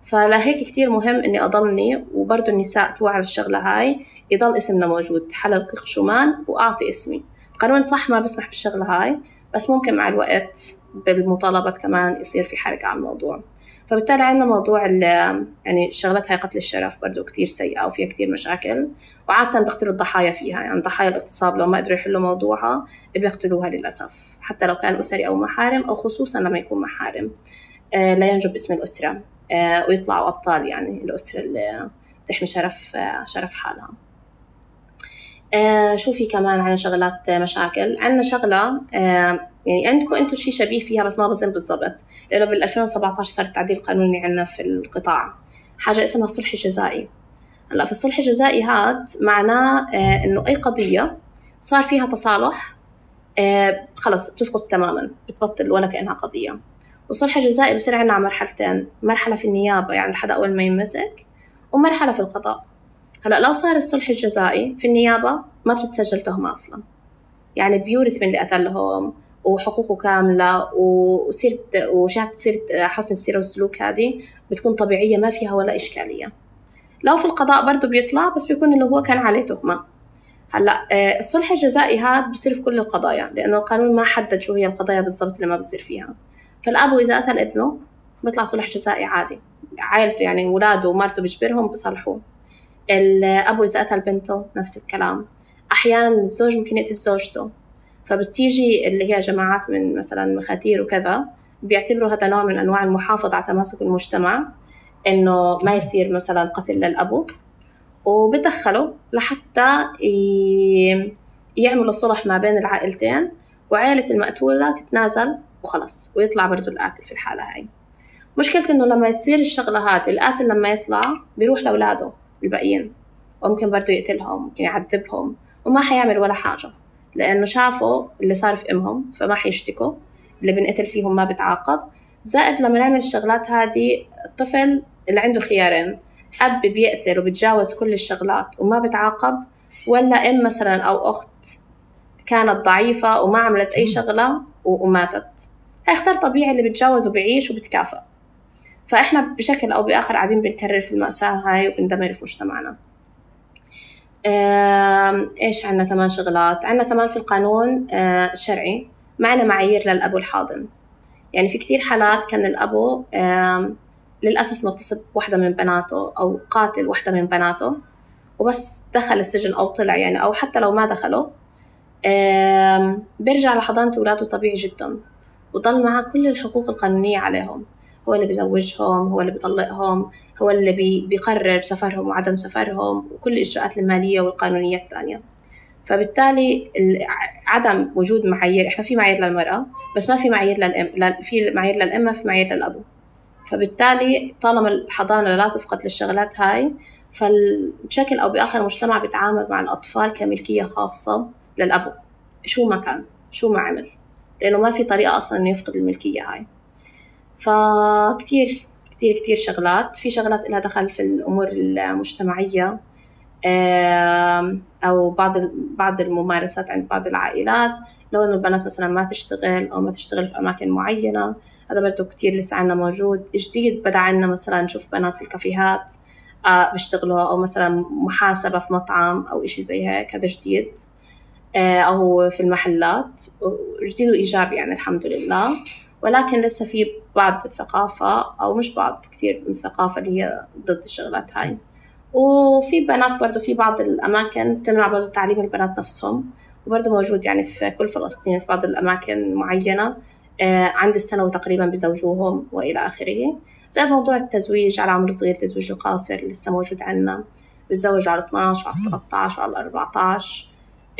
فلهيك كتير مهم إني أضلني وبرضو النساء توعى على الشغلة هاي، يضل اسمنا موجود حالة القيق شومان وأعطي اسمي. القانون صح ما بسمح بالشغلة هاي، بس ممكن مع الوقت بالمطالبات كمان يصير في حركة على الموضوع. فبالتالي عندنا موضوع يعني شغلتها قتل الشرف برضو كتير سيئة وفيها كتير مشاكل، وعادة بيقتلوا الضحايا فيها. يعني ضحايا الاغتصاب لو ما قدروا يحلوا موضوعها بيقتلوها للأسف، حتى لو كان أسري أو محارم، أو خصوصا لما يكون محارم آه لا ينجب اسم الأسرة آه ويطلعوا أبطال، يعني الأسرة اللي تحمي شرف آه شرف حالها. آه شو في كمان عنا شغلات مشاكل؟ عنا شغلة آه يعني عندكم أنتوا شيء شبيه فيها بس ما بظن بالضبط، لأنه بال ألفين وسبعة عشر صار التعديل القانوني عنا في القطاع حاجة اسمها الصلح الجزائي. هلا في الصلح الجزائي هاد معناه آه إنه أي قضية صار فيها تصالح آه خلص بتسقط تماما، بتبطل ولا كأنها قضية. والصلح الجزائي بصير عنا على مرحلتين، مرحلة في النيابة يعني لحد أول ما يمسك، ومرحلة في القضاء. هلا لو صار الصلح الجزائي في النيابة ما بتتسجل تهمة أصلا، يعني بيورث من اللي قتلهم وحقوقه كاملة، وسيرة وشهادة سيرة حسن السيرة والسلوك هذه بتكون طبيعية ما فيها ولا إشكالية. لو في القضاء برضو بيطلع بس بيكون إنه هو كان عليه تهمة. هلا الصلح الجزائي هذا بيصير في كل القضايا، لأنه القانون ما حدد شو هي القضايا بالضبط اللي ما بيصير فيها. فالأب إذا قتل ابنه بيطلع صلح جزائي عادي، عائلته يعني ولاده ومارته بيجبرهم بصلحوه. الأب إذا قتل بنته نفس الكلام. أحيانا الزوج ممكن يقتل زوجته، فبتيجي اللي هي جماعات من مثلا مخاتير وكذا بيعتبروا هذا نوع من أنواع المحافظة على تماسك المجتمع، إنه ما يصير مثلا قتل للأبو، وبدخلوا لحتى يعملوا صلح ما بين العائلتين وعائلة المقتولة تتنازل وخلص، ويطلع برضو القاتل في الحالة هاي. مشكلة إنه لما يصير الشغلة هات القاتل لما يطلع بيروح لأولاده الباقيين، وممكن برضو يقتلهم، ممكن يعذبهم، وما حيعمل ولا حاجة، لأنه شافوا اللي صار في أمهم فما حيشتكوا، اللي بنقتل فيهم ما بتعاقب. زائد لما نعمل الشغلات هذه الطفل اللي عنده خيارين، أب بيقتل وبتجاوز كل الشغلات وما بتعاقب، ولا أم مثلا أو أخت كانت ضعيفة وما عملت أي شغلة وماتت، هيختار طبيعي اللي بتجاوز وبيعيش وبتكافئ. فإحنا بشكل أو بآخر قاعدين بنكرر في المأساة هاي وبندمر في مجتمعنا. إيش عنا كمان شغلات؟ عنا كمان في القانون الشرعي معنا معايير للأبو الحاضن. يعني في كتير حالات كان الأبو للأسف مغتصب واحدة من بناته أو قاتل واحدة من بناته، وبس دخل السجن أو طلع يعني، أو حتى لو ما دخله بيرجع لحضانة أولاده طبيعي جدا، وضل معه كل الحقوق القانونية عليهم. هو اللي بيزوجهم، هو اللي بيطلقهم، هو اللي بي بيقرر بسفرهم وعدم سفرهم، وكل الإجراءات المالية والقانونية الثانية. فبالتالي عدم وجود معايير، إحنا في معايير للمرأة بس ما في معايير للأم، في معايير للأم في معايير للأبو. فبالتالي طالما الحضانة لا تفقد للشغلات هاي، فبشكل أو بآخر المجتمع بيتعامل مع الأطفال كملكية خاصة للأبو، شو ما كان شو ما عمل، لأنه ما في طريقة أصلاً إنه يفقد الملكية هاي. فكتير كتير كتير شغلات، في شغلات إلها دخل في الأمور المجتمعية أو بعض بعض الممارسات عند بعض العائلات، لو إنه البنات مثلاً ما تشتغل أو ما تشتغل في أماكن معينة، هذا برضو كتير لسه عنا موجود. جديد بدأ عنا مثلاً نشوف بنات في الكافيهات بيشتغلوا، أو مثلاً محاسبة في مطعم أو إشي زي هيك، هذا جديد، أو في المحلات، جديد وإيجابي يعني الحمد لله. ولكن لسه في بعض الثقافة أو مش بعض، كتير من الثقافة اللي هي ضد الشغلات هاي. وفي بنات برضو في بعض الأماكن تمنع برضو تعليم البنات نفسهم وبرضه موجود يعني في كل فلسطين في بعض الأماكن معينة عند السنة تقريبا بزوجوهم وإلى آخره. زي موضوع التزويج على عمر صغير، تزويج القاصر لسه موجود عنا، بتزوج على اثنا عشر وعلى ثلاثة عشر وعلى أربعة عشر.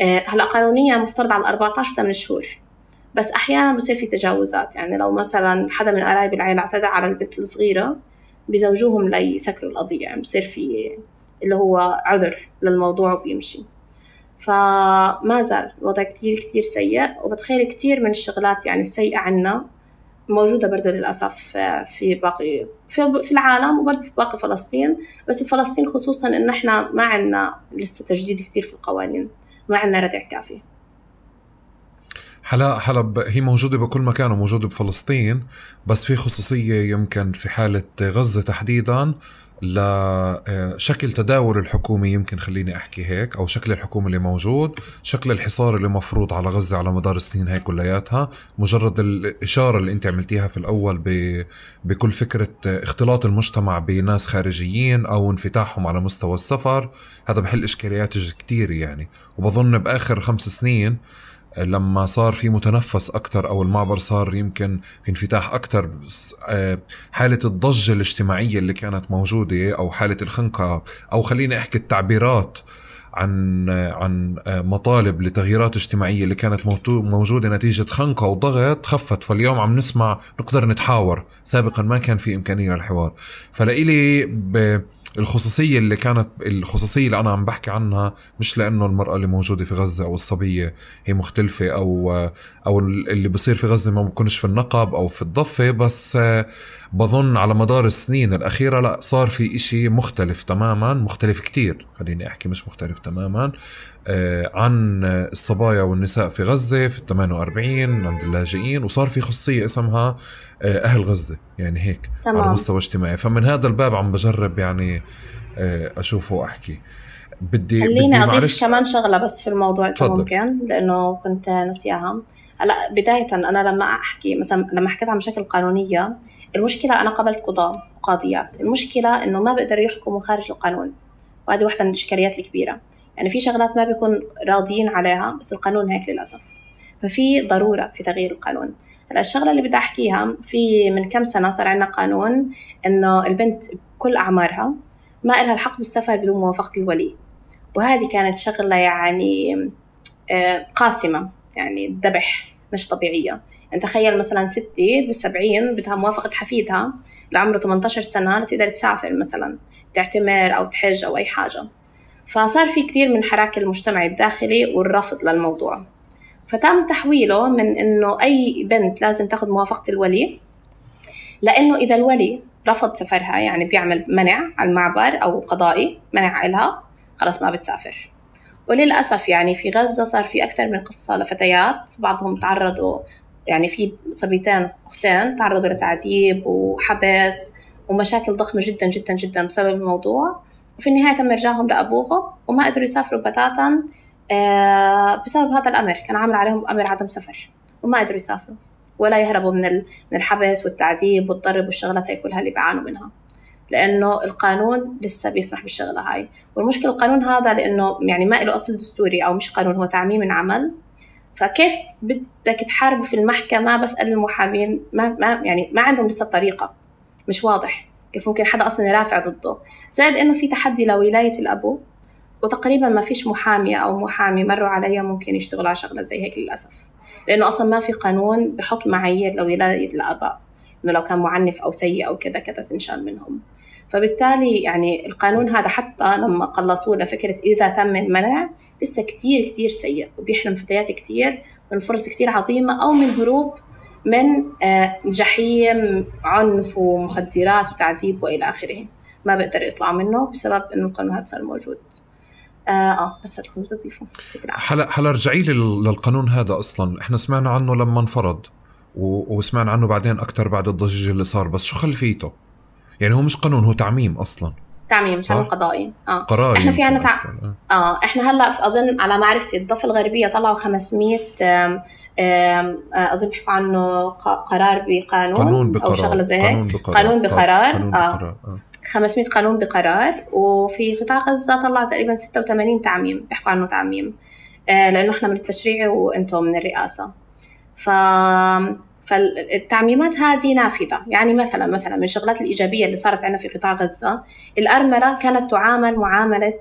هلا قانونيا مفترض على أربعة عشر ثمانية شهور، بس أحيانا بصير في تجاوزات. يعني لو مثلا حدا من قرايب العائلة اعتدى على البنت الصغيرة بزوجوهم ليسكروا القضية، يعني بصير في اللي هو عذر للموضوع وبيمشي. فما زال الوضع كتير كتير سيء، وبتخيل كتير من الشغلات يعني السيئة عنا موجودة برضو للأسف في باقي في العالم وبرضو في باقي فلسطين. بس في فلسطين خصوصا إن إحنا ما عنا لسه تجديد كتير في القوانين، ما عنا ردع كافي. حلا حلب هي موجودة بكل مكان وموجودة بفلسطين، بس في خصوصية يمكن في حالة غزة تحديدا لشكل تداول الحكومي، يمكن خليني أحكي هيك، أو شكل الحكومة اللي موجود، شكل الحصار اللي مفروض على غزة على مدار السنين هاي كلياتها. مجرد الإشارة اللي أنت عملتيها في الأول بكل فكرة اختلاط المجتمع بناس خارجيين أو انفتاحهم على مستوى السفر، هذا بحل إشكاليات كتير يعني. وبظن بآخر خمس سنين لما صار في متنفس أكتر أو المعبر صار يمكن في انفتاح أكتر، حالة الضجة الاجتماعية اللي كانت موجودة أو حالة الخنقة، أو خليني أحكي التعبيرات عن عن مطالب لتغييرات اجتماعية اللي كانت موجودة نتيجة خنقة وضغط خفت. فاليوم عم نسمع نقدر نتحاور، سابقا ما كان في إمكانية للحوار. فلإلي ب الخصوصية اللي كانت الخصوصية اللي أنا عم بحكي عنها مش لأنه المرأة اللي موجودة في غزة أو الصبية هي مختلفة، أو أو اللي بصير في غزة ما بكونش في النقب أو في الضفة، بس بظن على مدار السنين الأخيرة لا، صار في إشي مختلف تماما، مختلف كتير خليني أحكي مش مختلف تماما عن الصبايا والنساء في غزة في الثمانية وأربعين عند اللاجئين، وصار في خصوصية اسمها أهل غزة يعني هيك تمام. على مستوى اجتماعي. فمن هذا الباب عم بجرب يعني أشوفه وأحكي. بدي خليني أضيف كمان شغلة بس في الموضوع إذا ممكن، لأنه كنت نسيها. هلا بداية أنا لما أحكي مثلا لما حكيت عن مشاكل قانونية، المشكلة أنا قبلت قضاة وقاضيات، المشكلة إنه ما بيقدروا يحكموا خارج القانون، وهذه واحدة من الإشكاليات الكبيرة. يعني في شغلات ما بيكون راضيين عليها بس القانون هيك للأسف، ففي ضرورة في تغيير القانون. هلا الشغلة اللي بدي أحكيها، في من كم سنة صار عندنا قانون إنه البنت بكل أعمارها ما إلها الحق بالسفر بدون موافقة الولي، وهذه كانت شغلة يعني قاسمة، يعني الذبح مش طبيعية. يعني تخيل مثلا ستي بالسبعين بدها موافقة حفيدها لعمره ثمانية عشر سنة لتقدر تسافر مثلا تعتمر أو تحج أو أي حاجة. فصار في كتير من حراك المجتمع الداخلي والرفض للموضوع، فتم تحويله من إنه أي بنت لازم تاخد موافقة الولي، لأنه إذا الولي رفض سفرها يعني بيعمل منع على المعبر أو قضائي منع إلها، خلاص ما بتسافر. وللأسف يعني في غزة صار في أكتر من قصة لفتيات بعضهم تعرضوا، يعني في صبيتين أختين تعرضوا لتعذيب وحبس ومشاكل ضخمة جدا جدا جدا بسبب الموضوع، وفي النهاية تم إرجاعهم لأبوهم وما قدروا يسافروا بتاتا بسبب هذا الأمر. كان عامل عليهم أمر عدم سفر وما قدروا يسافروا ولا يهربوا من من الحبس والتعذيب والضرب والشغلات هاي كلها اللي بيعانوا منها، لأنه القانون لسه بيسمح بالشغلة هاي. والمشكلة القانون هذا لأنه يعني ما له أصل دستوري أو مش قانون، هو تعميم من عمل. فكيف بدك تحاربوا في المحكمة؟ بسأل المحامين ما, ما يعني ما عندهم لسه طريقة، مش واضح كيف ممكن حدا أصلا يرافع ضده. زائد إنه في تحدي لولاية الأبو، وتقريبا ما فيش محامية أو محامي مروا عليها ممكن يشتغلوا على شغلة زي هيك للأسف، لأنه أصلا ما في قانون بحط معايير لولاية الآباء إنه لو كان معنف أو سيء أو كذا كذا تنشال منهم. فبالتالي يعني القانون هذا حتى لما قلصوه لفكرة إذا تم المنع لسه كتير كتير سيء، وبيحرم فتيات كتير من فرص كتير عظيمة أو من هروب من جحيم عنف ومخدرات وتعذيب وإلى آخره، ما بقدر يطلع منه بسبب إنه القانون هذا صار موجود. آه, آه بس هدخل تضيفه حلا حلا رجعي للقانون هذا. أصلا إحنا سمعنا عنه لما انفرض وسمعنا عنه بعدين أكتر بعد الضجيج اللي صار، بس شو خلفيته؟ يعني هو مش قانون، هو تعميم أصلا، تعميم قانون قضائي. اه قرار. احنا في عنا تع... اه احنا هلا اظن على معرفتي الضفة الغربية طلعوا خمسمية آم آم اظن بيحكوا عنه قرار بقانون قانون بقرار. او شغله زي هيك، قانون بقرار, قانون بقرار. قانون اه, بقرار. آه. خمسمية قانون بقرار. وفي قطاع غزة طلعوا تقريبا ستة وثمانين تعميم بيحكوا عنه تعميم. لأنه إحنا من التشريع وإنتم من الرئاسة. ف فالتعميمات هذه نافذة. يعني مثلا مثلا من الشغلات الإيجابية اللي صارت عندنا في قطاع غزة، الأرملة كانت تعامل معاملة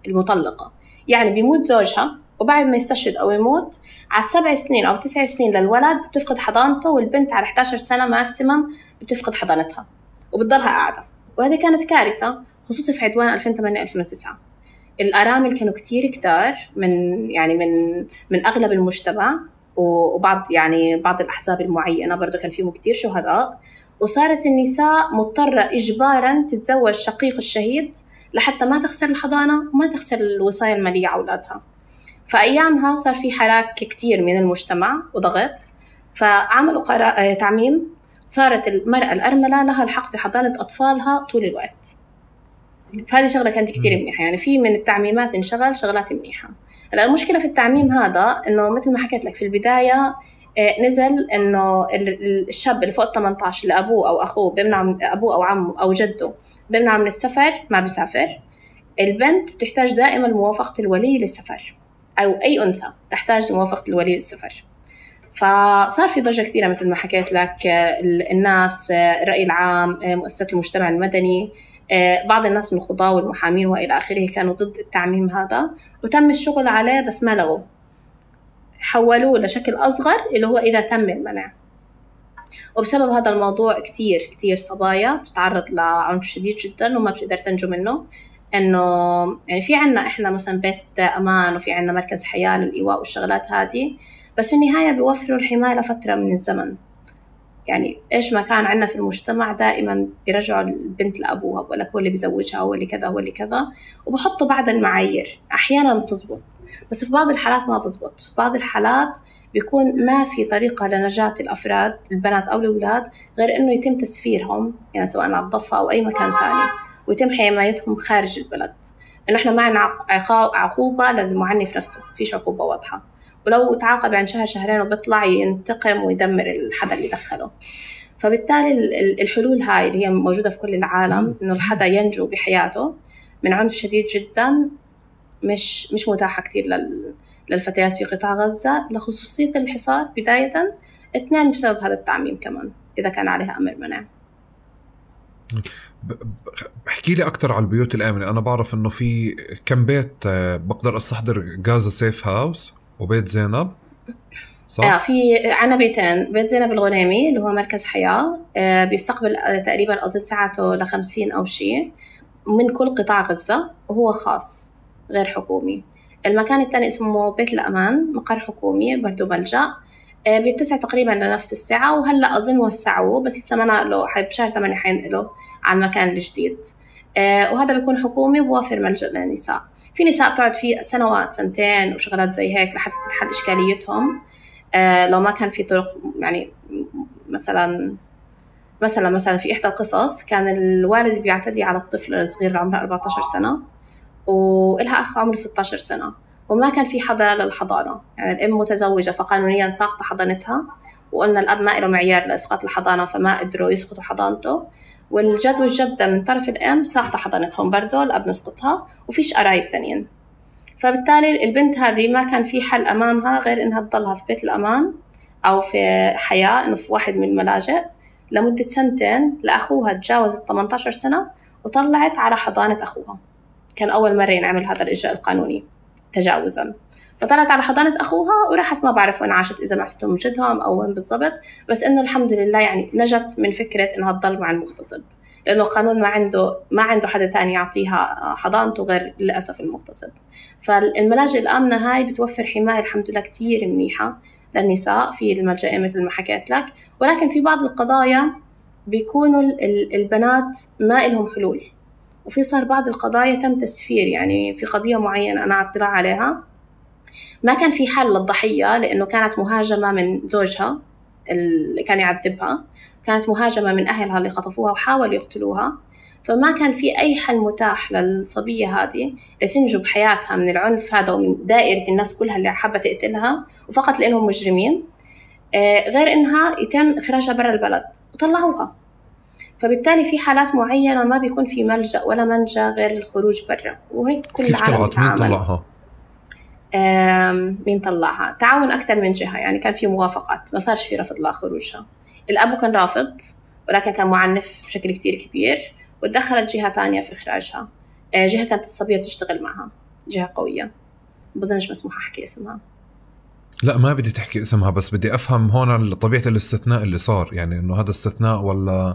المطلقة، يعني بيموت زوجها وبعد ما يستشهد أو يموت على سبع سنين أو تسع سنين للولد بتفقد حضانته، والبنت على إحدى عشرة سنة ماكسيمم بتفقد حضانتها وبتضلها قاعدة. وهذه كانت كارثة خصوصا في عدوان ألفين وثمانية ألفين وتسعة. الأرامل كانوا كتير كتار من يعني من من أغلب المجتمع، وبعض يعني بعض الأحزاب المعينة برضو كان فيهم كتير شهداء. وصارت النساء مضطرة إجباراً تتزوج شقيق الشهيد لحتى ما تخسر الحضانة وما تخسر الوصاية المالية على أولادها. فأيامها صار في حراك كتير من المجتمع وضغط، فعملوا قرار تعميم، صارت المرأة الأرملة لها الحق في حضانة أطفالها طول الوقت. فهذه شغلة كانت كتير منيحة. يعني في من التعميمات انشغل شغلات منيحة. هلا المشكلة في التعميم هذا إنه مثل ما حكيت لك في البداية، نزل إنه الشاب اللي فوق ثمانية عشر اللي أبوه أو أخوه بيمنع، أبوه أو عمه أو جده بيمنع من السفر، ما بيسافر. البنت بتحتاج دائما موافقة الولي للسفر، أو أي أنثى تحتاج لموافقة الولي للسفر. فصار في ضجة كثيرة مثل ما حكيت لك، الناس، الرأي العام، مؤسسات المجتمع المدني، بعض الناس من القضاة والمحامين وإلى آخره كانوا ضد التعميم هذا، وتم الشغل عليه بس ما لغوا، حولوه لشكل أصغر اللي هو إذا تم المنع. وبسبب هذا الموضوع كتير كتير صبايا بتتعرض لعنف شديد جدا وما بتقدر تنجو منه. إنه يعني في عنا إحنا مثلا بيت أمان، وفي عنا مركز حياة للإيواء والشغلات هذه، بس في النهاية بيوفروا الحماية لفترة من الزمن. يعني إيش ما كان عنا في المجتمع دائما بيرجعوا البنت لأبوها، بقول لك هو اللي بيزوجها، هو اللي كذا، هو اللي كذا، وبحطوا بعض المعايير. أحيانا بتزبط، بس في بعض الحالات ما بزبط. في بعض الحالات بيكون ما في طريقة لنجاة الأفراد البنات أو الأولاد غير إنه يتم تسفيرهم، يعني سواء على الضفة أو أي مكان تاني، ويتم حمايتهم خارج البلد. إنه إحنا معنا عقوبة للمعنف نفسه، فيش عقوبة واضحة، ولو تعاقب عن شهر شهرين وبيطلع ينتقم ويدمر الحدا اللي دخله. فبالتالي الحلول هاي اللي هي موجودة في كل العالم، إنه الحدا ينجو بحياته من عنف شديد جدا، مش مش متاحة كتير للفتيات في قطاع غزة، لخصوصية الحصار بداية، اثنين بسبب هذا التعميم كمان إذا كان عليها أمر منع. احكي لي أكتر على البيوت الآمنة. أنا بعرف إنه في كم بيت بقدر أستحضر، غازة سيف هاوس وبيت زينب، صح؟ آه في عنا بيتين، بيت زينب الغنيمي اللي هو مركز حياة، آه بيستقبل تقريبا أظن ساعته لخمسين أو شيء من كل قطاع غزة، وهو خاص غير حكومي. المكان الثاني اسمه بيت الأمان، مقر حكومي برضو ملجأ، آه بيتسع تقريبا لنفس الساعة، وهلأ أظن وسعوه بس لسه ما نقلوا، بشهر ثمانية حينقلوا على المكان الجديد. آه وهذا بيكون حكومي بوافر ملجأ للنساء. في نساء بتقعد فيه سنوات، سنتين وشغلات زي هيك لحتى تنحل إشكاليتهم. آه لو ما كان في طرق، يعني مثلا مثلا مثلا في إحدى القصص كان الوالد بيعتدي على الطفل الصغير اللي عمره أربعة عشر سنة، وإلها أخ عمره ستة عشر سنة، وما كان في حدا للحضانة. يعني الأم متزوجة فقانونيا ساقطة حضانتها، وقلنا الأب ما له معيار لإسقاط الحضانة فما قدروا يسقطوا حضانته، والجد والجدة من طرف الأم ساقطة حضانتهم برضو، الأب نسقطها، وفيش قرايب تانيين. فبالتالي البنت هذه ما كان في حل أمامها غير إنها تضلها في بيت الأمان أو في حياة، إنه في واحد من الملاجئ لمدة سنتين، لأخوها تجاوزت ثمانية عشر سنة وطلعت على حضانة أخوها. كان أول مرة ينعمل هذا الإجراء القانوني تجاوزا، فطلعت على حضانة أخوها وراحت، ما بعرف وين عاشت، إذا مع ستهم جدهم أو وين بالضبط، بس إنه الحمد لله يعني نجت من فكرة إنها تضل مع المغتصب، لأنه القانون ما عنده ما عنده حدا تاني يعطيها حضانته غير للأسف المغتصب. فالملاجئ الآمنة هاي بتوفر حماية الحمد لله كتير منيحة للنساء في الملجأ مثل ما حكيت لك. ولكن في بعض القضايا بيكونوا البنات ما إلهم حلول، وفي صار بعض القضايا تم تسفير. يعني في قضية معينة أنا اطلع عليها ما كان في حل للضحية، لأنه كانت مهاجمة من زوجها اللي كان يعذبها، كانت مهاجمة من أهلها اللي خطفوها وحاولوا يقتلوها، فما كان في أي حل متاح للصبية هذه لتنجو بحياتها من العنف هذا ومن دائرة الناس كلها اللي حابة تقتلها، وفقط لأنهم مجرمين، غير إنها يتم إخراجها برا البلد وطلعوها. فبالتالي في حالات معينة ما بيكون في ملجأ ولا منجا غير الخروج برا، وهيك كل كيف العالم طلعت؟ مين طلعها؟ مين طلعها؟ تعاون أكتر من جهة، يعني كان في موافقات، ما صارش في رفض لخروجها. الأب كان رافض ولكن كان معنف بشكل كتير كبير، وتدخلت جهة تانية في إخراجها. جهة كانت الصبية بتشتغل معها، جهة قوية بظنش مسموح أحكي اسمها. لا ما بدي تحكي اسمها، بس بدي أفهم هون طبيعة الاستثناء اللي صار، يعني إنه هذا استثناء ولا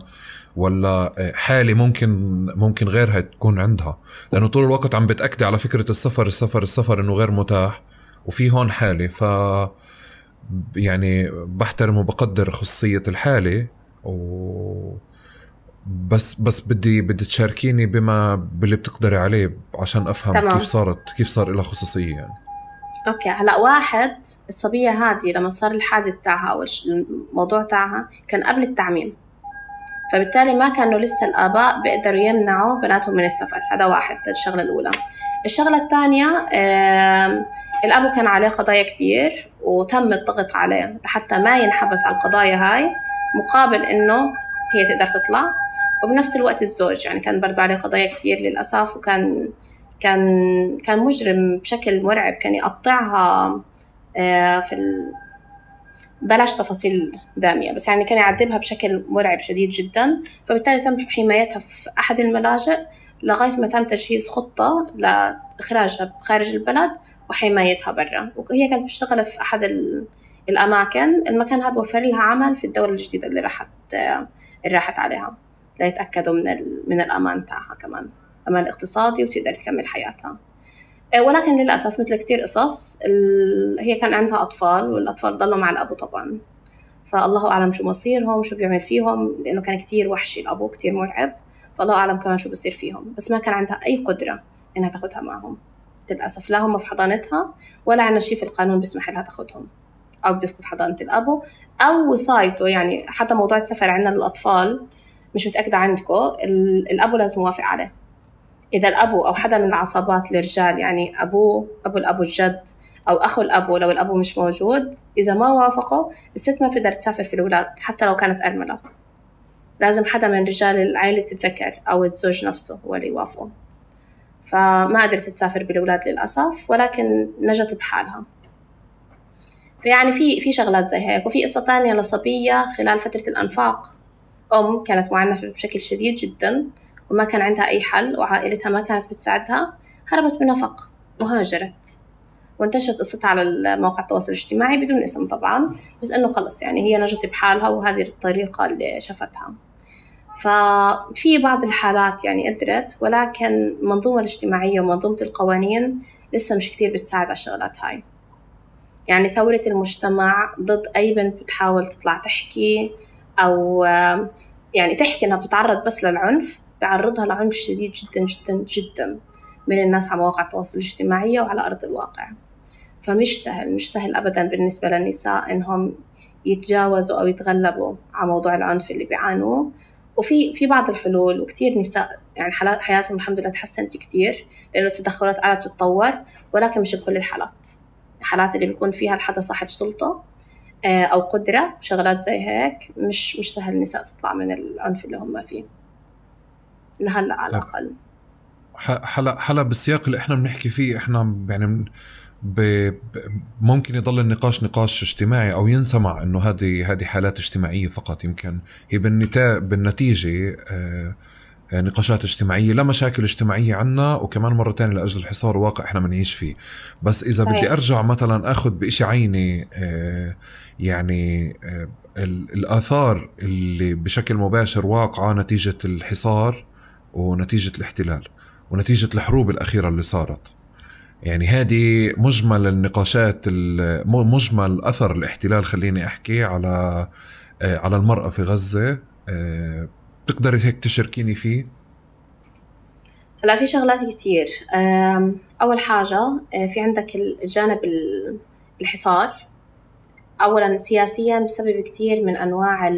ولا حالة ممكن ممكن غيرها تكون عندها، لأنه طول الوقت عم بتأكد على فكرة السفر السفر السفر إنه غير متاح، وفي هون حالة. ف يعني بحترم وبقدر خصوصية الحالة، و بس بس بدي بدي تشاركيني بما باللي بتقدري عليه عشان أفهم تمام. كيف صارت كيف صار لها خصوصية يعني. أوكي هلا واحد، الصبية هذه لما صار الحادث تاعها أو الموضوع تاعها كان قبل التعميم، فبالتالي ما كانوا لسه الآباء بيقدروا يمنعوا بناتهم من السفر. هذا واحد، الشغلة الأولى. الشغلة الثانية، الأب كان عليه قضايا كتير وتم الضغط عليه حتى ما ينحبس على القضايا هاي مقابل إنه هي تقدر تطلع. وبنفس الوقت الزوج يعني كان برضو عليه قضايا كتير للأسف، وكان كان كان مجرم بشكل مرعب، كان يقطعها في ال... بلاش تفاصيل دامية، بس يعني كان يعذبها بشكل مرعب شديد جدا. فبالتالي تم حمايتها في أحد الملاجئ لغاية ما تم تجهيز خطة لإخراجها خارج البلد وحمايتها برا. وهي كانت بتشتغل في أحد الأماكن، المكان هذا وفر لها عمل في الدولة الجديدة اللي راحت اللي راحت عليها ليتأكدوا من من الأمان تاعها، كمان أمان اقتصادي، وتقدر تكمل حياتها. ولكن للأسف مثل كتير قصص هي كان عندها أطفال، والأطفال ضلوا مع الأبو طبعا، فالله أعلم شو مصيرهم، شو بيعمل فيهم، لأنه كان كتير وحشي الأبو، كتير مرعب، فالله أعلم كمان شو بصير فيهم. بس ما كان عندها أي قدرة إنها تاخدها معهم للأسف، لا هم في حضانتها ولا عنا شيء في القانون بيسمح لها تاخدهم أو بيسقط حضانة الأبو أو وصايته. يعني حتى موضوع السفر عندنا للأطفال مش متأكدة عندكم، الأبو لازم يوافق عليه. إذا الأبو أو حدا من العصابات الرجال، يعني أبوه أبو الأبو الجد أو أخو الأبو لو الأبو مش موجود، إذا ما وافقوا الست ما بتقدر تسافر في الأولاد حتى لو كانت أرملة. لازم حدا من رجال عائلة الذكر أو الزوج نفسه هو اللي يوافقه. فما قدرت تسافر بالأولاد للأسف، ولكن نجت بحالها. فيعني في في شغلات زي هيك. وفي قصة تانية لصبية خلال فترة الأنفاق، أم كانت معنفة بشكل شديد جدا وما كان عندها أي حل، وعائلتها ما كانت بتساعدها، هربت بنفق وهاجرت، وانتشرت قصتها على مواقع التواصل الاجتماعي بدون اسم طبعا، بس إنه خلص يعني هي نجت بحالها وهذه الطريقة اللي شفتها. ففي بعض الحالات يعني قدرت، ولكن المنظومة الاجتماعية ومنظومة القوانين لسه مش كتير بتساعد على الشغلات هاي. يعني ثورة المجتمع ضد أي بنت بتحاول تطلع تحكي أو يعني تحكي إنها بتتعرض بس للعنف، بعرضها لعنف شديد جدا جدا جدا من الناس على مواقع التواصل الاجتماعي وعلى أرض الواقع. فمش سهل مش سهل أبدا بالنسبة للنساء إنهم يتجاوزوا أو يتغلبوا على موضوع العنف اللي بيعانوه. وفي في بعض الحلول، وكتير نساء يعني حالات حياتهم الحمد لله تحسنت كتير لأنه التدخلات قاعدة تتطور، ولكن مش بكل الحالات. الحالات اللي بيكون فيها الحدا صاحب سلطة أو قدرة شغلات زي هيك مش مش سهل النساء تطلع من العنف اللي هم فيه لهلا على الأقل. حلا حلا بالسياق اللي احنا بنحكي فيه، احنا يعني ب... ممكن يضل النقاش نقاش اجتماعي أو ينسمع إنه هذه هذه حالات اجتماعية فقط، يمكن هي بالنتاج بالنتيجة آه نقاشات اجتماعية لا مشاكل اجتماعية عنا، وكمان مرة تانية لأجل الحصار واقع احنا منعيش فيه. بس إذا صحيح. بدي أرجع مثلا أخذ بإشي عيني آه يعني آه الآثار اللي بشكل مباشر واقعة نتيجة الحصار ونتيجة الاحتلال ونتيجة الحروب الأخيرة اللي صارت. يعني هذه مجمل النقاشات، مجمل أثر الاحتلال خليني أحكي على على المرأة في غزة. تقدري هيك تشاركيني فيه؟ هلا في شغلات كتير. أول حاجة في عندك الجانب الحصار. أولا سياسيا بسبب كتير من أنواع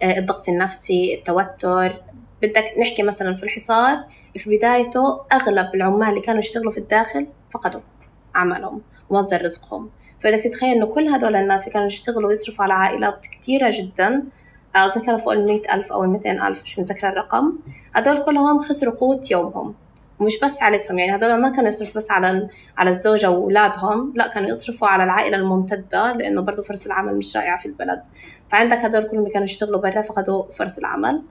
الضغط النفسي، التوتر. بدك نحكي مثلا في الحصار في بدايته أغلب العمال اللي كانوا يشتغلوا في الداخل فقدوا عملهم ومصدر رزقهم. فبدك تتخيل إنه كل هدول الناس اللي كانوا يشتغلوا ويصرفوا على عائلات كتيرة جدا، أظن كانوا فوق المئة ألف أو المئتين ألف، مش مذكرة الرقم، هدول كلهم خسروا قوت يومهم ومش بس عائلتهم، يعني هدول ما كانوا يصرفوا بس على على الزوجة وأولادهم، لا كانوا يصرفوا على العائلة الممتدة، لأنه برضو فرص العمل مش رائعة في البلد. فعندك هدول كلهم كانوا يشتغلوا برا فقدوا فرص العمل.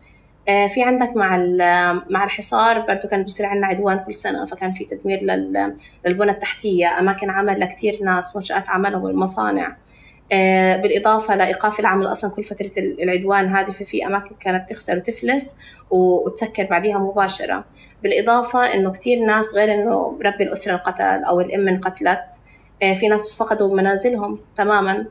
آه في عندك مع مع الحصار برضو كان بيصير عندنا عدوان كل سنة، فكان في تدمير للبنى التحتية، أماكن عمل لكتير ناس، منشآت عملهم والمصانع. آه بالإضافة لإيقاف العمل أصلا كل فترة العدوان هذه، ففي أماكن كانت تخسر وتفلس وتسكر بعديها مباشرة. بالإضافة إنه كتير ناس غير إنه ربي الأسرة انقتل أو الأم انقتلت، آه في ناس فقدوا منازلهم تماما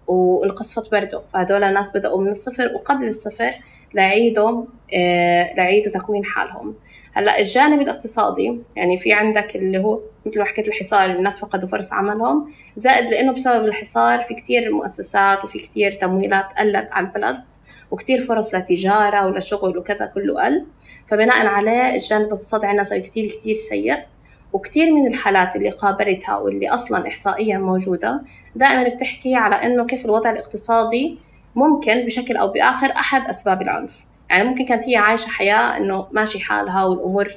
وانقصفت برضه، فهدول الناس بدأوا من الصفر وقبل الصفر لعيدوا آه لعيدوا تكوين حالهم. هلا الجانب الاقتصادي يعني في عندك اللي هو مثل ما حكيت الحصار، الناس فقدوا فرص عملهم، زائد لأنه بسبب الحصار في كتير مؤسسات وفي كتير تمويلات قلت على البلد، وكتير فرص لتجارة ولشغل وكذا كله قل. فبناء عليه الجانب الاقتصادي عندنا صار كتير كتير سيء. وكتير من الحالات اللي قابلتها واللي أصلا إحصائيا موجودة دائما بتحكي على إنه كيف الوضع الاقتصادي ممكن بشكل أو بآخر أحد أسباب العنف. يعني ممكن كانت هي عايشة حياة إنه ماشي حالها والأمور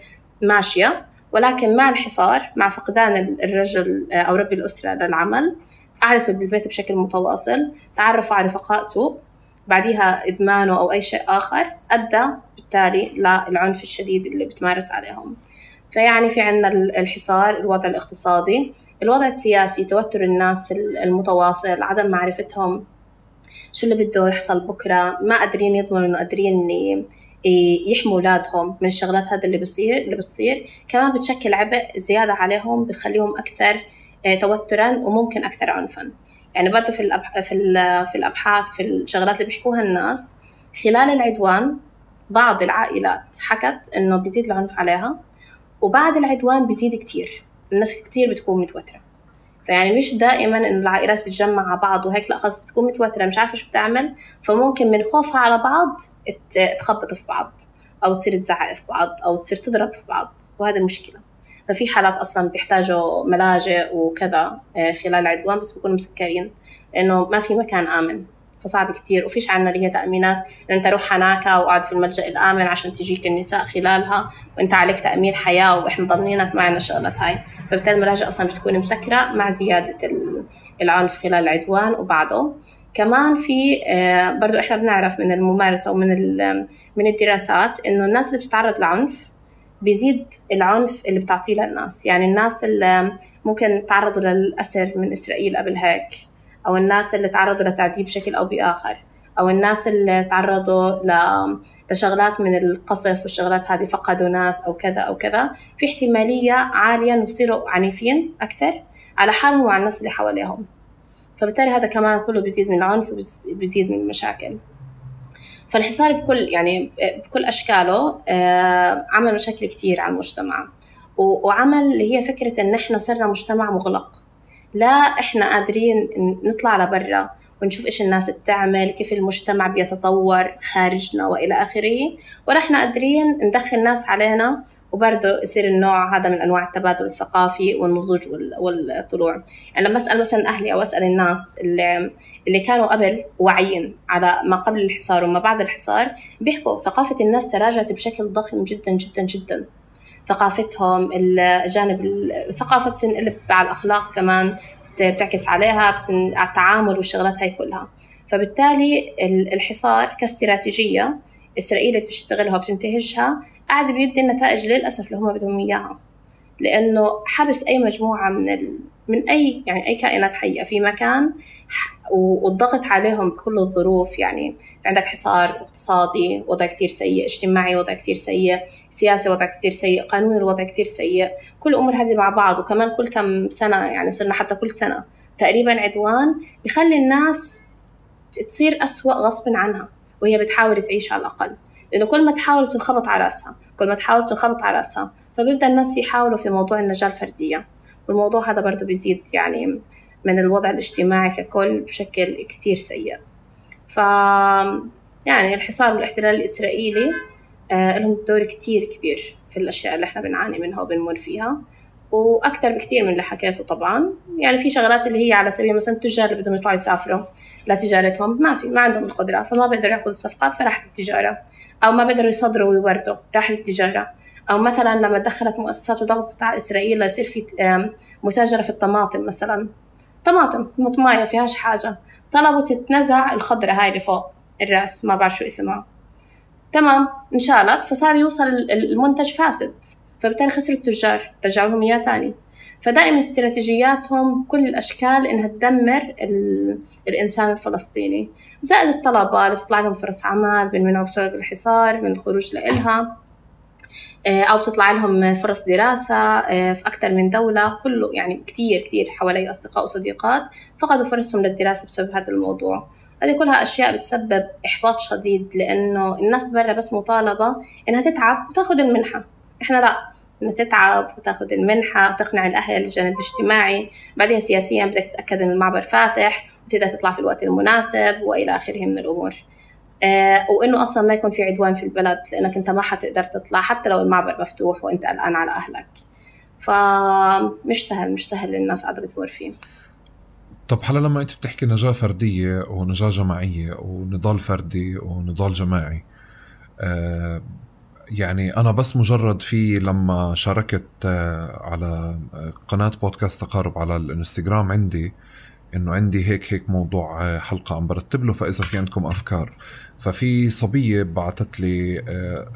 ماشية، ولكن مع الحصار، مع فقدان الرجل أو رب الأسرة للعمل، قعدتوا بالبيت بشكل متواصل، تعرفوا على رفقاء سوء، بعديها إدمانه أو أي شيء آخر أدى بالتالي للعنف الشديد اللي بتمارس عليهم. فيعني في عنا الحصار، الوضع الاقتصادي، الوضع السياسي، توتر الناس المتواصل، عدم معرفتهم شو اللي بده يحصل بكرة، ما قادرين يضمنوا إنه قادرين يحموا أولادهم من الشغلات هذا اللي بصير اللي بتصير كمان بتشكل عبء زيادة عليهم، بخليهم أكثر توتراً وممكن أكثر عنفاً. يعني برضو في الأبح... في في الأبحاث في الشغلات اللي بيحكوها الناس خلال العدوان، بعض العائلات حكت إنه بيزيد العنف عليها، وبعد العدوان بيزيد كتير، الناس كتير بتكون متوترة. فيعني مش دائما إن العائلات تتجمع مع بعض وهيك، لا خلاص تكون متوترة مش عارفة شو بتعمل، فممكن من خوفها على بعض تخبط في بعض أو تصير تزعق في بعض أو تصير تضرب في بعض، وهذا المشكلة. ففي حالات أصلا بيحتاجوا ملاجئ وكذا خلال العدوان، بس بيكونوا مسكرين لأنه ما في مكان آمن، فصعب كتير. وفيش عنا اللي هي تأمينات إن أنت روح هناك وقعد في الملجأ الآمن عشان تجيك النساء خلالها وأنت عليك تأمين حياة وإحنا ضمنينك معنا الشغلات هاي. فبالتالي الملاجئ أصلا بتكون مسكرة مع زيادة العنف خلال العدوان وبعده. كمان في برضو إحنا بنعرف من الممارسة ومن من الدراسات إنه الناس اللي بتتعرض لعنف بيزيد العنف اللي بتعطيه للناس. يعني الناس اللي ممكن تعرضوا للأسر من إسرائيل قبل هيك، أو الناس اللي تعرضوا لتعذيب بشكل أو بآخر، أو الناس اللي تعرضوا لشغلات من القصف والشغلات هذه، فقدوا ناس أو كذا أو كذا، في احتمالية عالية إنه يصيروا عنيفين أكثر على حالهم وعلى الناس اللي حواليهم. فبالتالي هذا كمان كله بيزيد من العنف وبيزيد من المشاكل. فالحصار بكل يعني بكل أشكاله عمل مشاكل كتير على المجتمع، وعمل اللي هي فكرة إن إحنا صرنا مجتمع مغلق، لا إحنا قادرين نطلع لبرا ونشوف إيش الناس بتعمل، كيف المجتمع بيتطور خارجنا وإلى آخره، ولا إحنا قادرين ندخل ناس علينا وبرضه يصير النوع هذا من أنواع التبادل الثقافي والنضوج والطلوع. يعني لما أسأل مثلا أهلي أو أسأل الناس اللي اللي كانوا قبل واعيين على ما قبل الحصار وما بعد الحصار، بيحكوا ثقافة الناس تراجعت بشكل ضخم جدا جدا جدا. ثقافتهم، الجانب الثقافة بتنقلب على الأخلاق كمان، بتعكس عليها على التعامل والشغلات هاي كلها. فبالتالي الحصار كاستراتيجية إسرائيل بتشتغلها وبتنتهجها قاعد بيدي النتائج للأسف اللي هم بدهم إياها، لأنه حبس أي مجموعة من ال... من أي يعني أي كائنات حية في مكان والضغط عليهم بكل الظروف. يعني عندك حصار اقتصادي، وضع كتير سيء، اجتماعي وضع كتير سيء، سياسي وضع كتير سيء، قانون الوضع كتير سيء، كل أمور هذه مع بعض. وكمان كل كم سنة يعني صرنا حتى كل سنة تقريبا عدوان بيخلي الناس تصير أسوأ غصب عنها وهي بتحاول تعيش على الأقل، لأنه كل ما تحاول بتنخبط على رأسها، كل ما تحاول بتنخبط على رأسها، فبيبدأ الناس يحاولوا في موضوع النجاة الفردية. والموضوع هذا برضو بيزيد يعني من الوضع الاجتماعي ككل بشكل كتير سيء. ف يعني الحصار والاحتلال الإسرائيلي آه لهم دور كتير كبير في الأشياء اللي احنا بنعاني منها وبنمر فيها، وأكثر بكتير من اللي حكيته طبعا. يعني في شغلات اللي هي على سبيل مثلا التجار اللي بدهم يطلعوا يسافروا لتجارتهم، ما في ما عندهم القدرة، فما بيقدروا يأخذوا الصفقات، فراحت التجارة، أو ما بيقدروا يصدروا ويوردوا، راحت التجارة، أو مثلا لما دخلت مؤسسات وضغطت على إسرائيل ليصير في متاجرة في الطماطم مثلا، طماطم مطماية فيهاش حاجة، طلبوا تتنزع الخضرة هاي اللي فوق الرأس ما بعرف شو اسمها، تمام انشالت، فصار يوصل المنتج فاسد، فبالتالي خسروا التجار، رجعوا لهم إياه تاني. فدائما استراتيجياتهم كل الأشكال إنها تدمر الإنسان الفلسطيني، زائد الطلبة اللي بتطلع لهم فرص عمل بينمنعوا بسبب الحصار من الخروج لإلها، أو بتطلع لهم فرص دراسة في أكثر من دولة. كله يعني كتير كتير حوالي أصدقاء وصديقات فقدوا فرصهم للدراسة بسبب هذا الموضوع. هذه كلها أشياء بتسبب إحباط شديد، لأنه الناس برا بس مطالبة إنها تتعب وتاخد المنحة، إحنا لا، إنها تتعب وتاخد المنحة وتقنع الأهل الجانب الاجتماعي، بعدها سياسيا بدك تتأكد إن المعبر فاتح وتقدر تطلع في الوقت المناسب وإلى آخره من الأمور. آه وإنه أصلا ما يكون في عدوان في البلد، لأنك أنت ما حتقدر تطلع حتى لو المعبر مفتوح وأنت قلقان على أهلك. فمش سهل مش سهل للناس قاعدة بتمر فيه. طب هلا لما أنت بتحكي نجاة فردية ونجاة جماعية ونضال فردي ونضال جماعي، آه يعني أنا بس مجرد في لما شاركت آه على قناة بودكاست تقارب على الانستغرام عندي إنه عندي هيك هيك موضوع حلقة عم برتب له، فإذا في عندكم أفكار، ففي صبية بعتت لي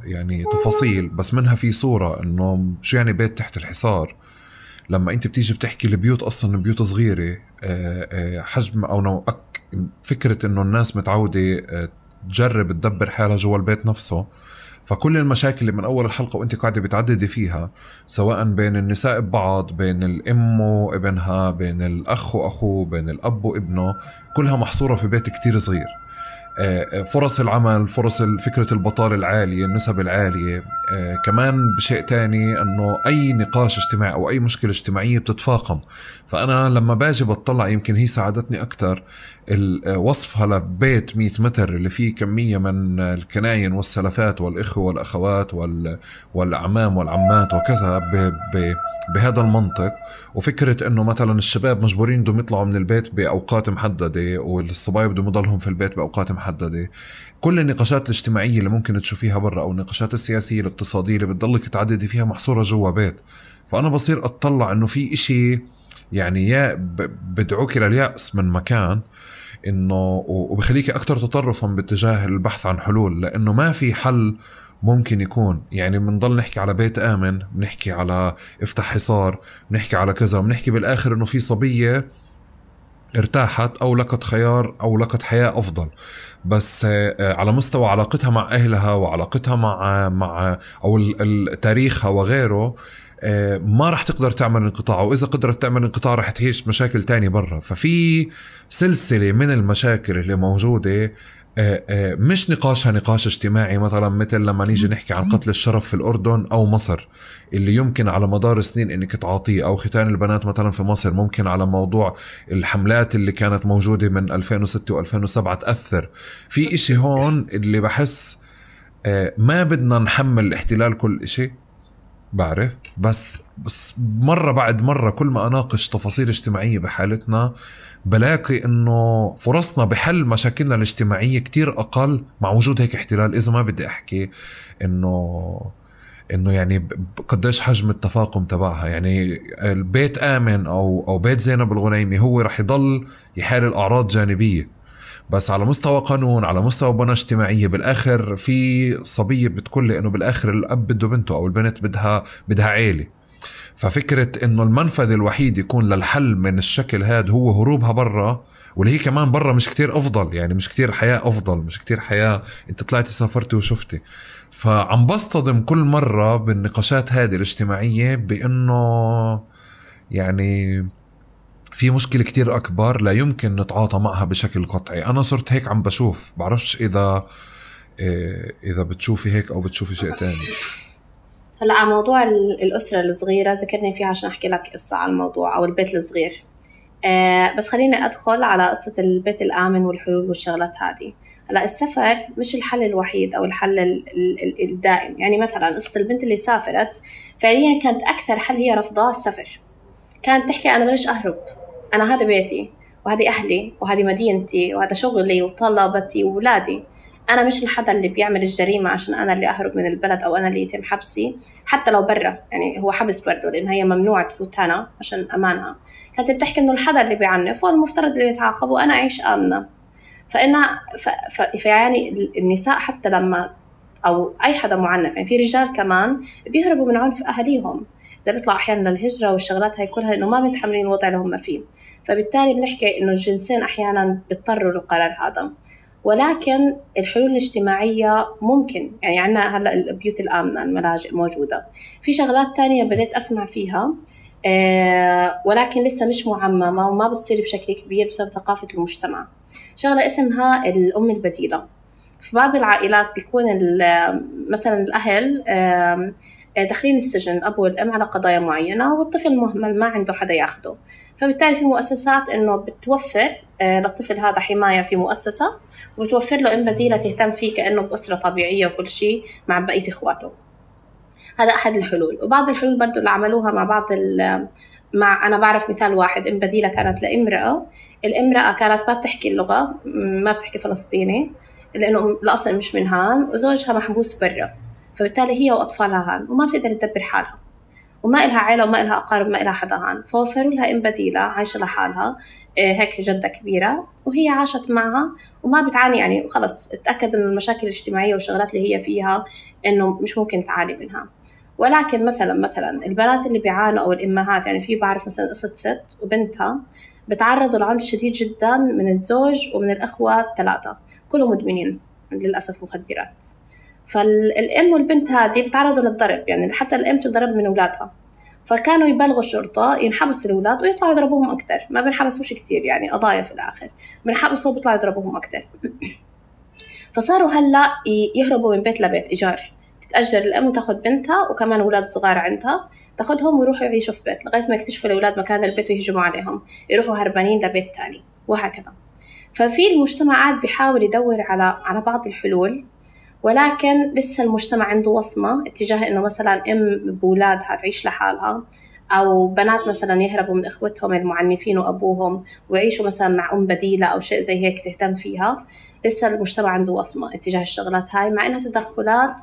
يعني تفاصيل، بس منها في صورة إنه شو يعني بيت تحت الحصار. لما أنت بتيجي بتحكي البيوت أصلا بيوت صغيرة حجم أو نوع، فكرة إنه الناس متعودة تجرب تدبر حالها جوا البيت نفسه، فكل المشاكل اللي من أول الحلقة وأنت قاعدة بتعددي فيها، سواء بين النساء ببعض، بين الأم وابنها، بين الأخ وأخوه، بين الأب وابنه، كلها محصورة في بيت كتير صغير. فرص العمل، فرص فكرة البطالة العالية، النسب العالية، كمان بشيء تاني أنه أي نقاش اجتماعي أو أي مشكلة اجتماعية بتتفاقم. فأنا لما باجي بطلع، يمكن هي ساعدتني أكتر وصفها لبيت مئة متر اللي فيه كمية من الكناين والسلفات والإخوة والأخوات والأعمام والعمات وكذا ب ب بهذا المنطق. وفكرة انه مثلا الشباب مجبورين بدهم يطلعوا من البيت بأوقات محددة والصبايا بدهم يضلهم في البيت بأوقات محددة. كل النقاشات الاجتماعية اللي ممكن تشوفيها برا او النقاشات السياسية الاقتصادية اللي بتضلك تعددي فيها محصورة جوا بيت. فأنا بصير أطلع انه في اشي يعني يا بدعوك لليأس من مكان، انه وبخليك اكتر تطرفا باتجاه البحث عن حلول، لانه ما في حل ممكن يكون. يعني بنضل نحكي على بيت آمن، بنحكي على افتح حصار، بنحكي على كذا، بنحكي بالآخر إنه في صبية ارتاحت أو لقت خيار أو لقت حياة أفضل، بس على مستوى علاقتها مع أهلها وعلاقتها مع مع أو تاريخها وغيره ما رح تقدر تعمل انقطاع، وإذا قدرت تعمل انقطاع رح تعيش مشاكل تاني برا. ففي سلسلة من المشاكل اللي موجودة، مش نقاشها نقاش اجتماعي مثلا مثل لما نيجي نحكي عن قتل الشرف في الأردن أو مصر اللي يمكن على مدار السنين إنك تعاطيه، أو ختان البنات مثلا في مصر، ممكن على موضوع الحملات اللي كانت موجودة من ألفين وستة وألفين وسبعة تأثر. في إشي هون اللي بحس ما بدنا نحمل الاحتلال كل إشي، بعرف، بس بس مرة بعد مرة كل ما أناقش تفاصيل اجتماعية بحالتنا بلاقي إنه فرصنا بحل مشاكلنا الاجتماعية كتير أقل مع وجود هيك احتلال. إذا ما بدي أحكي إنه إنه يعني قديش حجم التفاقم تبعها. يعني البيت آمن أو أو بيت زينب الغنيمي هو رح يضل يحال الأعراض جانبية، بس على مستوى قانون، على مستوى بنى اجتماعية، بالآخر في صبية بتقول لي إنه بالآخر الأب بده بنته أو البنت بدها بدها عيلة. ففكرة إنه المنفذ الوحيد يكون للحل من الشكل هاد هو هروبها برا، واللي هي كمان برا مش كتير أفضل، يعني مش كتير حياة أفضل، مش كتير حياة أنت طلعتي سافرتي وشفتي. فعم بصطدم كل مرة بالنقاشات هذه الاجتماعية بإنه يعني في مشكلة كتير أكبر لا يمكن نتعاطى معها بشكل قطعي. أنا صرت هيك عم بشوف، بعرفش إذا إذا بتشوفي هيك أو بتشوفي شيء تاني. هلا على موضوع الأسرة الصغيرة ذكرني فيها عشان أحكي لك قصة على الموضوع أو البيت الصغير. أه بس خليني أدخل على قصة البيت الآمن والحلول والشغلات هذه. هلا السفر مش الحل الوحيد أو الحل الدائم. يعني مثلا قصة البنت اللي سافرت فعليا كانت أكثر حل هي رفضها السفر. كانت تحكي أنا ليش أهرب، أنا هذا بيتي وهذه أهلي وهذه مدينتي وهذا شغلي وطلبتي وولادي. أنا مش الحدا اللي بيعمل الجريمة عشان أنا اللي أهرب من البلد أو أنا اللي يتم حبسي، حتى لو برا يعني هو حبس برضه لأن هي ممنوع تفوت هنا عشان أمانها. كانت بتحكي إنه الحدا اللي بيعنف هو المفترض اللي يتعاقب وأنا أعيش آمنة. فإنها ف... ف... فيعني النساء حتى لما أو أي حدا معنف، يعني في رجال كمان بيهربوا من عنف أهاليهم، اللي بيطلعوا أحيانا للهجرة والشغلات هاي كلها إنه ما متحملين الوضع اللي هم فيه. فبالتالي بنحكي إنه الجنسين أحيانا بيضطروا للقرار هذا. ولكن الحلول الاجتماعية ممكن، يعني عنا هلأ البيوت الآمنة، الملاجئ موجودة، في شغلات تانية بديت أسمع فيها آه ولكن لسه مش معممة وما بتصير بشكل كبير بسبب ثقافة المجتمع. شغلة اسمها الأم البديلة. في بعض العائلات بيكون مثلا الأهل آه داخلين السجن الأب والأم على قضايا معينة والطفل مهمل ما عنده حدا ياخده، فبالتالي في مؤسسات إنه بتوفر للطفل هذا حماية في مؤسسة وبتوفر له أم بديلة تهتم فيه كأنه بأسرة طبيعية وكل شيء مع بقية إخواته. هذا أحد الحلول. وبعض الحلول برضو اللي عملوها مع بعض مع أنا بعرف مثال واحد، أم بديلة كانت لامرأة، الامرأة كانت ما بتحكي اللغة، ما بتحكي فلسطيني لأنه الأصل مش من هان، وزوجها محبوس برا، فبالتالي هي وأطفالها هان وما بتقدر تدبر حالها وما إلها عائلة وما إلها أقارب ما إلها حدا هان، فوفروا لها أم بديلة عايشة لحالها هيك جدة كبيرة وهي عاشت معها وما بتعاني، يعني خلص اتأكد إنه المشاكل الاجتماعية والشغلات اللي هي فيها إنه مش ممكن تعاني منها. ولكن مثلا مثلا البنات اللي بيعانوا أو الأمهات، يعني في بعرف مثلا قصة ست وبنتها بتعرضوا لعنف شديد جدا من الزوج ومن الأخوة الثلاثة كلهم مدمنين للأسف مخدرات. فالأم والبنت هذه بتعرضوا للضرب، يعني حتى الأم تضرب من أولادها، فكانوا يبلغوا الشرطة ينحبسوا الأولاد ويطلعوا يضربوهم أكتر، ما بنحبسوش كتير يعني قضايا في الآخر، بنحبسوا وبيطلعوا يضربوهم أكتر. فصاروا هلأ يهربوا من بيت لبيت إيجار، تتأجر الأم وتاخد بنتها وكمان أولاد صغار عندها تاخدهم ويروحوا يعيشوا في بيت لغاية ما يكتشفوا الأولاد مكان البيت ويهجموا عليهم، يروحوا هربانين لبيت تاني وهكذا. ففي المجتمع قاعد بيحاول يدور على على بعض الحلول، ولكن لسه المجتمع عنده وصمة اتجاه إنه مثلا أم بولادها تعيش لحالها، أو بنات مثلا يهربوا من إخوتهم المعنفين وأبوهم ويعيشوا مثلا مع أم بديلة أو شيء زي هيك تهتم فيها. لسه المجتمع عنده وصمة اتجاه الشغلات هاي، مع إنها تدخلات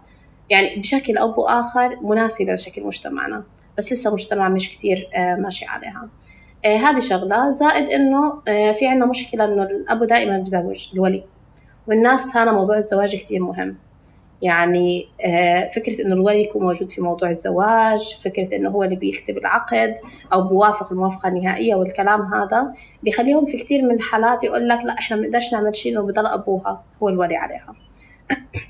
يعني بشكل أو بآخر مناسبة لشكل مجتمعنا، بس لسه مجتمع مش كتير ماشي عليها. هذه شغلة، زائد إنه في عنا مشكلة إنه الأب دائما بزوج الولي، والناس هنا موضوع الزواج كتير مهم. يعني فكرة إنه الولي يكون موجود في موضوع الزواج، فكرة إنه هو اللي بيكتب العقد أو بوافق الموافقة النهائية والكلام هذا بيخليهم في كتير من الحالات يقول لك لا إحنا بنقدرش نعمل شيء إنه بضل أبوها هو الولي عليها.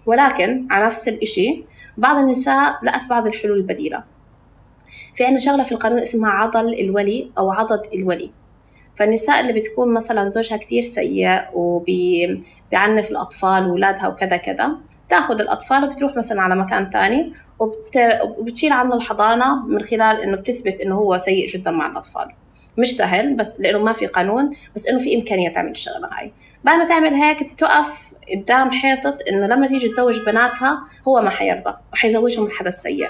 ولكن على نفس الإشي بعض النساء لقت بعض الحلول البديلة. في عنا شغلة في القانون اسمها عضل الولي أو عضد الولي. فالنساء اللي بتكون مثلا زوجها كتير سيء وبيعنف الأطفال وولادها وكذا كذا، تاخد الأطفال وبتروح مثلا على مكان تاني وبت... وبتشيل عنه الحضانة من خلال إنه بتثبت إنه هو سيء جدا مع الأطفال. مش سهل بس لأنه ما في قانون، بس إنه في إمكانية تعمل الشغلة هاي. بعد ما تعمل هيك بتقف قدام حيطة إنه لما تيجي تزوج بناتها هو ما حيرضى وحيزوجهم الحدا السيء.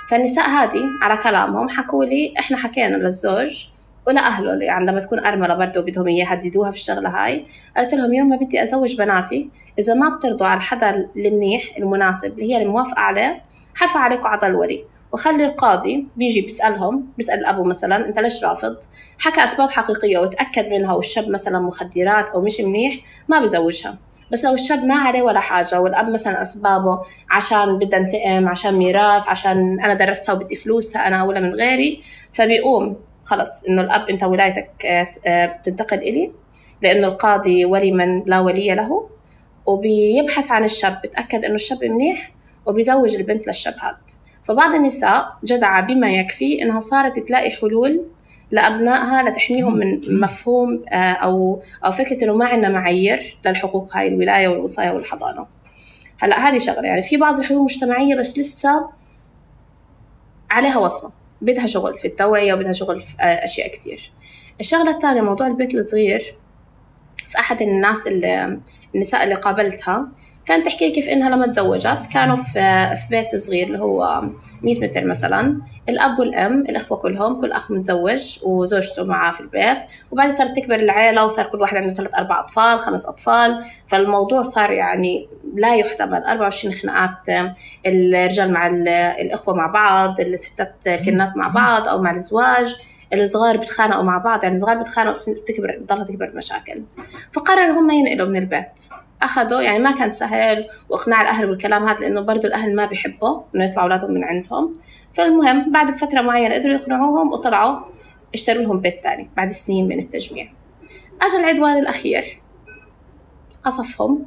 فالنساء هذه على كلامهم حكوا لي إحنا حكينا للزوج ولا أهله، يعني لما تكون أرملة برضه بدهم يهددوها في الشغلة هاي، قالت لهم يوم ما بدي أزوج بناتي إذا ما بترضوا على الحدا المنيح المناسب اللي هي الموافقة عليه حرفع عليكم عضل الولي، وخلي القاضي بيجي بيسألهم، بيسأل الأبو مثلا أنت ليش رافض، حكى أسباب حقيقية وتأكد منها والشاب مثلا مخدرات أو مش منيح ما بزوجها. بس لو الشاب ما عليه ولا حاجة والأب مثلا أسبابه عشان بدها انتقام، عشان ميراث، عشان أنا درستها وبدي فلوسها أنا ولا من غيري، فبيقوم خلص إنه الأب أنت ولايتك بتنتقل إلي لأنه القاضي ولي من لا ولي له، وبيبحث عن الشاب بتأكد إنه الشاب منيح وبيزوج البنت للشاب هذا. فبعض النساء جدعة بما يكفي إنها صارت تلاقي حلول لأبنائها لتحميهم من مفهوم أو أو فكرة إنه ما عندنا معايير للحقوق هاي الولاية والوصاية والحضانة. هلا هذه شغلة، يعني في بعض الحلول مجتمعية بس لسه عليها وصمة، بدها شغل في التوعية وبدها شغل في أشياء كتير. الشغلة الثانية موضوع البيت الصغير. في أحد الناس اللي النساء اللي قابلتها كانت تحكي لي كيف إنها لما تزوجت كانوا في في بيت صغير اللي هو مية متر مثلا، الأب والأم الأخوة كلهم، كل أخ متزوج وزوجته معاه في البيت، وبعدين صارت تكبر العائلة وصار كل واحد عنده ثلاث أربع أطفال خمس أطفال، فالموضوع صار يعني لا يحتمل. أربعة وعشرين خناقات، الرجال مع الأخوة مع بعض، الستات كنات مع بعض أو مع الزواج، الصغار بتخانقوا مع بعض، يعني الصغار بتخانقوا بتكبر بتضلها تكبر المشاكل. فقرروا هم ينقلوا من البيت، أخذوا يعني ما كان سهل وإقناع الأهل بالكلام هذا لأنه برضو الأهل ما بيحبوا إنه يطلعوا أولادهم من عندهم. فالمهم بعد فترة معينة قدروا يقنعوهم وطلعوا اشتروا لهم بيت تاني بعد سنين من التجميع. أجل العدوان الأخير قصفهم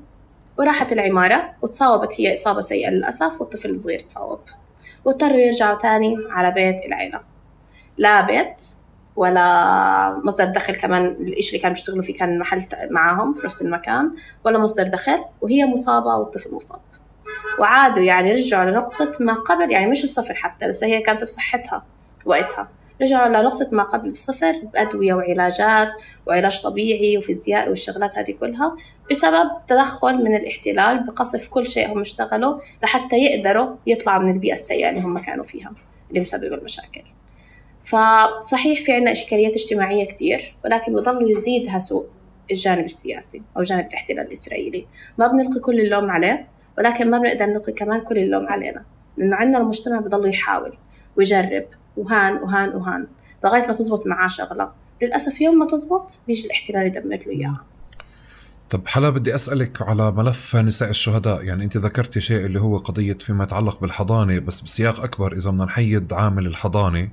وراحت العمارة وتصاوبت هي إصابة سيئة للأسف، والطفل الصغير تصاوب واضطروا يرجعوا تاني على بيت العيلة. لا بيت ولا مصدر دخل، كمان الإشي اللي كانوا بيشتغلوا فيه كان محل معاهم في نفس المكان، ولا مصدر دخل، وهي مصابة والطفل مصاب. وعادوا يعني رجعوا لنقطة ما قبل، يعني مش الصفر حتى، لسه هي كانت بصحتها وقتها، رجعوا لنقطة ما قبل الصفر بأدوية وعلاجات وعلاج طبيعي وفيزيائي والشغلات هذه كلها، بسبب تدخل من الاحتلال بقصف كل شيء هم اشتغلوا لحتى يقدروا يطلعوا من البيئة السيئة اللي هم كانوا فيها اللي مسببوا المشاكل. فصحيح في عنا إشكاليات اجتماعية كتير، ولكن بضلوا يزيدها سوء الجانب السياسي أو جانب الاحتلال الإسرائيلي. ما بنلقي كل اللوم عليه، ولكن ما بنقدر نلقي كمان كل اللوم علينا، لأنه عندنا المجتمع بضلوا يحاول ويجرب وهان وهان وهان لغاية ما تزبط معاه شغلة. للأسف يوم ما تزبط بيجي الاحتلال يدمر له إياها. طب حلا بدي أسألك على ملف نساء الشهداء، يعني أنت ذكرتي شيء اللي هو قضية فيما يتعلق بالحضانة، بس بسياق أكبر إذا بدنا نحيد عامل الحضانة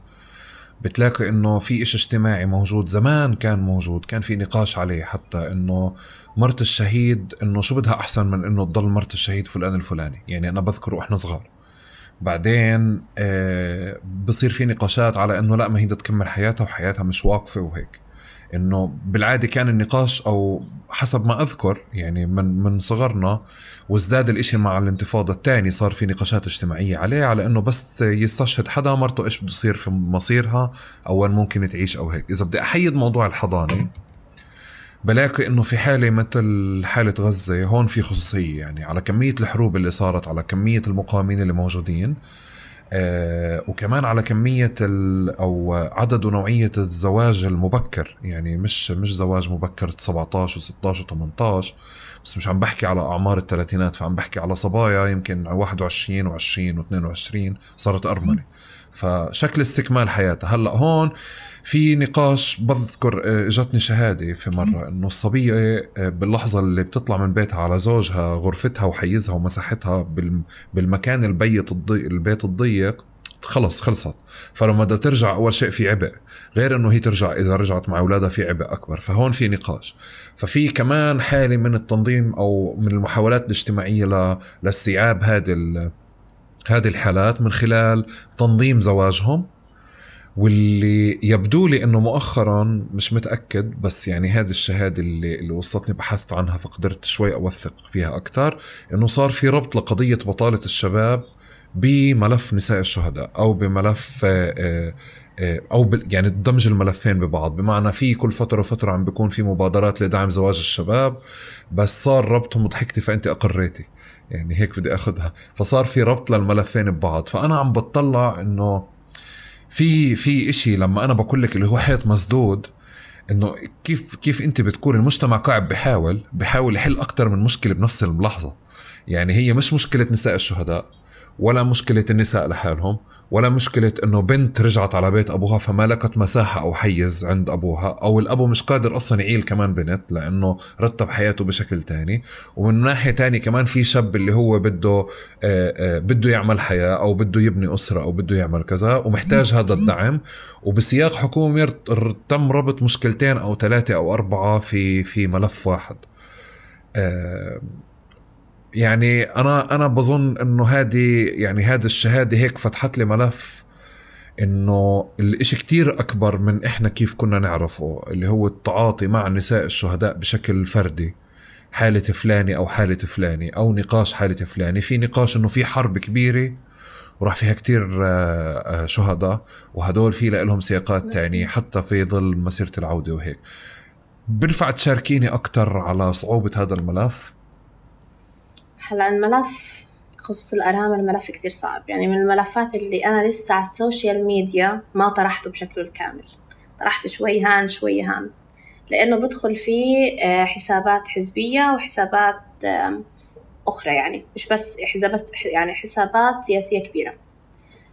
بتلاقي إنه في إشي اجتماعي موجود زمان، كان موجود، كان في نقاش عليه حتى إنه مرت الشهيد إنه شو بدها أحسن من إنه تضل مرت الشهيد فلان الفلاني. يعني أنا بذكر وإحنا صغار، بعدين آه بصير في نقاشات على إنه لا ما هي بدها تكمل حياتها وحياتها مش واقفة وهيك. إنه بالعادة كان النقاش أو حسب ما أذكر يعني من من صغرنا، وازداد الإشي مع الانتفاضة الثانية صار في نقاشات اجتماعية عليه، على إنه بس يستشهد حدا مرته إيش بده يصير في مصيرها أو وين ممكن تعيش أو هيك. إذا بدي أحيد موضوع الحضانة بلاقي إنه في حالة مثل حالة غزة هون في خصوصية، يعني على كمية الحروب اللي صارت، على كمية المقاومين اللي موجودين، آه وكمان على كمية أو عدد ونوعية الزواج المبكر. يعني مش مش زواج مبكر سبعتاشر وستاشر وثمانتاشر، بس مش عم بحكي على أعمار الثلاثينات، فعم بحكي على صبايا يمكن واحد وعشرين وعشرين واثنين وعشرين صارت أرملة، فشكل استكمال حياتها. هلأ هون في نقاش، بذكر اجتني شهادة في مرة انه الصبية باللحظة اللي بتطلع من بيتها على زوجها غرفتها وحيزها ومساحتها بالمكان البيت الضيق البيت الضيق خلص خلصت. فلما بدها ترجع اول شيء في عبء، غير انه هي ترجع اذا رجعت مع اولادها في عبء اكبر. فهون في نقاش، ففي كمان حالة من التنظيم او من المحاولات الاجتماعية لاستيعاب هذه هذه الحالات من خلال تنظيم زواجهم. واللي يبدو لي انه مؤخرا مش متأكد، بس يعني هذه الشهادة اللي, اللي وصلتني بحثت عنها فقدرت شوي اوثق فيها اكتر، انه صار في ربط لقضية بطالة الشباب بملف نساء الشهداء او بملف او يعني دمج الملفين ببعض. بمعنى في كل فترة وفترة عم بيكون في مبادرات لدعم زواج الشباب، بس صار ربطهم، وضحكتي فانت اقريتي يعني هيك بدي اخذها، فصار في ربط للملفين ببعض. فانا عم بتطلع انه في في اشي لما انا بقول لك اللي هو حيط مسدود، انه كيف كيف انت بتكون المجتمع قاعد بحاول بحاول يحل اكتر من مشكلة بنفس اللحظة. يعني هي مش مشكلة نساء الشهداء، ولا مشكلة النساء لحالهم، ولا مشكلة انه بنت رجعت على بيت ابوها فما لقت مساحة او حيز عند ابوها، او الابو مش قادر اصلا يعيل كمان بنت لانه رتب حياته بشكل تاني. ومن ناحية تاني كمان في شاب اللي هو بده آآ آآ بده يعمل حياة او بده يبني اسرة او بده يعمل كذا ومحتاج هذا الدعم، وبسياق حكومي تم ربط مشكلتين او ثلاثة او اربعة في في ملف واحد. يعني أنا أنا بظن إنه هذه يعني هذه الشهادة هيك فتحت لي ملف إنه الإشي كتير أكبر من إحنا كيف كنا نعرفه، اللي هو التعاطي مع نساء الشهداء بشكل فردي، حالة فلاني أو حالة فلاني أو نقاش حالة فلاني. في نقاش إنه في حرب كبيرة وراح فيها كتير شهداء، وهدول في لهم سياقات تانية حتى في ظل مسيرة العودة وهيك. بنفع تشاركيني أكتر على صعوبة هذا الملف؟ هلا الملف خصوص الأرامل ملف كتير صعب، يعني من الملفات اللي أنا لسه على السوشيال ميديا ما طرحته بشكله الكامل، طرحت شوي هان شوي هان، لأنه بدخل فيه حسابات حزبية وحسابات أخرى، يعني مش بس حسابات، يعني حسابات سياسية كبيرة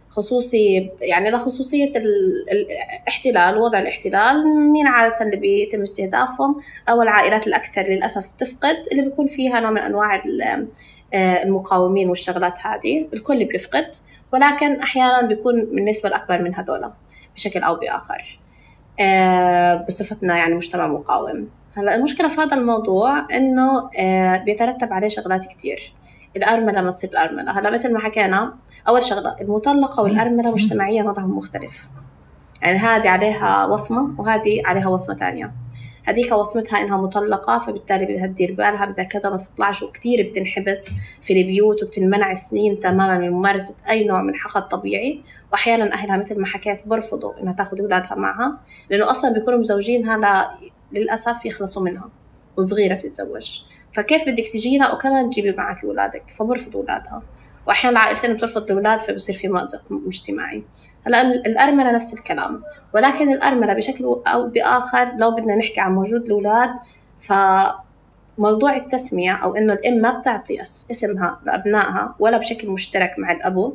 خصوصي، يعني لخصوصية الاحتلال، وضع الاحتلال، مين عادة اللي بيتم استهدافهم أو العائلات الأكثر للأسف تفقد، اللي بيكون فيها نوع من أنواع المقاومين والشغلات هذه، الكل بيفقد، ولكن أحيانا بيكون بالنسبة الأكبر من هدول بشكل أو بآخر بصفتنا يعني مجتمع مقاوم. هلا المشكلة في هذا الموضوع إنه بيترتب عليه شغلات كتير. الأرملة ما تصير الأرملة، هلا مثل ما حكينا أول شغلة المطلقة والأرملة مجتمعيا وضعهم مختلف، يعني هذه عليها وصمة وهذه عليها وصمة تانية. هذيك وصمتها إنها مطلقة فبالتالي بدها تدير بالها، بدها كذا ما تطلعش، وكتير بتنحبس في البيوت وبتنمنع سنين تماما من ممارسة أي نوع من حقها الطبيعي، وأحيانا أهلها مثل ما حكيت برفضوا إنها تاخد أولادها معها، لأنه أصلا بيكونوا مزوجينها لا للأسف يخلصوا منها وصغيرة بتتزوج، فكيف بدك تجينا وكمان تجيبي معك أولادك؟ فبرفضوا أولادها، وأحيانا العائلتين بترفض الأولاد فبصير في مأزق مجتمعي. هلا الأرملة نفس الكلام، ولكن الأرملة بشكل أو بآخر لو بدنا نحكي عن موجود الأولاد، فموضوع التسمية أو إنه الأم ما بتعطي اسمها لأبنائها ولا بشكل مشترك مع الأبو،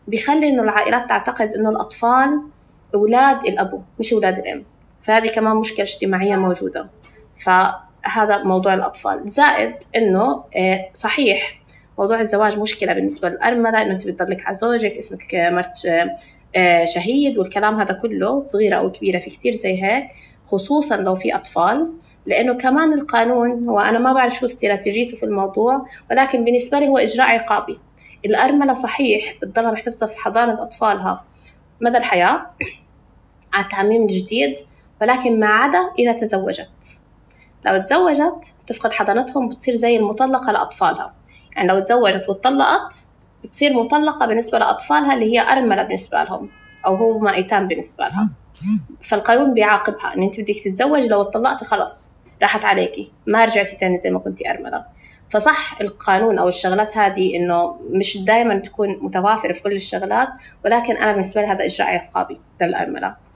بيخلي إنه العائلات تعتقد إنه الأطفال أولاد الأبو مش أولاد الأم، فهذه كمان مشكلة اجتماعية موجودة. فهذا موضوع الأطفال، زائد إنه صحيح موضوع الزواج مشكلة بالنسبة للأرملة، إنه أنت بتضلك على زوجك، اسمك مرت شهيد والكلام هذا كله، صغيرة أو كبيرة في كتير زي هيك، خصوصا لو في أطفال، لأنه كمان القانون هو أنا ما بعرف شو استراتيجيته في الموضوع، ولكن بالنسبة لي هو إجراء عقابي. الأرملة صحيح بتضلها محتفظة في حضانة أطفالها مدى الحياة على التعميم الجديد، ولكن ما عدا إذا تزوجت. لو تزوجت تفقد حضانتهم، بتصير زي المطلقة لأطفالها، يعني لو تزوجت واتطلقت بتصير مطلقة بالنسبة لأطفالها اللي هي أرملة بالنسبة لهم، أو هو ما أيتام بالنسبة لها. فالقانون بيعاقبها إن أنت بدك تتزوج، لو اتطلقتي خلاص راحت عليكي، ما رجعتي تاني زي ما كنتي أرملة. فصح القانون أو الشغلات هذه إنه مش دائما تكون متوافرة في كل الشغلات، ولكن أنا بالنسبة لي هذا إجراء عقابي للأرملة.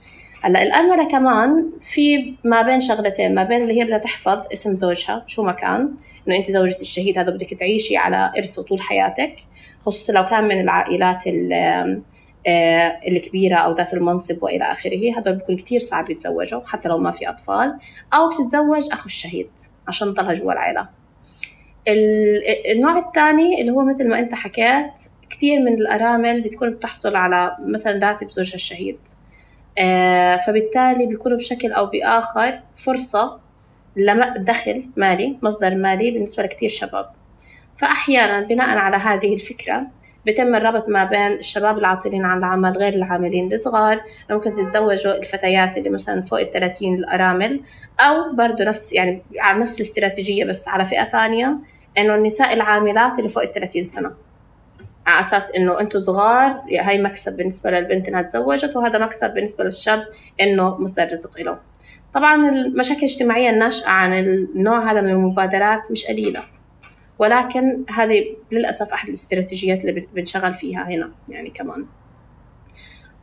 هلا الأرملة كمان في ما بين شغلتين، ما بين اللي هي بدها تحفظ اسم زوجها شو ما كان، إنه أنت زوجة الشهيد هذا بدك تعيشي على إرثه طول حياتك، خصوصا لو كان من العائلات الكبيرة أو ذات المنصب وإلى آخره، هذول بيكون كتير صعب يتزوجوا حتى لو ما في أطفال، أو بتتزوج أخو الشهيد عشان تضلها جوا العائلة. النوع الثاني اللي هو مثل ما أنت حكيت، كتير من الأرامل بتكون بتحصل على مثلا راتب زوجها الشهيد، آه فبالتالي بيكونوا بشكل أو بآخر فرصة لدخل مالي، مصدر مالي بالنسبة لكتير شباب. فأحيانا بناء على هذه الفكرة بيتم الربط ما بين الشباب العاطلين عن العمل غير العاملين الصغار، ممكن تتزوجوا الفتيات اللي مثلا فوق الثلاثين الأرامل، أو برضو نفس يعني على نفس الاستراتيجية بس على فئة تانية، إنه النساء العاملات اللي فوق الثلاثين سنة، على أساس إنه أنتوا صغار، هاي مكسب بالنسبة للبنت إنها تزوجت، وهذا مكسب بالنسبة للشاب إنه مصدر رزق له. طبعا المشاكل الاجتماعية الناشئة عن النوع هذا من المبادرات مش قليلة، ولكن هذه للأسف أحد الاستراتيجيات اللي بنشغل فيها هنا يعني كمان.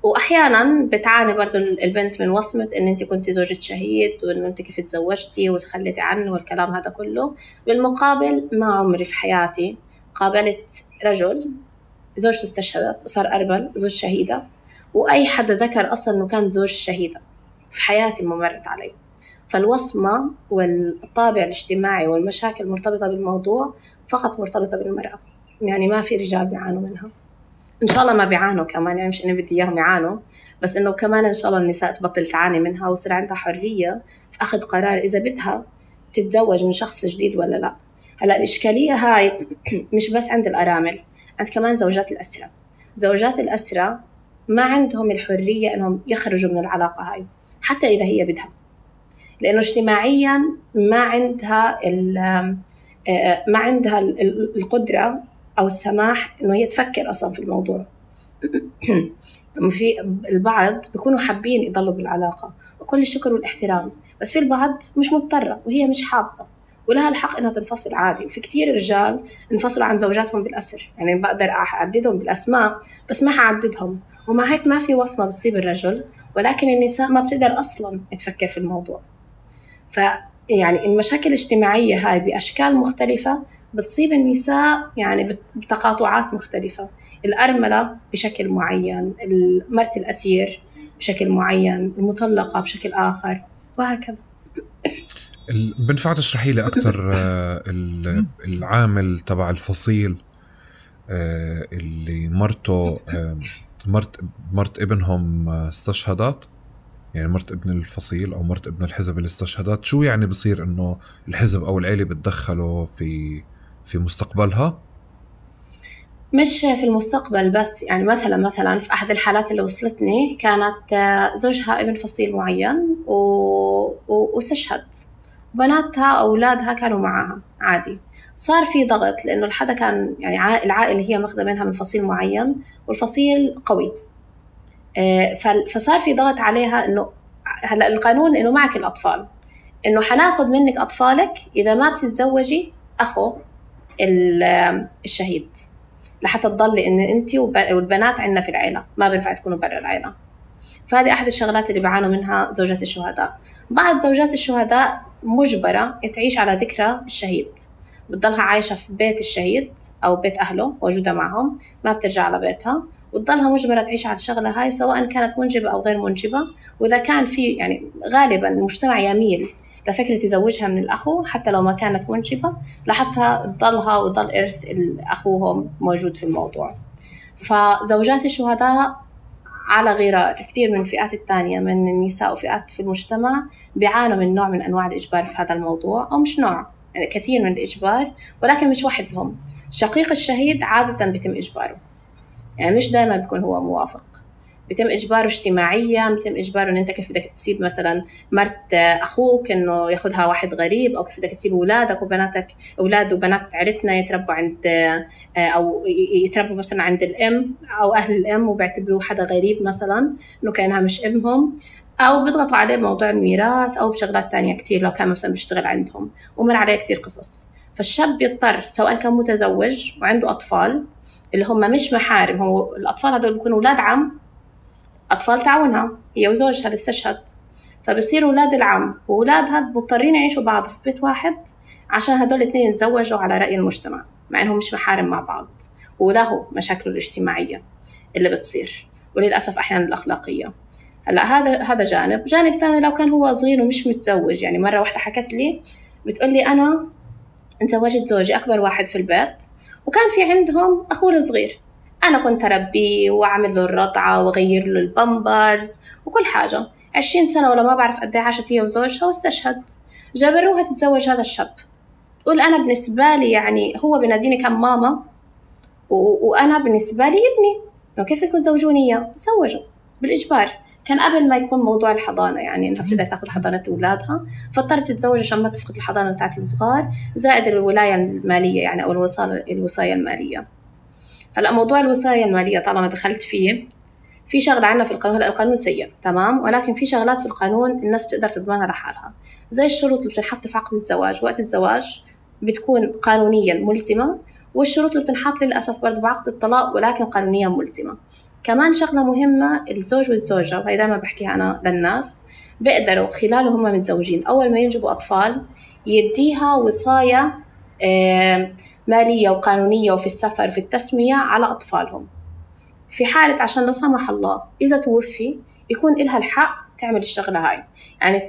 وأحيانا بتعاني برضو البنت من وصمة إن أنت كنت زوجة شهيد، وإن أنت كيف تزوجتي وتخليتي عنه والكلام هذا كله. بالمقابل ما عمري في حياتي قابلت رجل زوجته استشهدت وصار أرمل، زوج شهيدة، وأي حدا ذكر أصلا إنه كان زوج شهيدة في حياتي ما مرت علي. فالوصمة والطابع الاجتماعي والمشاكل المرتبطة بالموضوع فقط مرتبطة بالمرأة، يعني ما في رجال بيعانوا منها. إن شاء الله ما بيعانوا كمان، يعني مش إني بدي إياهم يعانوا، بس إنه كمان إن شاء الله النساء تبطل تعاني منها ويصير عندها حرية في أخذ قرار إذا بدها تتزوج من شخص جديد ولا لا. هلا الإشكالية هاي مش بس عند الأرامل، عند كمان زوجات الأسرة. زوجات الأسرة ما عندهم الحرية إنهم يخرجوا من العلاقة هاي حتى إذا هي بدها، لأنه اجتماعيا ما عندها ما عندها القدرة أو السماح إنه هي تفكر أصلا في الموضوع. في البعض بيكونوا حابين يضلوا بالعلاقة وكل الشكر والاحترام، بس في البعض مش مضطرة وهي مش حابة، ولها الحق إنها تنفصل عادي. وفي كتير رجال انفصلوا عن زوجاتهم بالأسر، يعني بقدر أعددهم بالأسماء بس ما حعددهم، ومع هيك ما في وصمة بتصيب الرجل، ولكن النساء ما بتقدر أصلا تفكر في الموضوع. ف يعني المشاكل الاجتماعية هاي بأشكال مختلفة بتصيب النساء يعني بتقاطعات مختلفة، الأرملة بشكل معين، مرت الأسير بشكل معين، المطلقة بشكل آخر، وهكذا. بنفع تشرحي لي أكتر العامل تبع الفصيل اللي مرته مرت مرت ابنهم استشهدت، يعني مرت ابن الفصيل أو مرت ابن الحزب اللي استشهدت، شو يعني بصير إنه الحزب أو العيلة بتدخلوا في في مستقبلها؟ مش في المستقبل بس، يعني مثلا مثلا في أحد الحالات اللي وصلتني كانت زوجها ابن فصيل معين واستشهد، بناتها أولادها كانوا معها عادي. صار في ضغط لأنه الحدا كان يعني العائلة هي ماخذة منها من فصيل معين والفصيل قوي، فصار في ضغط عليها إنه هلا القانون إنه معك الأطفال، إنه حناخد منك أطفالك إذا ما بتتزوجي أخو الشهيد لحتى تضلي إن أنتي والبنات عنا في العائلة، ما بينفع تكونوا برا العائلة. فهذه أحد الشغلات اللي بعانوا منها زوجات الشهداء. بعض زوجات الشهداء مجبرة تعيش على ذكرى الشهيد، بتضلها عايشة في بيت الشهيد أو بيت أهله موجودة معهم، ما بترجع على بيتها، وتضلها مجبرة تعيش على الشغلة هاي سواء كانت منجبة أو غير منجبة. وإذا كان في يعني غالبا المجتمع يميل لفكرة يزوجها من الأخو حتى لو ما كانت منجبة لحتى تضلها وضل إرث أخوهم موجود في الموضوع. فزوجات الشهداء على غرار كثير من الفئات الثانية من النساء وفئات في المجتمع بيعانوا من نوع من أنواع الإجبار في هذا الموضوع، أو مش نوع يعني كثير من الإجبار، ولكن مش وحدهم. شقيق الشهيد عادة بيتم إجباره، يعني مش دائما بيكون هو موافق، بيتم إجباره اجتماعيا، بيتم إجباره إن أنت كيف بدك تسيب مثلا مرت أخوك إنه ياخدها واحد غريب، أو كيف بدك تسيب أولادك وبناتك أولاد وبنات عيلتنا يتربوا عند أو يتربوا مثلا عند الأم أو أهل الأم وبيعتبروه حدا غريب مثلا إنه كأنها مش ابنهم، أو بيضغطوا عليه بموضوع الميراث أو بشغلات تانية كتير لو كان مثلا بيشتغل عندهم ومر عليه كتير قصص. فالشاب يضطر سواء كان متزوج وعنده أطفال اللي هم مش محارم، هو الأطفال هدول بيكونوا أولاد عم، أطفال تعاونها هي وزوجها اللي استشهد، فبصيروا أولاد العم وأولادها مضطرين يعيشوا بعض في بيت واحد عشان هدول الاثنين يتزوجوا على رأي المجتمع مع إنهم مش محارم مع بعض، وله مشاكل الاجتماعية اللي بتصير وللأسف أحيانا الأخلاقية. هلا هذا هذا جانب. جانب ثاني لو كان هو صغير ومش متزوج، يعني مرة واحدة حكت لي بتقول لي أنا تزوجت زوجي أكبر واحد في البيت وكان في عندهم أخوه الصغير، أنا كنت أربيه وأعمل له الرضعة وأغير له البامبرز وكل حاجة. عشرين سنة ولا ما بعرف قد ايه عاشت هي وزوجها واستشهد، جبروها تتزوج هذا الشاب. تقول أنا بالنسبة لي يعني هو بناديني كم ماما و... وأنا بالنسبة لي ابني، لو كيف بدكم تزوجوني إياه؟ تزوجوا بالإجبار. كان قبل ما يكون موضوع الحضانة، يعني إنها بتقدر تأخذ حضانة أولادها، فاضطرت تتزوج عشان ما تفقد الحضانة بتاعت الصغار، زائد الولاية المالية يعني أو الوصاية الوصاية المالية. هلا موضوع الوصاية المالية طالما دخلت فيه، في شغلة عنا في القانون، القانون سيء تمام، ولكن في شغلات في القانون الناس بتقدر تضمنها لحالها، زي الشروط اللي بتنحط في عقد الزواج. وقت الزواج بتكون قانونيا ملزمة، والشروط اللي بتنحط للأسف برضه بعقد الطلاق ولكن قانونيا ملزمة. كمان شغلة مهمة، الزوج والزوجة، وهي دائما بحكيها أنا للناس، بيقدروا خلاله هم متزوجين أول ما ينجبوا أطفال يديها وصاية مالية وقانونية وفي السفر في التسمية على أطفالهم، في حالة عشان لا سمح الله إذا توفي يكون إلها الحق تعمل الشغلة هاي، يعني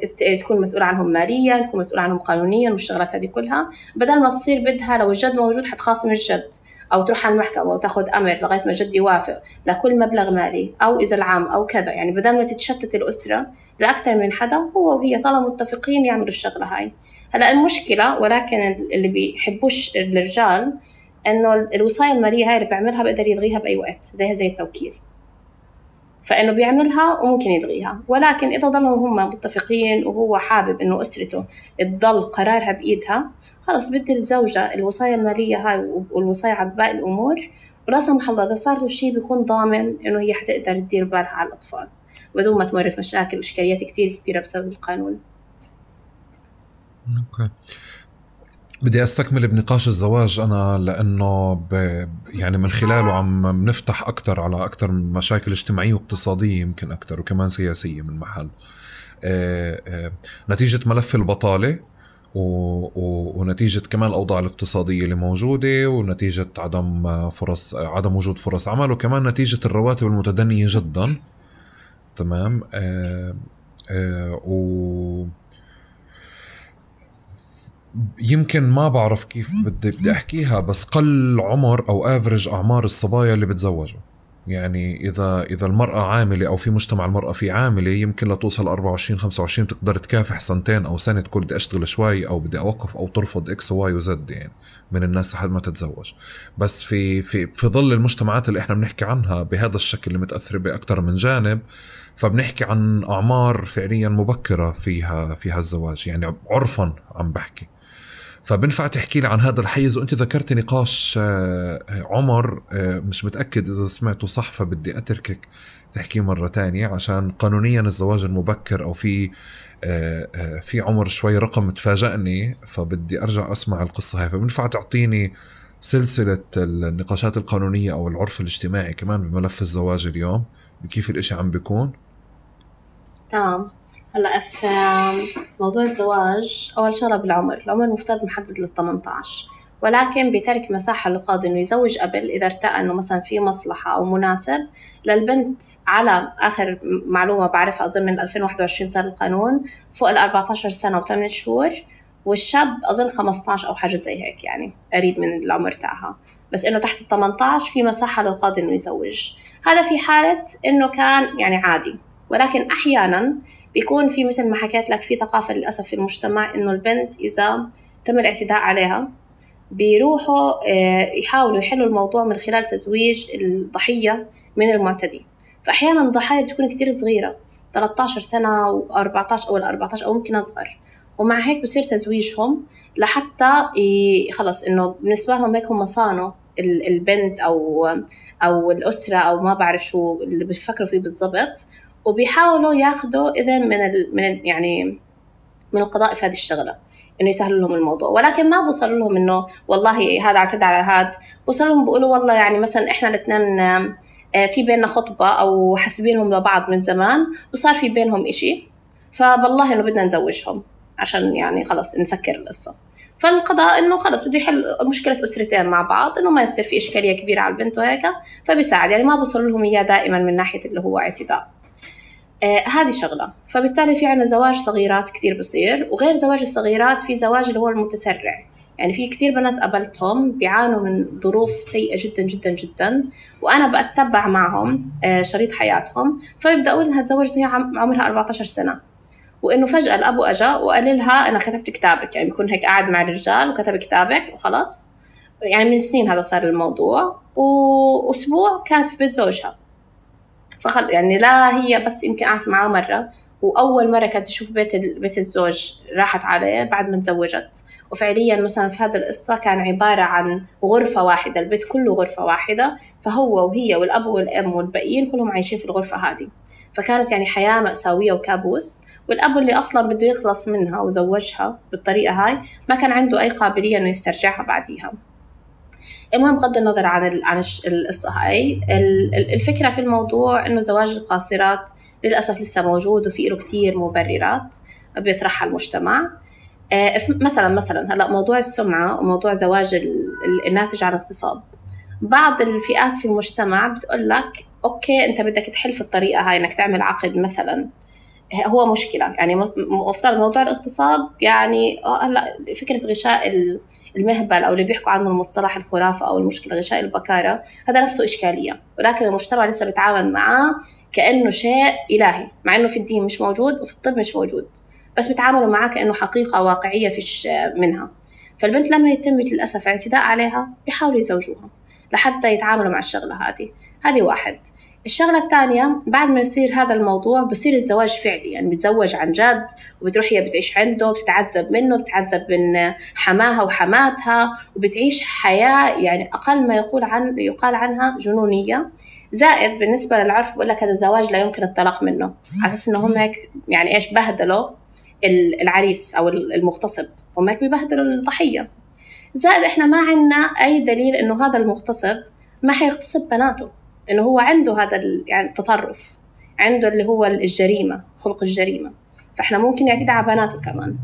تكون مسؤولة عنهم ماليا، تكون مسؤولة عنهم قانونيا والشغلات هذه كلها، بدل ما تصير بدها لو الجد موجود حتخاصم الجد أو تروح على المحكمة وتاخد أمر لغاية ما الجد يوافق لكل مبلغ مالي، أو إذا العام أو كذا، يعني بدل ما تتشتت الأسرة لأكثر من حدا، هو وهي طالما متفقين يعملوا الشغلة هاي. هلأ المشكلة ولكن اللي بيحبوش الرجال إنه الوصاية المالية هاي اللي بيعملها بيقدر يلغيها بأي وقت، زيها زي التوكيل، فإنه بيعملها وممكن يلغيها. ولكن إذا ضلوا هم متفقين وهو حابب إنه أسرته تضل قرارها بإيدها، خلاص بدي الزوجة الوصاية المالية هاي والوصاية على باقي الأمور، ولا سمح الله إذا صار له شيء بيكون ضامن إنه هي حتقدر تدير بالها على الأطفال بدون ما تمر في مشاكل وإشكاليات كتير كبيرة بسبب القانون. أوكي. بدي أستكمل بنقاش الزواج أنا، لأنه ب... يعني من خلاله عم بنفتح أكتر على أكتر مشاكل اجتماعية واقتصادية يمكن أكتر، وكمان سياسية من محل آه آه نتيجة ملف البطالة و... و... ونتيجة كمان الأوضاع الاقتصادية اللي موجودة، ونتيجة عدم فرص عدم وجود فرص عمل، وكمان نتيجة الرواتب المتدنية جدا. تمام. آه آه و يمكن ما بعرف كيف بدي بدي احكيها، بس قل عمر او افرج اعمار الصبايا اللي بتزوجوا. يعني اذا اذا المرأة عاملة او في مجتمع المرأة في عاملة، يمكن لتوصل أربعة وعشرين خمسة وعشرين بتقدر تكافح سنتين او سنة تقول بدي اشتغل شوي او بدي اوقف او ترفض اكس وواي وزد يعني من الناس لحد ما تتزوج. بس في في في ظل المجتمعات اللي احنا بنحكي عنها بهذا الشكل اللي متأثرة باكثر من جانب، فبنحكي عن اعمار فعليا مبكرة فيها فيها الزواج، يعني عرفا عم بحكي. فبنفع تحكي لي عن هذا الحيز؟ وانت ذكرت نقاش عمر، مش متأكد اذا سمعته صح، فبدي اتركك تحكي مرة تانية، عشان قانونيا الزواج المبكر او في في عمر شوي رقم تفاجأني، فبدي ارجع اسمع القصة هاي. فبنفع تعطيني سلسلة النقاشات القانونية او العرف الاجتماعي كمان بملف الزواج اليوم، بكيف الاشي عم بيكون؟ تمام. هلا في موضوع الزواج، اول شغله بالعمر، العمر مفترض محدد لل ثمانية عشر، ولكن بترك مساحه للقاضي انه يزوج قبل اذا ارتأى انه مثلا في مصلحه او مناسب للبنت. على اخر معلومه بعرفها اظن من ألفين وواحد وعشرين صار القانون فوق ال أربعة عشر سنه وثمانية شهور، والشاب اظن خمسة عشر او حاجه زي هيك، يعني قريب من العمر تاعها. بس انه تحت ال ثمانية عشر في مساحه للقاضي انه يزوج. هذا في حاله انه كان يعني عادي. ولكن احيانا بيكون في مثل ما حكيت لك في ثقافة للأسف في المجتمع إنه البنت إذا تم الاعتداء عليها بيروحوا يحاولوا يحلوا الموضوع من خلال تزويج الضحية من المعتدي. فأحيانا الضحايا بتكون كتير صغيرة، ثلاثة عشر سنة وأربعة عشر أو أربعة عشر أو ممكن أصغر، ومع هيك بصير تزويجهم لحتى خلص إنه بالنسبة لهم هيك هم صانوا البنت أو أو الأسرة أو ما بعرف شو اللي بيفكروا فيه بالضبط، وبيحاولوا ياخدوا إذن من ال من ال يعني من القضاء في هذه الشغلة إنه يسهلوا لهم الموضوع. ولكن ما بوصلوا لهم إنه والله هذا اعتدى على هذا، بوصلوا لهم بيقولوا والله يعني مثلا إحنا الاثنين في بيننا خطبة أو حاسبينهم لبعض من زمان وصار في بينهم إشي، فبالله إنه بدنا نزوجهم عشان يعني خلص نسكر القصة. فالقضاء إنه خلص بده يحل مشكلة أسرتين مع بعض، إنه ما يصير في إشكالية كبيرة على البنت وهيك، فبيساعد. يعني ما بوصلوا لهم إياه دائما من ناحية اللي هو اعتداء. آه هذه شغلة. فبالتالي في عنا زواج صغيرات كتير بصير، وغير زواج الصغيرات في زواج اللي هو المتسرع. يعني في كتير بنات قابلتهم بيعانوا من ظروف سيئة جدا جدا جدا، وأنا بأتبع معهم آه شريط حياتهم، فببدأ إنها تزوجت وهي عمرها أربعة عشر سنة، وإنه فجأة الأبو أجا وقال لها أنا كتبت كتابك، يعني بيكون هيك قاعد مع الرجال وكتب كتابك وخلاص. يعني من سنين هذا صار الموضوع، وأسبوع كانت في بيت زوجها. فخل يعني لا هي بس يمكن قعدت معاه مرة، وأول مرة كانت تشوف بيت بيت الزوج راحت عليه بعد ما تزوجت. وفعليا مثلا في هذا القصة كان عبارة عن غرفة واحدة، البيت كله غرفة واحدة، فهو وهي والأب والأم والباقيين كلهم عايشين في الغرفة هذه. فكانت يعني حياة مأساوية وكابوس. والأب اللي أصلا بده يخلص منها وزوجها بالطريقة هاي ما كان عنده أي قابلية إنه يسترجعها بعديها. المهم بغض النظر عن عن القصة هاي، الفكرة في الموضوع إنه زواج القاصرات للأسف لسه موجود، وفي له كتير مبررات بيطرحها المجتمع. مثلا مثلا هلا موضوع السمعة وموضوع زواج الناتج عن اغتصاب. بعض الفئات في المجتمع بتقول لك أوكي أنت بدك تحل في الطريقة هاي إنك تعمل عقد مثلا، هو مشكلة. يعني مفترض موضوع الاغتصاب يعني هلا فكرة غشاء المهبل أو اللي بيحكوا عنه المصطلح الخرافة أو المشكلة غشاء البكارة، هذا نفسه إشكالية، ولكن المجتمع لسه بيتعامل معاه كأنه شيء إلهي، مع إنه في الدين مش موجود وفي الطب مش موجود، بس بيتعاملوا معاه كأنه حقيقة واقعية فيش منها. فالبنت لما يتم للأسف اعتداء عليها بيحاولوا يزوجوها لحتى يتعاملوا مع الشغلة هذه. هذه واحد. الشغلة الثانية، بعد ما يصير هذا الموضوع بصير الزواج فعلي، يعني بتزوج عن جد، وبتروح هي بتعيش عنده، بتتعذب منه، بتتعذب من حماها وحماتها، وبتعيش حياة يعني أقل ما يقول عن يقال عنها جنونية. زائد بالنسبة للعرف بقول لك هذا الزواج لا يمكن الطلاق منه، على أساس إنه هم هيك يعني إيش بهدلوا العريس أو المغتصب، هم هيك بيبهدلوا الضحية. زائد إحنا ما عنا أي دليل إنه هذا المغتصب ما حيغتصب بناته، إنه هو عنده هذا يعني التطرف، عنده اللي هو الجريمة، خلق الجريمة، فإحنا ممكن يعتدي على بناته كمان.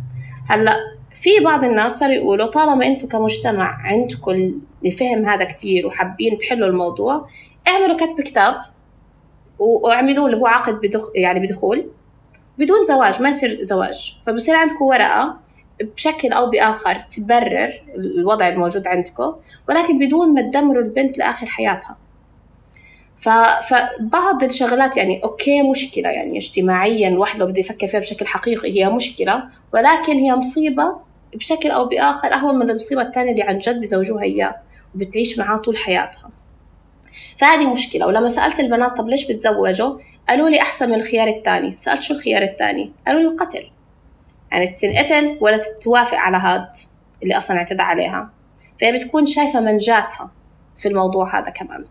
هلأ في بعض الناس صار يقولوا طالما أنتم كمجتمع عندكم الفهم هذا كتير وحابين تحلوا الموضوع، اعملوا كتب كتاب واعملوا اللي هو عقد بدخ يعني بدخول بدون زواج، ما يصير زواج، فبصير عندكم ورقة بشكل أو بآخر تبرر الوضع الموجود عندكم، ولكن بدون ما تدمروا البنت لآخر حياتها. فبعض الشغلات يعني أوكي مشكلة يعني اجتماعيا الواحد لو بده يفكر فيها بشكل حقيقي هي مشكلة، ولكن هي مصيبة بشكل أو بآخر أهون من المصيبة الثانية اللي عن جد بزوجوها إياه وبتعيش معاه طول حياتها. فهذه مشكلة. ولما سألت البنات طب ليش بتزوجوا، قالوا لي أحسن من الخيار الثاني. سألت شو الخيار الثاني، قالوا لي القتل، يعني تنقتل ولا تتوافق على هاد اللي أصلا اعتدى عليها. فهي بتكون شايفة منجاتها في الموضوع هذا كمان.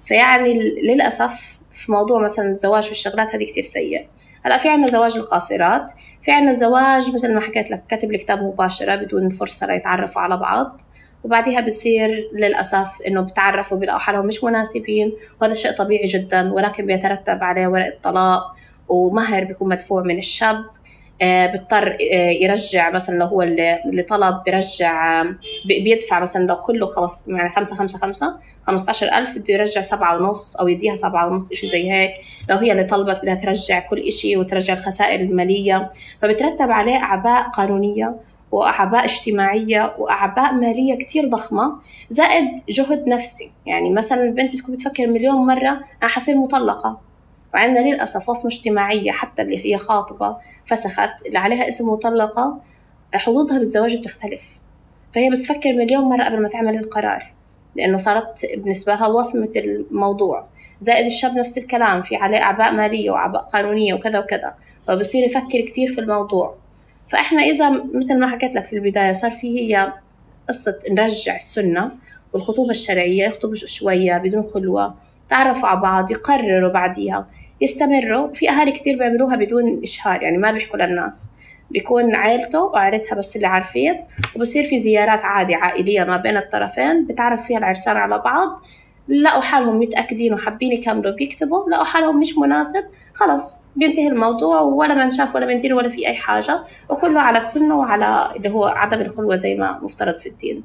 فيعني للأسف في موضوع مثلا الزواج في الشغلات هذه كتير سيء. هلا في عنا زواج القاصرات، في عنا زواج مثل ما حكيت لك كتب الكتاب مباشرة بدون فرصة ليتعرفوا على بعض، وبعدها بصير للأسف إنه بتعرفوا بيلاقوا حالهم مش مناسبين، وهذا شيء طبيعي جدا، ولكن بيترتب عليه ورقة طلاق ومهر بيكون مدفوع من الشاب. آه بيضطر آه يرجع مثلا لو هو اللي, اللي طلب بيرجع آه بيدفع مثلا لو كله خمس يعني خمسة خمسة خمسة خمسة عشر ألف بده يرجع سبعة ونص أو يديها سبعة ونص إشي زي هيك. لو هي اللي طلبت بدها ترجع كل إشي وترجع الخسائر المالية، فبترتب عليه أعباء قانونية وأعباء اجتماعية وأعباء مالية كتير ضخمة، زائد جهد نفسي. يعني مثلا البنت بتكون بتفكر مليون مرة أنا حصير مطلقة، وعندنا للأسف وصمة اجتماعية حتى اللي هي خاطبة فسخت اللي عليها اسم مطلقة حظوظها بالزواج بتختلف، فهي بتفكر مليون مرة قبل ما تعمل القرار، لأنه صارت بالنسبة لها وصمة الموضوع. زائد الشاب نفس الكلام، في عليه أعباء مالية وأعباء قانونية وكذا وكذا، فبصير يفكر كتير في الموضوع. فإحنا إذا مثل ما حكيت لك في البداية صار فيه هي قصة نرجع السنة والخطوبة الشرعية، يخطبوا شوية بدون خلوة، تعرفوا على بعض، يقرروا بعديها يستمروا. في أهالي كتير بيعملوها بدون إشهار، يعني ما بيحكوا للناس، بيكون عائلته وعائلتها بس اللي عارفين، وبصير في زيارات عادي عائلية ما بين الطرفين بتعرف فيها العرسان على بعض. لقوا حالهم متأكدين وحابين يكملوا بيكتبوا، لقوا حالهم مش مناسب، خلص بينتهي الموضوع، ولا من شاف ولا من دين ولا في أي حاجة، وكله على السنة وعلى اللي هو عدم الخلوة زي ما مفترض في الدين.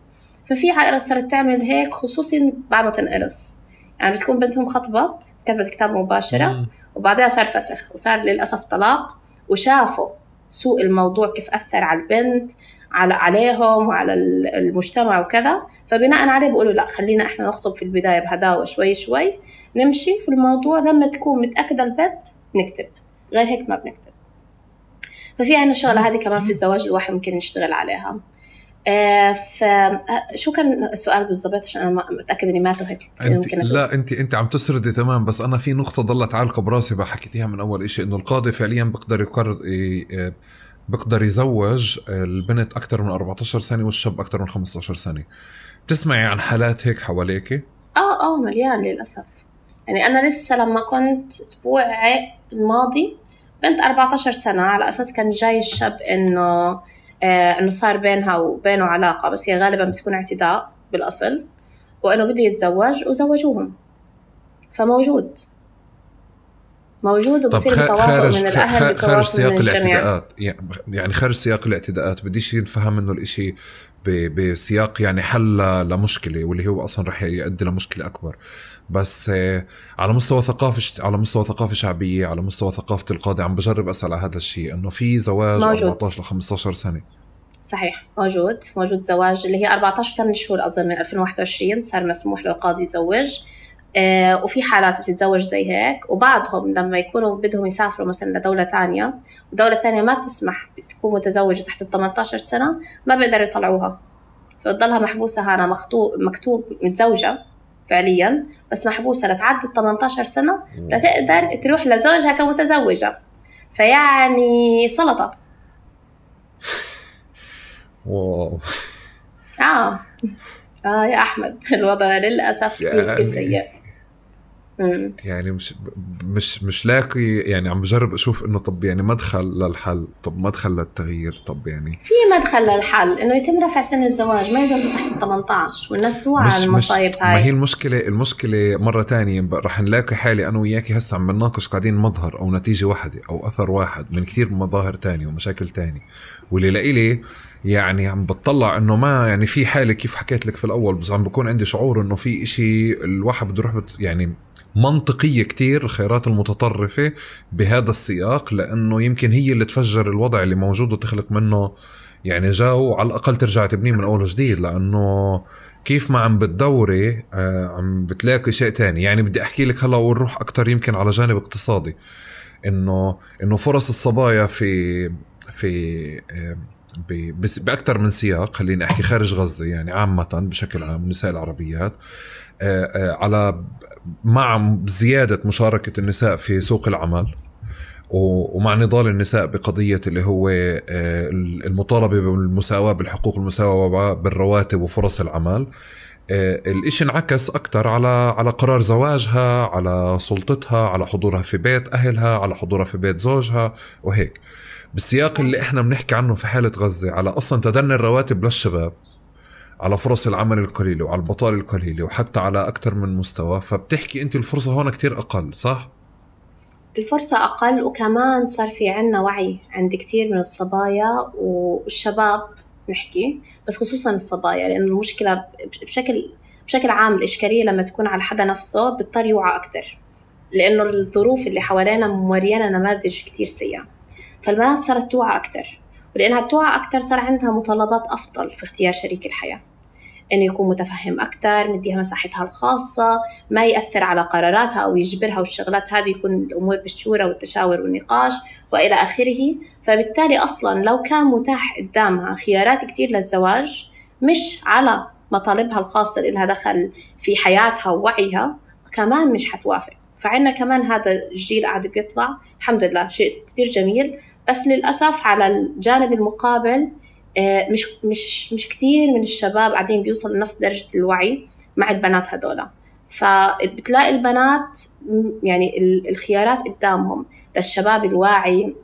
ففي عائلات صارت تعمل هيك خصوصا بعد ما تنقرص، يعني بتكون بنتهم خطبت كتبت كتاب مباشرة وبعدها صار فسخ وصار للأسف طلاق، وشافوا سوء الموضوع كيف أثر على البنت على عليهم وعلى المجتمع وكذا، فبناء عليه بيقولوا لا خلينا إحنا نخطب في البداية بهداوة شوي شوي نمشي في الموضوع، لما تكون متأكدة البنت نكتب، غير هيك ما بنكتب. ففي عنا الشغلة هذه كمان في الزواج الواحد ممكن يشتغل عليها. آه فشو كان السؤال بالضبط عشان أنا متأكد إني ما تهت ممكن لا أنت أنت عم تسردي تمام، بس أنا في نقطة ضلت عالقة براسي بحكيتيها من أول إشي، إنه القاضي فعليا بقدر يقرر بقدر يزوج البنت أكتر من أربعة عشر سنة والشاب أكتر من خمسة عشر سنة. بتسمعي عن حالات هيك حواليك؟ آه آه مليان للأسف. يعني أنا لسه لما كنت أسبوع الماضي بنت أربعة عشر سنة، على أساس كان جاي الشاب إنه آه إنه صار بينها وبينه علاقة، بس هي غالبا بتكون اعتداء بالأصل، وإنه بده يتزوج وزوجوهم. فموجود موجود وبصير بتواطؤ من الأهل، خارج سياق الاعتداءات، يعني خارج سياق الاعتداءات بديش ينفهم إنه الإشي بسياق يعني حل لمشكلة واللي هو أصلا رح يؤدي لمشكلة أكبر. بس على مستوى ثقافة على مستوى ثقافة شعبية، على مستوى ثقافة القاضي، عم بجرب أسأل على هذا الشيء، إنه في زواج أربعة عشر ل خمسة عشر سنة. صحيح موجود موجود زواج اللي هي أربعة عشر ثمانية شهور أظن من ألفين وواحد وعشرين صار مسموح للقاضي يزوج. آه وفي حالات بتتزوج زي هيك، وبعضهم لما يكونوا بدهم يسافروا مثلا لدولة تانية ودولة تانية ما بتسمح بتكون متزوجة تحت ثمانية عشر سنة، ما بيقدروا يطلعوها، فبتضلها محبوسة هنا مخطوب مكتوب متزوجة فعليا بس محبوسة لتعدي ثمانية عشر سنة لتقدر تروح لزوجها كمتزوجة. فيعني سلطة. واو. آه آه يا أحمد الوضع للأسف كتير سيء. مم. يعني مش مش مش لاقي يعني عم بجرب اشوف انه طب يعني مدخل للحل، طب مدخل للتغيير، طب يعني في مدخل للحل انه يتم رفع سن الزواج ما يزال تحت ثمانية عشر والناس توعى على المصايب هاي. ما هي المشكله المشكله مره تانية رح نلاقي حالي انا وياكي هسه عم بنناقش قاعدين مظهر او نتيجه واحده او اثر واحد من كثير مظاهر تانية ومشاكل تانية، واللي لإلي يعني عم بتطلع انه ما يعني في حاله كيف حكيت لك في الاول، بس عم بكون عندي شعور انه في اشي الواحد بده يروح يعني منطقية كتير الخيارات المتطرفة بهذا السياق، لأنه يمكن هي اللي تفجر الوضع اللي موجود وتخلق منه يعني جاو على الأقل ترجع تبنيه من أول وجديد. لأنه كيف ما عم بتدوري آه عم بتلاقي شيء تاني. يعني بدي أحكي لك هلا ونروح أكتر يمكن على جانب اقتصادي، إنه إنه فرص الصبايا في في آه بأكتر من سياق، خليني أحكي خارج غزة يعني عامة بشكل عام النساء العربيات على مع زيادة مشاركة النساء في سوق العمل ومع نضال النساء بقضية اللي هو المطالبة بالمساواة بالحقوق، المساواة بالرواتب وفرص العمل. الاشي انعكس أكتر على على قرار زواجها، على سلطتها، على حضورها في بيت أهلها، على حضورها في بيت زوجها وهيك. بالسياق اللي احنا بنحكي عنه في حالة غزة على أصلا تدني الرواتب للشباب، على فرص العمل القليلة وعلى البطالة القليلة وحتى على أكتر من مستوى، فبتحكي أنت الفرصة هون كتير أقل، صح؟ الفرصة أقل، وكمان صار في عنا وعي عند كتير من الصبايا والشباب نحكي، بس خصوصا الصبايا، لأن المشكلة بشكل بشكل عام الإشكالية لما تكون على حدا نفسه بيضطر يوعى أكتر، لأنه الظروف اللي حوالينا موريانا نماذج كتير سيئة، فالبنات صارت توعى أكتر، ولأنها بتوعى أكتر صار عندها مطالبات أفضل في اختيار شريك الحياة، إنه يكون متفهم أكتر، مديها مساحتها الخاصة، ما يأثر على قراراتها أو يجبرها، والشغلات هذه يكون الأمور بالشورى والتشاور والنقاش وإلى آخره. فبالتالي أصلاً لو كان متاح قدامها خيارات كتير للزواج مش على مطالبها الخاصة اللي لها دخل في حياتها ووعيها، كمان مش حتوافق. فعنا كمان هذا الجيل قاعد بيطلع الحمد لله، شيء كتير جميل، بس للأسف على الجانب المقابل مش مش مش كتير من الشباب قاعدين بيوصلوا لنفس درجة الوعي مع البنات هدولا. فبتلاقي البنات يعني الخيارات قدامهم للشباب الواعي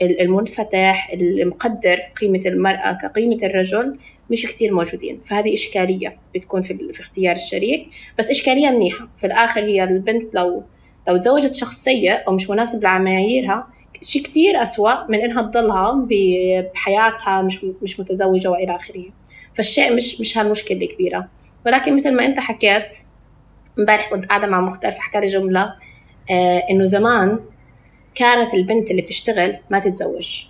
المنفتح المقدر قيمة المرأة كقيمة الرجل مش كتير موجودين. فهذه إشكالية بتكون في, في اختيار الشريك، بس إشكالية منيحة في الآخر. هي البنت لو لو تزوجت شخص سيء أو مش مناسب لمعاييرها شيء كتير أسوأ من إنها تضلها بحياتها مش مش متزوجة وإلى آخره. فالشيء مش مش هالمشكلة الكبيرة. ولكن مثل ما أنت حكيت امبارح كنت قاعدة مع مختار فحكى لي جملة آه إنه زمان كانت البنت اللي بتشتغل ما تتزوج،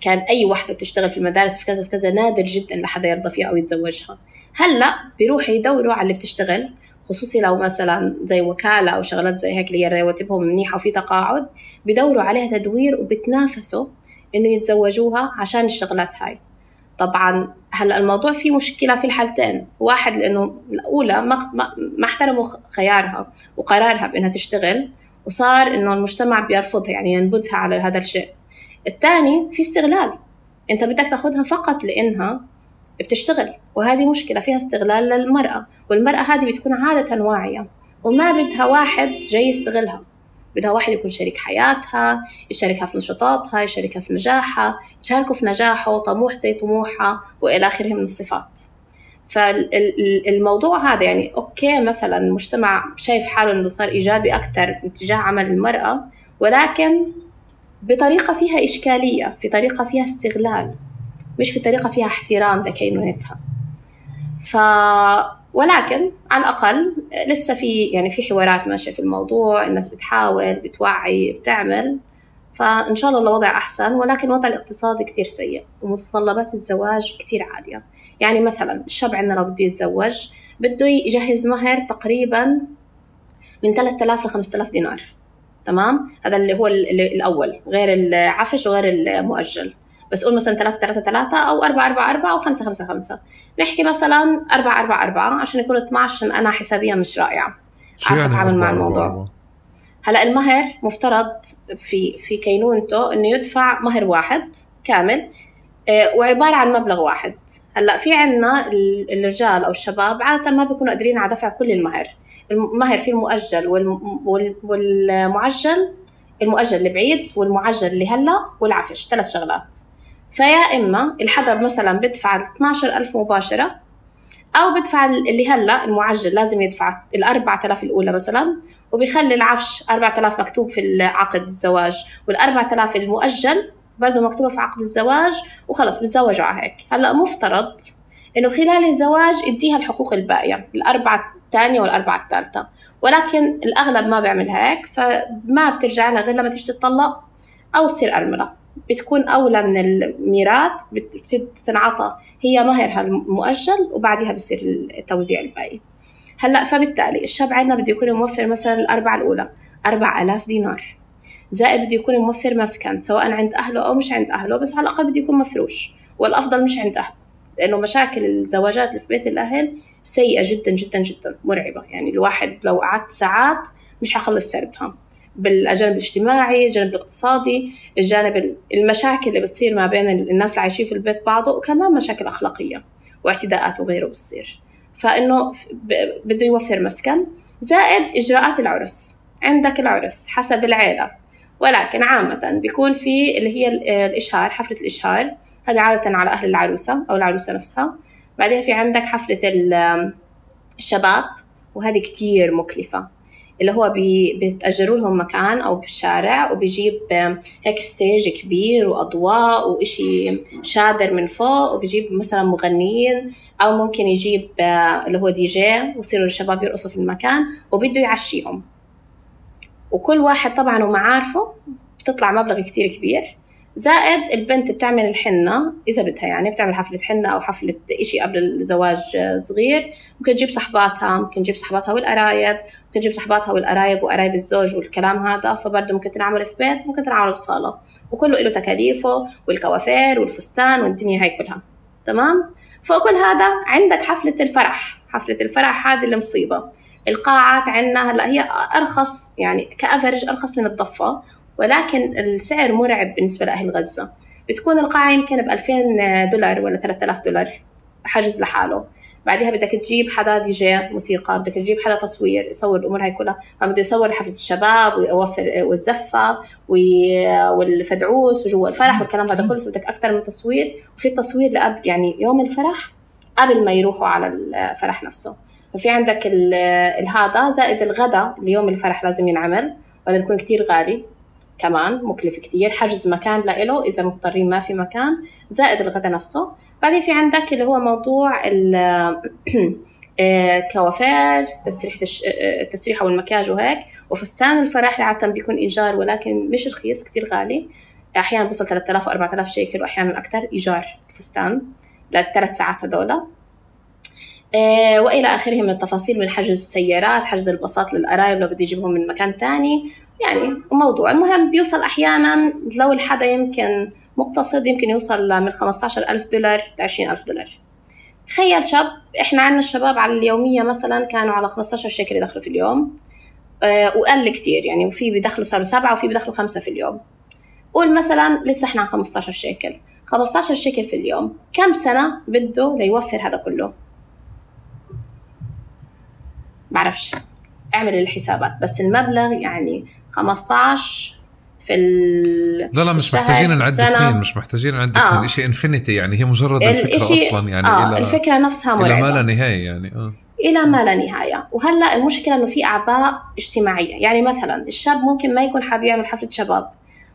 كان أي واحدة بتشتغل في المدارس في كذا في كذا نادر جدا لحدا يرضى فيها أو يتزوجها. هلأ بيروحوا يدوروا على اللي بتشتغل، خصوصي لو مثلا زي وكالة أو شغلات زي هيك اللي رواتبهم منيحة وفي تقاعد، بيدوروا عليها تدوير وبتنافسوا إنه يتزوجوها عشان الشغلات هاي. طبعا هلأ الموضوع فيه مشكلة في الحالتين، واحد لأنه الأولى ما ما احترموا خيارها وقرارها بأنها تشتغل، وصار إنه المجتمع بيرفضها يعني ينبذها على هذا الشيء. الثاني في استغلال، أنت بدك تاخدها فقط لأنها بتشتغل، وهذه مشكلة فيها استغلال للمرأة. والمرأة هذه بتكون عادة واعية وما بدها واحد جاي يستغلها، بدها واحد يكون شريك حياتها، يشاركها في نشاطاتها، يشاركها في نجاحها، يشاركوا في نجاحه، طموح زي طموحها وإلى آخره من الصفات. فالموضوع هذا يعني أوكي مثلا المجتمع شايف حاله إنه صار إيجابي أكتر اتجاه عمل المرأة، ولكن بطريقة فيها إشكالية، في طريقة فيها استغلال، مش في طريقة فيها احترام لكينونتها. ف ولكن على الأقل لسه في يعني في حوارات ماشية في الموضوع، الناس بتحاول بتوعي بتعمل، فإن شاء الله الوضع أحسن. ولكن الوضع الاقتصادي كتير سيء ومتطلبات الزواج كتير عالية. يعني مثلا الشاب عندنا لو بده يتزوج بده يجهز مهر تقريبا من ثلاثة آلاف ل خمسة آلاف دينار، تمام؟ هذا اللي هو الأول غير العفش وغير المؤجل. بس قول مثلا ثلاثة ثلاثة ثلاثة أو أربعة أربعة أربعة أو خمسة خمسة خمسة، نحكي مثلا أربعة أربعة أربعة عشان يكون اثنا عشر، عشان أنا حسابيا مش رائعة عارفة يعني أتعامل مع الموضوع. هلأ المهر مفترض في في كينونته إنه يدفع مهر واحد كامل وعبارة عن مبلغ واحد. هلأ في عنا الرجال أو الشباب عادة ما بيكونوا قادرين على دفع كل المهر. المهر في المؤجل والمعجل، المؤجل اللي بعيد والمعجل اللي هلأ والعفش، ثلاث شغلات. فيا إما الحدا مثلا بدفع اثناشر ألف مباشرة، أو بدفع اللي هلأ المعجل لازم يدفع الأربعة آلاف الأولى مثلا، وبيخلي العفش أربعة آلاف مكتوب في العقد الزواج، والأربعة آلاف المؤجل برضو مكتوبة في عقد الزواج، وخلص بتزوجوا على هيك. هلأ مفترض إنه خلال الزواج يديها الحقوق الباقية، الأربعة الثانية والأربعة الثالثة، ولكن الأغلب ما بيعمل هيك، فما بترجع لها غير لما تيجي تطلق أو تصير أرملة. بتكون أولى من الميراث، بتنعطى هي مهرها المؤجل وبعدها بصير التوزيع الباقي. هلأ فبالتالي الشاب عندنا بده يكون موفر مثلا الأربعة الأولى أربعة آلاف دينار، زائد بده يكون موفر مسكن سواء عند أهله أو مش عند أهله، بس على الأقل بده يكون مفروش، والأفضل مش عند أهله، لأنه مشاكل الزواجات اللي في بيت الأهل سيئة جدا جدا جدا، مرعبة. يعني الواحد لو قعدت ساعات مش حخلص سردها، بالجانب الاجتماعي، الجانب الاقتصادي، الجانب المشاكل اللي بتصير ما بين الناس اللي عايشين في البيت بعضه، وكمان مشاكل أخلاقية واعتداءات وغيره بتصير. فإنه بده يوفر مسكن، زائد إجراءات العرس. عندك العرس حسب العيلة، ولكن عامة بيكون في اللي هي الإشهار، حفلة الإشهار، هذه عادة على أهل العروسة أو العروسة نفسها. بعدها في عندك حفلة الشباب، وهذه كتير مكلفة، اللي هو بيتأجروا لهم مكان أو بالشارع، وبيجيب هيك ستيج كبير وأضواء وإشي شادر من فوق، وبيجيب مثلا مغنيين، أو ممكن يجيب اللي هو دي جي، ويصيروا الشباب يرقصوا في المكان، وبده يعشيهم. وكل واحد طبعا ومعارفه بتطلع مبلغ كتير كبير. زائد البنت بتعمل الحنة إذا بدها، يعني بتعمل حفلة حنة أو حفلة إشي قبل الزواج صغير، ممكن تجيب صحباتها، ممكن تجيب صحباتها والقرايب، ممكن تجيب صحباتها والقرايب وقرايب الزوج والكلام هذا. فبرضه ممكن تنعمل في بيت، ممكن تنعمل بصالة، وكله له تكاليفه والكوافير والفستان والدنيا هاي كلها. تمام. فوق كل هذا عندك حفلة الفرح. حفلة الفرح هذه المصيبة. القاعات عندنا هلا هي أرخص، يعني كأفرج أرخص من الضفة، ولكن السعر مرعب بالنسبة لأهل غزة. بتكون القاعة يمكن بألفين دولار ولا ثلاثة آلاف دولار حجز لحاله. بعدها بدك تجيب حدا دي جي موسيقى، بدك تجيب حدا تصوير يصور الأمور هاي كلها، فبده يصور حفلة الشباب ويوفر والزفة والفدعوس وجوا الفرح والكلام هذا كله، فبدك أكتر من تصوير. وفي التصوير لقبل يعني يوم الفرح قبل ما يروحوا على الفرح نفسه. وفي عندك هذا، زائد الغدا اليوم الفرح لازم ينعمل، وهذا بيكون كتير غالي كمان، مكلف كتير، حجز مكان لإله إذا مضطرين ما في مكان، زائد الغدا نفسه. بعدين في عندك اللي هو موضوع الكوافير، تسريحة التسريحة والمكياج وهيك، وفستان الفرح عادة بيكون إيجار، ولكن مش رخيص، كتير غالي، أحيانا بوصل ثلاثة آلاف وأربعة آلاف شيكل، وأحيانا أكتر إيجار الفستان للثلاث ساعات هدول. آه وإلى آخره من التفاصيل، من حجز السيارات، حجز الباصات للقرايب لو بده يجيبهم من مكان تاني، يعني موضوع. المهم بيوصل أحيانا لو الحدا يمكن مقتصد يمكن يوصل من خمسة عشر ألف دولار ل عشرين ألف دولار. تخيل شاب، إحنا عنا الشباب على اليومية مثلا كانوا على خمسة عشر شيكل يدخلوا في اليوم، آه وقل كتير يعني، وفي بيدخلوا صاروا سبعة وفي بيدخلوا خمسة في اليوم. قول مثلا لسه إحنا عن خمسة عشر شيكل، خمسة عشر شيكل في اليوم، كم سنة بده ليوفر هذا كله؟ بعرفش، اعمل الحسابات، بس المبلغ يعني خمسة عشر في ال لا لا مش محتاجين نعد سنين، مش محتاجين نعد سنين، إشي إنفينيتي يعني، هي مجرد الفكرة أصلا يعني، آه إلى الفكرة نفسها مرعبة، إلى ما لا نهاية يعني آه. إلى ما لا نهاية. وهلأ المشكلة إنه في أعباء اجتماعية، يعني مثلا الشاب ممكن ما يكون حابب يعمل حفلة شباب،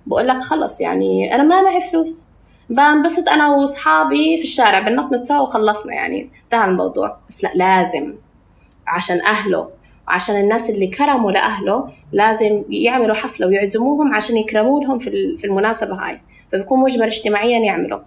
بقول لك خلص يعني أنا ما معي فلوس، بنبسط أنا وأصحابي في الشارع بنطنط سوا وخلصنا، يعني انتهى الموضوع. بس لا، لازم عشان أهله وعشان الناس اللي كرموا لأهله لازم يعملوا حفلة ويعزموهم عشان يكرموا لهم في في المناسبة هاي، فبيكون مجبر اجتماعيا يعملوا.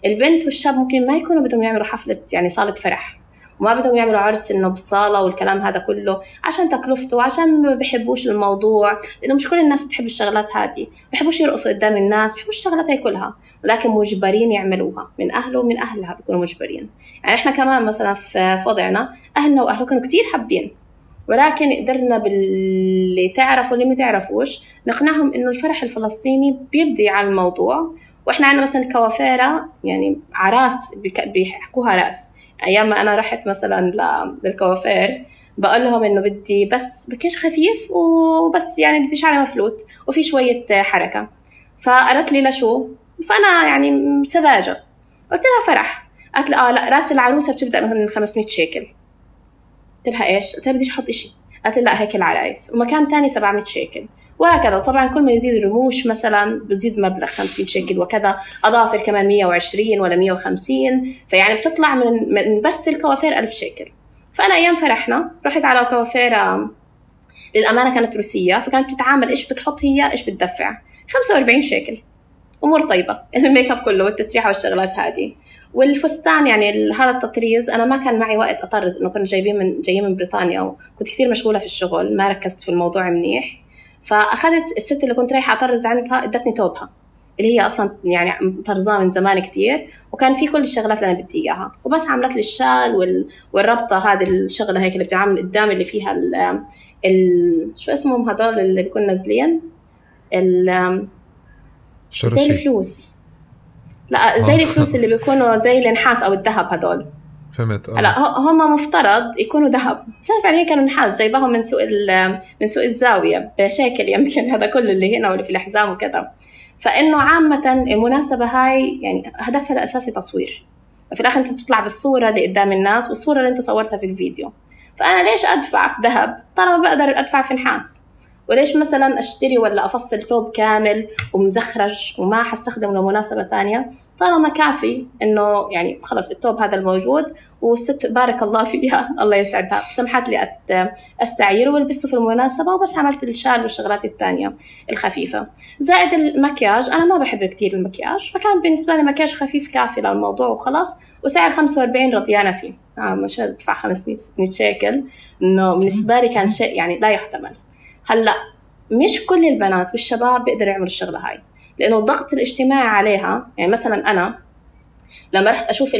البنت والشاب ممكن ما يكونوا بدهم يعملوا حفلة يعني صالة فرح، وما بدهم يعملوا عرس إنه بالصالة والكلام هذا كله، عشان تكلفته وعشان ما بيحبوش الموضوع، لأنه مش كل الناس بتحب الشغلات هذه، بيحبوش يرقصوا قدام الناس، بيحبوش الشغلات هاي كلها، ولكن مجبرين يعملوها من أهله ومن أهلها، بيكونوا مجبرين. يعني إحنا كمان مثلا في وضعنا أهلنا وأهله كانوا كتير حابين، ولكن قدرنا باللي تعرفوا واللي ما تعرفوش نقنعهم إنه الفرح الفلسطيني بيبدي على الموضوع، وإحنا عندنا مثلا الكوافيرة يعني عراس بيحكوها راس. أيام ما أنا رحت مثلا للكوافير بقول لهم إنه بدي بس مكياج خفيف وبس، يعني بدي شعري مفلوت وفي شوية حركة. فقالت لي لشو؟ فأنا يعني سذاجة قلت لها فرح. قالت لي آه لا، راس العروسة بتبدأ من خمسمية شيكل. قلت لها إيش؟ قلت لها بديش أحط إشي. قالت لي لا هيك العرايس، ومكان تاني سبعمية شيكل وهكذا. وطبعا كل ما يزيد الرموش مثلا بتزيد مبلغ خمسين شيكل وكذا، أظافر كمان مية وعشرين ولا مية وخمسين، فيعني بتطلع من, من بس الكوافير ألف شيكل. فأنا أيام فرحنا رحت على كوافيرة للأمانة كانت روسية، فكانت بتتعامل إيش بتحط هي إيش بتدفع، خمسة وأربعين شيكل أمور طيبة. الميك اب كله والتسريحة والشغلات هذه والفستان. يعني هذا التطريز أنا ما كان معي وقت أطرز، إنه كنا جايبين من جايين من بريطانيا وكنت كثير مشغولة في الشغل، ما ركزت في الموضوع منيح. فأخذت الست اللي كنت رايحة أطرز عندها ادتني توبها اللي هي أصلا يعني طرزاه من زمان كتير، وكان في كل الشغلات اللي أنا بدي إياها، وبس عملت لي الشال وال... والربطة هذه الشغلة هيك اللي بتعمل قدام اللي فيها ال... ال... شو اسمهم هذول اللي بيكون نازلين ال... زي الفلوس. لا زي الفلوس اللي بيكونوا زي النحاس أو الذهب هذول. فهمت. لا هم مفترض يكونوا ذهب، صرف عليه كانوا نحاس جايباهم من سوق من سوق الزاوية بشكل يمكن هذا كله اللي هنا واللي في الأحزام وكذا. فإنه عامة المناسبة هاي يعني هدفها الأساسي تصوير، في الآخر أنت بتطلع بالصورة اللي قدام الناس والصورة اللي أنت صورتها في الفيديو. فأنا ليش أدفع في ذهب طالما بقدر أدفع في نحاس؟ وليش مثلا أشتري ولا أفصل توب كامل ومزخرج وما حستخدم لمناسبة تانية طالما كافي إنه يعني خلص التوب هذا الموجود، والست بارك الله فيها الله يسعدها سمحت لي أستعيره والبسه في المناسبة، وبس عملت الشال والشغلات التانية الخفيفة. زائد المكياج أنا ما بحب كتير المكياج، فكان بالنسبة لي مكياج خفيف كافي للموضوع وخلاص، وسعر خمسة وأربعين رضيانة فيه. آه مش هدفع خمسمية ستمية شيكل، إنه بالنسبة لي كان شيء يعني لا يحتمل. هلأ مش كل البنات والشباب بيقدروا يعملوا الشغلة هاي، لأنه الضغط الاجتماعي عليها. يعني مثلا أنا لما رحت أشوف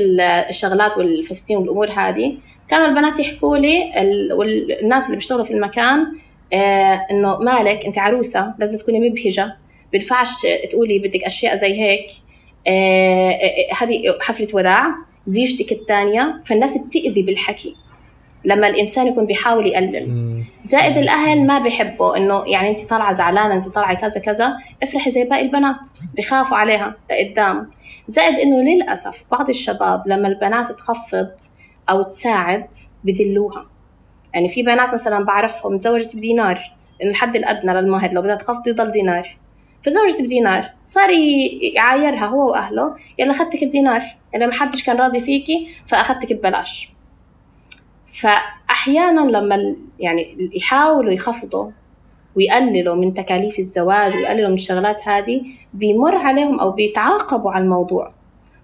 الشغلات والفستين والأمور هذه كانوا البنات يحكوا لي والناس اللي بيشتغلوا في المكان آه إنه مالك أنت عروسة لازم تكوني مبهجة، بنفعش تقولي بدك أشياء زي هيك، هذه آه حفلة وداع زيجتك الثانية. فالناس بتأذي بالحكي لما الإنسان يكون بيحاول يقلل. زائد الأهل ما بيحبوا إنه يعني أنت طالعة زعلانة أنت طالعة كذا كذا افرحي زي باقي البنات، بيخافوا عليها لقدام. زائد إنه للأسف بعض الشباب لما البنات تخفض أو تساعد بذلوها. يعني في بنات مثلا بعرفهم تزوجت بدينار، إن الحد الأدنى للمهر لو بدها تخفض يضل دينار، فزوجت بدينار صار يعايرها هو وأهله يلا أخذتك بدينار، يلا ما حدش كان راضي فيكي فأخذتك ببلاش. فأحياناً لما يعني يحاولوا يخفضوا ويقللوا من تكاليف الزواج ويقللوا من الشغلات هذه بيمر عليهم أو بيتعاقبوا على الموضوع،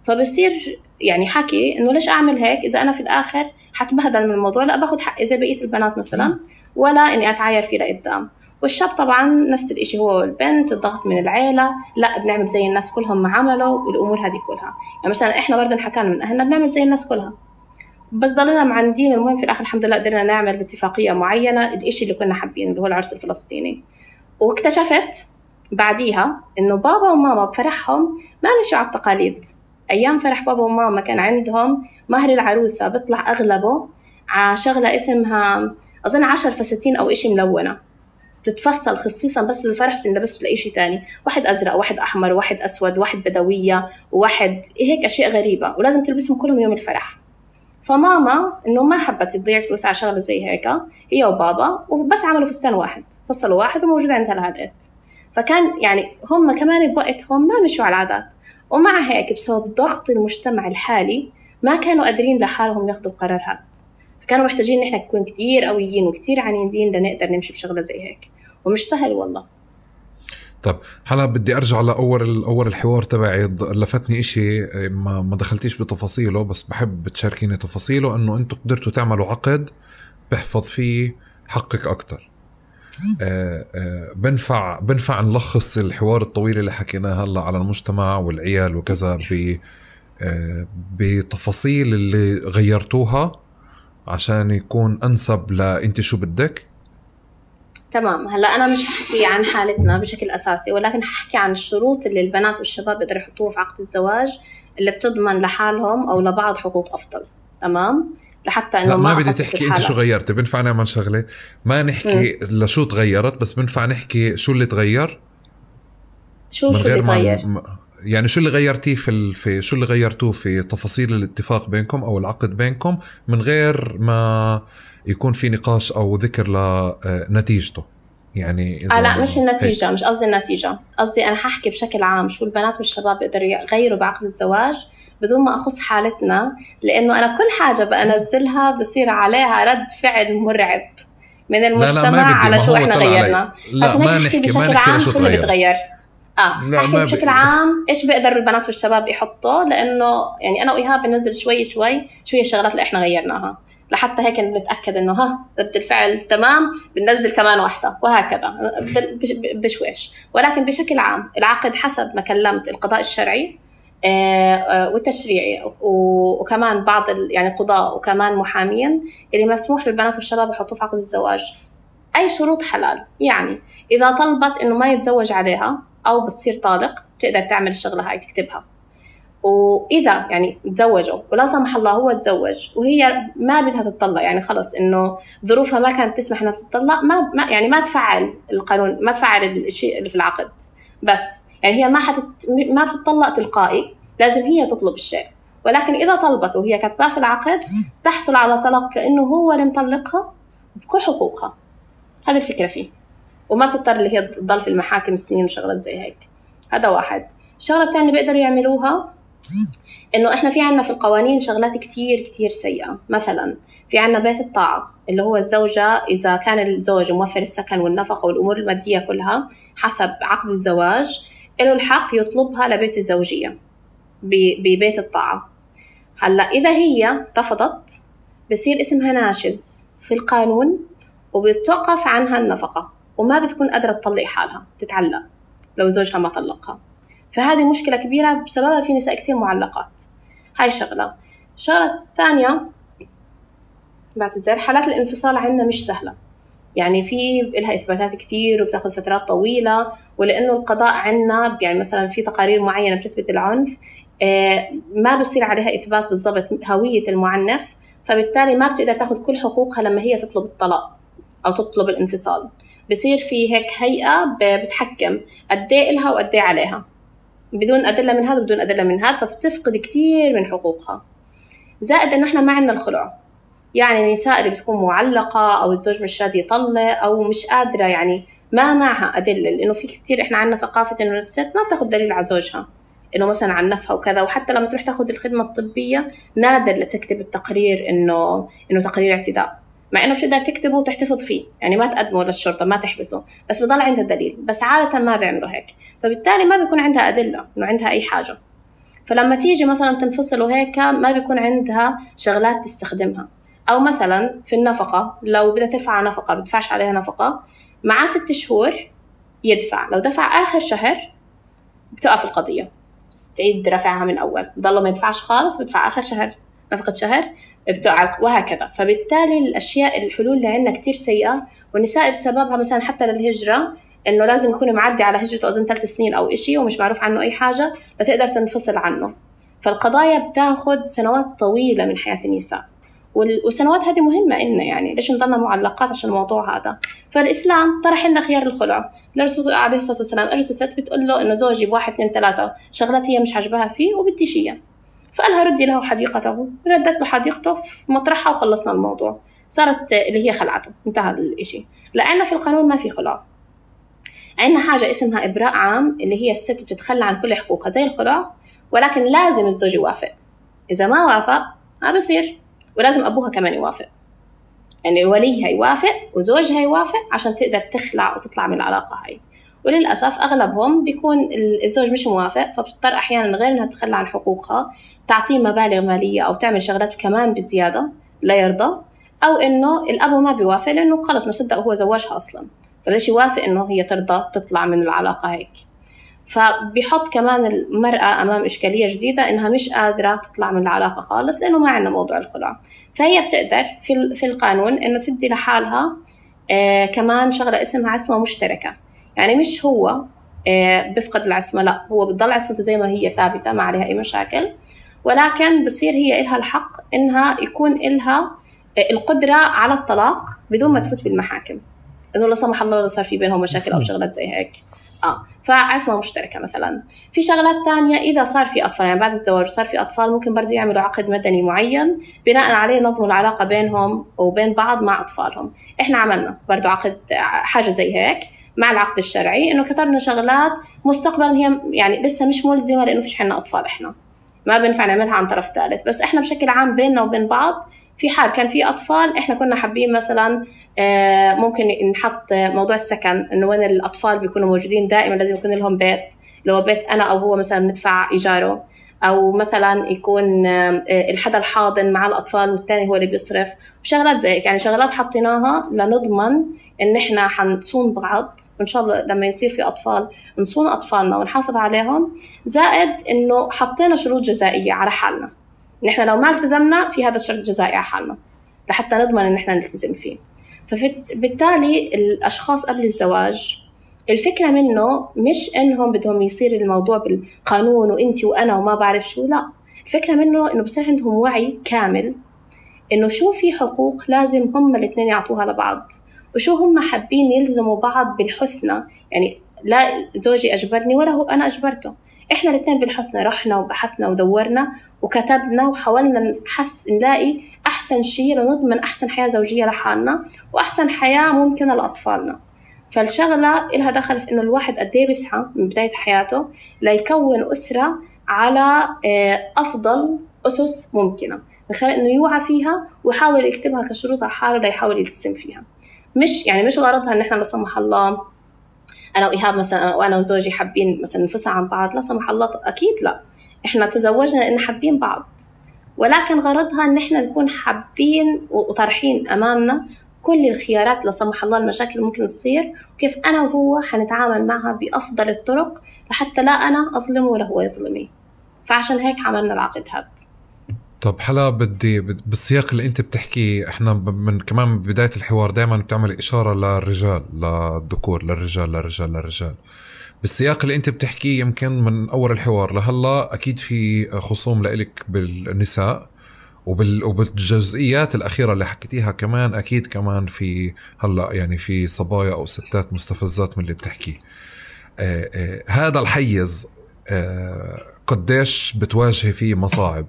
فبصير يعني حكي إنه ليش أعمل هيك إذا أنا في الآخر حتبهدل من الموضوع، لا باخد حقي زي بقية البنات مثلاً ولا إني أتعاير فيه لقدام. والشاب طبعاً نفس الإشي هو والبنت، الضغط من العيلة، لا بنعمل زي الناس كلهم ما عملوا والأمور هذه كلها. يعني مثلاً إحنا برضه حكانا من أهلنا بنعمل زي الناس كلها، بس ضلنا معندين. المهم في الآخر الحمد لله قدرنا نعمل باتفاقية معينة الإشي اللي كنا حابين اللي هو العرس الفلسطيني. واكتشفت بعديها إنه بابا وماما بفرحهم ما مشوا على التقاليد. أيام فرح بابا وماما كان عندهم مهر العروسة بيطلع أغلبه على شغلة اسمها أظن عشر فساتين أو إشي ملونة بتتفصل خصيصا بس للفرح، بتنلبس لإشي تاني، واحد أزرق واحد أحمر واحد أسود واحد بدوية وواحد هيك أشياء غريبة، ولازم تلبسهم كلهم يوم الفرح. فماما إنه ما حبت تضيع فلوس على شغلة زي هيك هي وبابا، وبس عملوا فستان واحد فصلوا واحد وموجود عندها لهالقد. فكان يعني هم كمان بوقتهم ما مشوا على العادات، ومع هيك بسبب ضغط المجتمع الحالي ما كانوا قادرين لحالهم ياخدوا القرارات، فكانوا محتاجين نحن نكون كتير قويين وكتير عنيدين لنقدر نمشي بشغلة زي هيك، ومش سهل والله. طب هلا بدي ارجع لاول اول الحوار تبعي، لفتني اشي ما ما دخلتيش بتفاصيله بس بحب تشاركيني تفاصيله، انه انتم قدرتوا تعملوا عقد بحفظ فيه حقك اكتر. آه آه بنفع بنفع نلخص الحوار الطويل اللي حكيناه هلا على المجتمع والعيال وكذا ب آه بتفاصيل اللي غيرتوها عشان يكون انسب لانت شو بدك. تمام. هلا أنا مش هحكي عن حالتنا بشكل أساسي، ولكن هحكي عن الشروط اللي البنات والشباب يقدروا يحطوها في عقد الزواج اللي بتضمن لحالهم أو لبعض حقوق أفضل. تمام. لحتى إنه ما, ما بدي تحكي أنت شو غيرتي، بنفع نعمل شغلة ما نحكي م. لشو تغيرت، بس بنفع نحكي شو اللي تغير. شو شو اللي تغير م... يعني شو اللي غيرتيه في ال... في شو اللي غيرتوه في تفاصيل الاتفاق بينكم أو العقد بينكم من غير ما يكون في نقاش أو ذكر لنتيجته. يعني إذا آه لا مش النتيجة هي. مش قصدي النتيجة، قصدي أنا ححكي بشكل عام شو البنات والشباب يقدروا يغيروا بعقد الزواج بدون ما أخص حالتنا، لأنه أنا كل حاجة بنزلها بصير عليها رد فعل مرعب من المجتمع. لا لا على شو إحنا غيرنا، عشان هيك نحكي بشكل عام شو اللي بتغير. آه أحكي بشكل ب... عام إيش بيقدر البنات والشباب يحطوا، لأنه يعني أنا وإيهاب بننزل شوي شوي شو هي الشغلات اللي إحنا غيرناها، لحتى هيك بنتأكد إنه ها رد الفعل تمام بننزل كمان واحدة، وهكذا بشويش. ولكن بشكل عام العقد حسب ما كلمت القضاء الشرعي والتشريعي وكمان بعض يعني قضاء وكمان محامين اللي مسموح للبنات والشباب يحطوا في عقد الزواج أي شروط حلال. يعني إذا طلبت إنه ما يتزوج عليها أو بتصير طالق بتقدر تعمل الشغلة هاي تكتبها. وإذا يعني تزوجوا ولا سمح الله هو تزوج وهي ما بدها تطلق، يعني خلص إنه ظروفها ما كانت تسمح إنها تطلق، ما, ما يعني ما تفعل القانون، ما تفعل الشيء اللي في العقد، بس يعني هي ما حتت ما بتطلق تلقائي، لازم هي تطلب الشيء. ولكن إذا طلبت وهي كتباه في العقد تحصل على طلاق كأنه هو اللي مطلقها بكل حقوقها. هذه الفكرة فيه، وما بتضطر اللي هي تضل في المحاكم سنين وشغلات زي هيك. هذا واحد. الشغلة الثانية بيقدروا يعملوها إنه إحنا في عنا في القوانين شغلات كتير كتير سيئة. مثلا في عنا بيت الطاعة اللي هو الزوجة إذا كان الزوج موفر السكن والنفقة والأمور المادية كلها حسب عقد الزواج له الحق يطلبها لبيت الزوجية ببيت الطاعة. هلا إذا هي رفضت بصير اسمها ناشز في القانون وبتوقف عنها النفقة وما بتكون قادرة تطلق حالها، تتعلق لو زوجها ما طلقها. فهذه مشكلة كبيرة بسببها في نساء كتير معلقات. هاي شغلة. الشغلة الثانية بعتذر حالات الانفصال عندنا مش سهلة، يعني في لها إثباتات كتير وبتاخد فترات طويلة، ولأنه القضاء عندنا يعني مثلا في تقارير معينة بتثبت العنف ما بصير عليها إثبات بالضبط هوية المعنف، فبالتالي ما بتقدر تاخد كل حقوقها لما هي تطلب الطلاق أو تطلب الانفصال. بصير في هيك هيئة بتحكم قد ايه إلها وقد ايه عليها بدون أدلة من هذا بدون أدلة من هذا، فبتفقد كتير من حقوقها. زائد إنه إحنا ما عندنا الخلع، يعني النساء اللي بتكون معلقة أو الزوج مش راضي يطلق أو مش قادرة يعني ما معها أدلة، لأنه في كتير إحنا عندنا ثقافة إنه الست ما بتاخد دليل على زوجها إنه مثلا عنفها وكذا، وحتى لما تروح تاخد الخدمة الطبية نادر لتكتب التقرير إنه إنه تقرير اعتداء، مع إنه بتقدر تكتبه وتحتفظ فيه، يعني ما تقدمه للشرطة ما تحبسه، بس بضل عندها دليل. بس عادة ما بيعملوا هيك، فبالتالي ما بيكون عندها أدلة إنه عندها أي حاجة. فلما تيجي مثلا تنفصل وهيك ما بيكون عندها شغلات تستخدمها. أو مثلا في النفقة لو بدها تدفع نفقة بدفعش عليها نفقة، مع ست شهور يدفع، لو دفع آخر شهر بتقف القضية تعيد رفعها من أول، ضل ما يدفعش خالص بدفع آخر شهر نفقة شهر بتقع وهكذا. فبالتالي الأشياء الحلول اللي عندنا كتير سيئة، والنساء بسببها مثلا حتى للهجرة إنه لازم يكون معدي على هجرته أظن ثلاث سنين أو إشي ومش معروف عنه أي حاجة لتقدر تنفصل عنه. فالقضايا بتاخد سنوات طويلة من حياة النساء، والسنوات هذه مهمة إلنا، يعني ليش نضلنا معلقات عشان الموضوع هذا. فالإسلام طرح لنا خيار الخلع. الرسول عليه الصلاة والسلام أجت ست بتقول له إنه زوجي بواحد اثنين ثلاثة شغلات هي مش عجبها فيه وبدي شيء، فقالها ردي له حديقته، ردت له حديقته في مطرحها وخلصنا الموضوع، صارت اللي هي خلعته، انتهى الإشي. لأننا في القانون ما في خلع، عندنا حاجة اسمها إبراء عام اللي هي الست بتتخلى عن كل حقوقها زي الخلع، ولكن لازم الزوج يوافق. إذا ما وافق ما بصير، ولازم أبوها كمان يوافق، يعني وليها يوافق وزوجها يوافق عشان تقدر تخلع وتطلع من العلاقة هاي. وللأسف أغلبهم بيكون الزوج مش موافق، فبتضطر أحيانا غير أنها تتخلى عن حقوقها تعطيه مبالغ مالية أو تعمل شغلات كمان بزيادة لا يرضى، أو إنه الأبو ما بيوافق لأنه خلص ما صدق هو زواجها أصلا، فليش يوافق إنه هي ترضى تطلع من العلاقة هيك. فبيحط كمان المرأة أمام إشكالية جديدة إنها مش قادرة تطلع من العلاقة خالص لأنه ما عندنا موضوع الخلع. فهي بتقدر في في القانون إنه تدي لحالها آه كمان شغلة اسمها عصمة مشتركة، يعني مش هو آه بفقد العصمة، لا هو بتضل عصمته زي ما هي ثابتة ما عليها أي مشاكل، ولكن بصير هي إلها الحق إنها يكون إلها آه القدرة على الطلاق بدون ما تفوت بالمحاكم، إنه لا سمح الله لو صار في بينهم مشاكل أو شغلات زي هيك. آه فعصمة مشتركة مثلا. في شغلات تانية إذا صار في أطفال، يعني بعد الزواج صار في أطفال، ممكن برضو يعملوا عقد مدني معين بناء عليه نظموا العلاقة بينهم وبين بعض مع أطفالهم. إحنا عملنا برضو عقد حاجة زي هيك مع العقد الشرعي، إنه كتبنا شغلات مستقبلا هي يعني لسه مش ملزمة لأنه فيش عنا أطفال، إحنا ما بنفع نعملها عن طرف ثالث، بس إحنا بشكل عام بيننا وبين بعض في حال كان في أطفال إحنا كنا حابين مثلا ممكن نحط موضوع السكن، إنه وين الأطفال بيكونوا موجودين دائما لازم يكون لهم بيت، لو بيت أنا أو هو مثلا ندفع إيجاره، أو مثلا يكون الحدا الحاضن مع الأطفال والتاني هو اللي بيصرف، وشغلات زي هيك. يعني شغلات حطيناها لنضمن إن إحنا حنصون بعض، وإن شاء الله لما يصير في أطفال نصون أطفالنا ونحافظ عليهم. زائد إنه حطينا شروط جزائية على حالنا، نحن لو ما التزمنا في هذا الشرط الجزائي على حالنا لحتى نضمن إن إحنا نلتزم فيه. فبالتالي الأشخاص قبل الزواج الفكرة منه مش إنهم بدهم يصير الموضوع بالقانون وإنتي وأنا وما بعرف شو، لا، الفكرة منه إنه بصير عندهم وعي كامل إنه شو في حقوق لازم هم الاثنين يعطوها لبعض، وشو هم حابين يلزموا بعض بالحسنى. يعني لا زوجي أجبرني ولا هو أنا أجبرته، إحنا الاثنين بالحسنى رحنا وبحثنا ودورنا وكتبنا وحاولنا نحس نلاقي أحسن شيء لنضمن أحسن حياة زوجية لحالنا وأحسن حياة ممكنة لأطفالنا. فالشغلة إلها دخل في إنه الواحد قد إيه بيسعى من بداية حياته ليكون أسرة على أفضل أسس ممكنة، من خلال إنه يوعى فيها ويحاول يكتبها كشروط على حاله ليحاول يلتزم فيها. مش يعني مش غرضها إن إحنا لا سمح الله أنا وإيهاب مثلا وأنا وزوجي حابين مثلا ننفصل عن بعض، لا سمح الله، أكيد لا، إحنا تزوجنا لأن حابين بعض، ولكن غرضها إن إحنا نكون حابين وطرحين أمامنا كل الخيارات لا سمح الله المشاكل ممكن تصير، وكيف أنا وهو حنتعامل معها بأفضل الطرق لحتى لا أنا أظلمه ولا هو يظلمني. فعشان هيك عملنا العقد هذا. طب حلا بدي بالسياق اللي انت بتحكي، احنا من كمان بداية الحوار دائما بتعمل إشارة للرجال للذكور للرجال للرجال للرجال بالسياق اللي انت بتحكيه يمكن من أول الحوار لهلا أكيد في خصوم لإلك بالنساء، وبال وبالجزئيات الأخيرة اللي حكيتيها كمان أكيد كمان في هلا يعني في صبايا أو ستات مستفزات من اللي بتحكيه. آه آه هذا الحيز آه قديش بتواجهي فيه مصاعب؟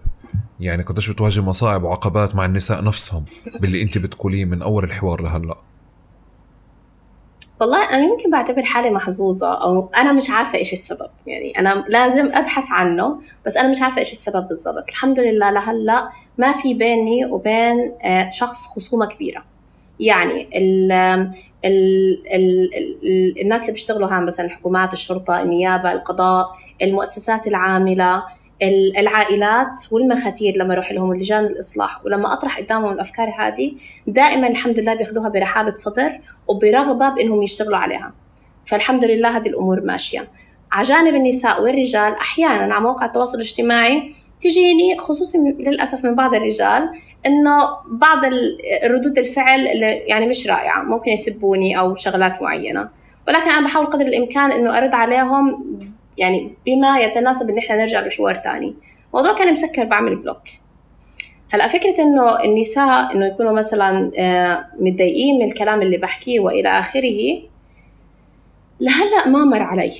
يعني قديش بتواجه مصاعب وعقبات مع النساء نفسهم باللي انت بتقوليه من اول الحوار لهلا؟ والله انا يمكن بعتبر حالي محظوظه، او انا مش عارفه ايش السبب، يعني انا لازم ابحث عنه بس انا مش عارفه ايش السبب بالضبط. الحمد لله لهلا ما في بيني وبين شخص خصومه كبيره. يعني ال ال ال ال الناس اللي بيشتغلوا هان مثلا الحكومات، الشرطه، النيابه، القضاء، المؤسسات العامله، العائلات والمخاتير، لما اروح لهم لجان الاصلاح ولما اطرح قدامهم الافكار هذه دائما الحمد لله بياخذوها برحابه صدر وبرغبه بانهم يشتغلوا عليها. فالحمد لله هذه الامور ماشيه. على جانب النساء والرجال احيانا على مواقع التواصل الاجتماعي تجيني خصوصا للاسف من بعض الرجال انه بعض الردود الفعل اللي يعني مش رائعه، ممكن يسبوني او شغلات معينه، ولكن انا بحاول قدر الامكان انه ارد عليهم يعني بما يتناسب ان احنا نرجع لحوار تاني. موضوع كان مسكر بعمل بلوك. هلا فكره انه النساء انه يكونوا مثلا متضايقين من الكلام اللي بحكيه والى اخره، لهلا ما مر علي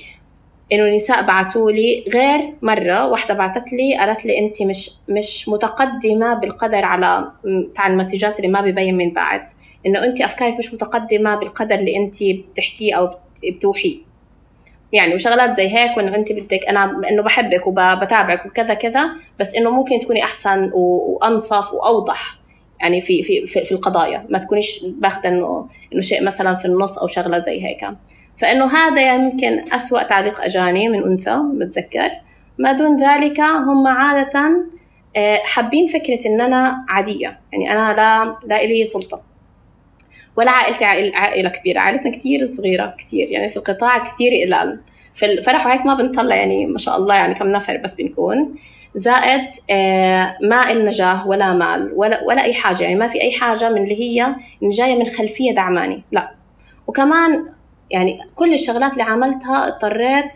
انه النساء بعثوا لي، غير مره واحده بعثت لي قالت لي انت مش مش متقدمه بالقدر، على تاع المسجات اللي ما بيبين من بعد انه انت افكارك مش متقدمه بالقدر اللي انت بتحكيه او بتوحيه، يعني وشغلات زي هيك، وانه انت بدك انا انه بحبك وبتابعك وكذا كذا، بس انه ممكن تكوني احسن وانصف واوضح يعني في في في القضايا، ما تكونيش باخذه انه انه شيء مثلا في النص او شغله زي هيك. فانه هذا يمكن اسوأ تعليق اجاني من انثى بتذكر. ما دون ذلك هم عاده حابين فكره ان انا عاديه، يعني انا لا لا لي سلطه ولا عائلتي عائلة كبيرة، عائلتنا كتير صغيرة كتير، يعني في القطاع كتير قلال، في الفرح وهيك ما بنطلع يعني ما شاء الله يعني كم نفر بس بنكون. زائد ما إلنا جاه ولا مال ولا ولا أي حاجة، يعني ما في أي حاجة من اللي هي جاية من خلفية دعماني، لا. وكمان يعني كل الشغلات اللي عملتها اضطريت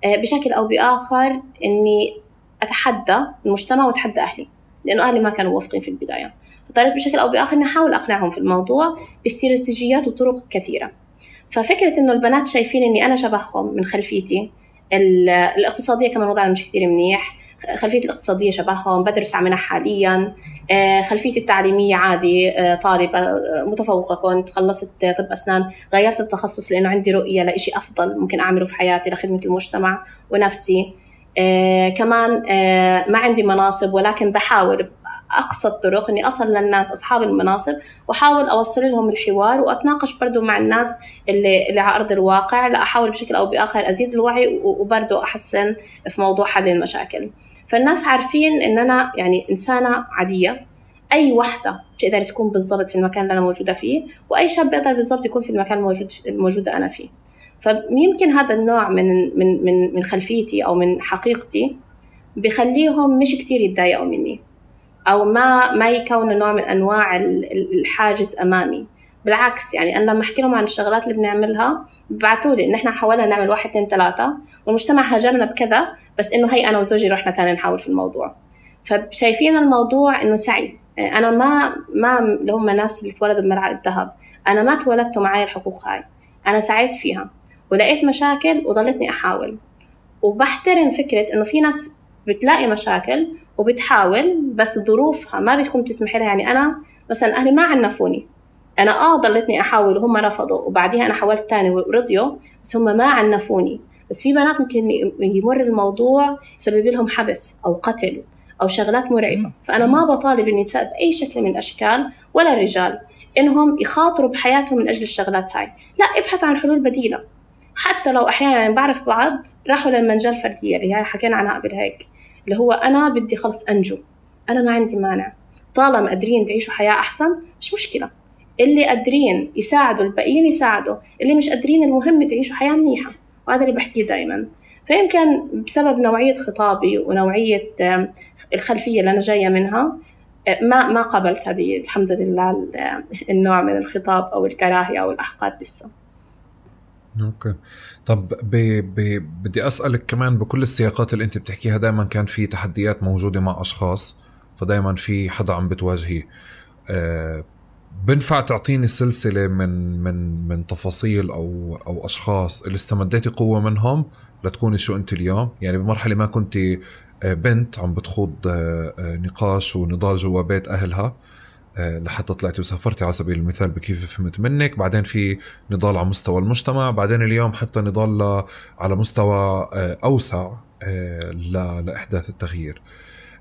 بشكل أو بآخر إني أتحدى المجتمع وأتحدى أهلي، لأنه أهلي ما كانوا موافقين في البداية، فاضطريت بشكل أو بآخر إني أحاول أقنعهم في الموضوع باستراتيجيات وطرق كثيرة. ففكرة إنه البنات شايفين إني أنا شبههم من خلفيتي الاقتصادية، كمان وضعنا مش كتير منيح، خلفيتي الاقتصادية شبههم، بدرس عملها حاليا، خلفيتي التعليمية عادي، طالبة متفوقة كنت، خلصت طب أسنان، غيرت التخصص لأنه عندي رؤية لإشي أفضل ممكن أعمله في حياتي لخدمة المجتمع ونفسي. كمان ما عندي مناصب، ولكن بحاول أقصى الطرق إني أصل للناس أصحاب المناصب وأحاول أوصل لهم الحوار، وأتناقش برضو مع الناس اللي, اللي على أرض الواقع، لا أحاول بشكل أو بآخر أزيد الوعي وبرضو أحسن في موضوع حل المشاكل. فالناس عارفين إن أنا يعني إنسانة عادية، أي وحدة بتقدر تكون بالضبط في المكان اللي أنا موجودة فيه، وأي شاب بيقدر بالضبط يكون في المكان الموجود الموجودة أنا فيه. فيمكن هذا النوع من من من من خلفيتي أو من حقيقتي بيخليهم مش كتير يتضايقوا مني، أو ما ما يكون نوع من أنواع الحاجز أمامي. بالعكس، يعني أنا لما أحكي لهم عن الشغلات اللي بنعملها ببعتوا لي إن إحنا حاولنا نعمل واحد اثنين ثلاثة والمجتمع هاجمنا بكذا، بس إنه هي أنا وزوجي رحنا تاني نحاول في الموضوع. فشايفين الموضوع إنه سعي. أنا ما ما اللي هم ناس اللي تولدوا بملعقة الذهب، أنا ما تولدت معي الحقوق هاي، أنا سعيت فيها ولقيت مشاكل وضلتني أحاول. وبحترم فكرة إنه في ناس بتلاقي مشاكل وبتحاول بس ظروفها ما بتكون تسمح لها. يعني أنا مثلا أهلي ما عنفوني، أنا آه ضلتني أحاول وهم رفضوا، وبعديها أنا حاولت تاني ورضيوا، بس هم ما عنفوني. بس في بنات ممكن يمر الموضوع يسبب لهم حبس أو قتل أو شغلات مرعبة. فأنا ما بطالب النساء بأي شكل من الأشكال ولا الرجال إنهم يخاطروا بحياتهم من أجل الشغلات هاي، لا، ابحث عن حلول بديلة. حتى لو أحيانا يعني بعرف بعض راحوا للمنجل الفردية اللي هي حكينا عنها قبل هيك، اللي هو أنا بدي خلص أنجو، أنا ما عندي مانع، طالما قادرين تعيشوا حياة أحسن مش مشكلة، اللي قادرين يساعدوا الباقيين يساعدوا، اللي مش قادرين المهم تعيشوا حياة منيحة. وهذا اللي بحكيه دايما. فيمكن بسبب نوعية خطابي ونوعية الخلفية اللي أنا جاية منها ما ما قبلت هذه الحمد لله النوع من الخطاب أو الكراهية أو الأحقاد لسه. اوكي. طب ب... ب... بدي أسألك كمان، بكل السياقات اللي انت بتحكيها دائما كان في تحديات موجودة مع أشخاص، فدائما في حدا عم بتواجهي. أه... بنفع تعطيني سلسلة من من من تفاصيل أو أو أشخاص اللي استمديتي قوة منهم لتكوني شو أنت اليوم؟ يعني بمرحلة ما كنت بنت عم بتخوض نقاش ونضال جوا بيت أهلها لحتى طلعتي وسافرتي على سبيل المثال بكيف فهمت منك، بعدين في نضال على مستوى المجتمع، بعدين اليوم حتى نضال على مستوى أوسع لإحداث التغيير.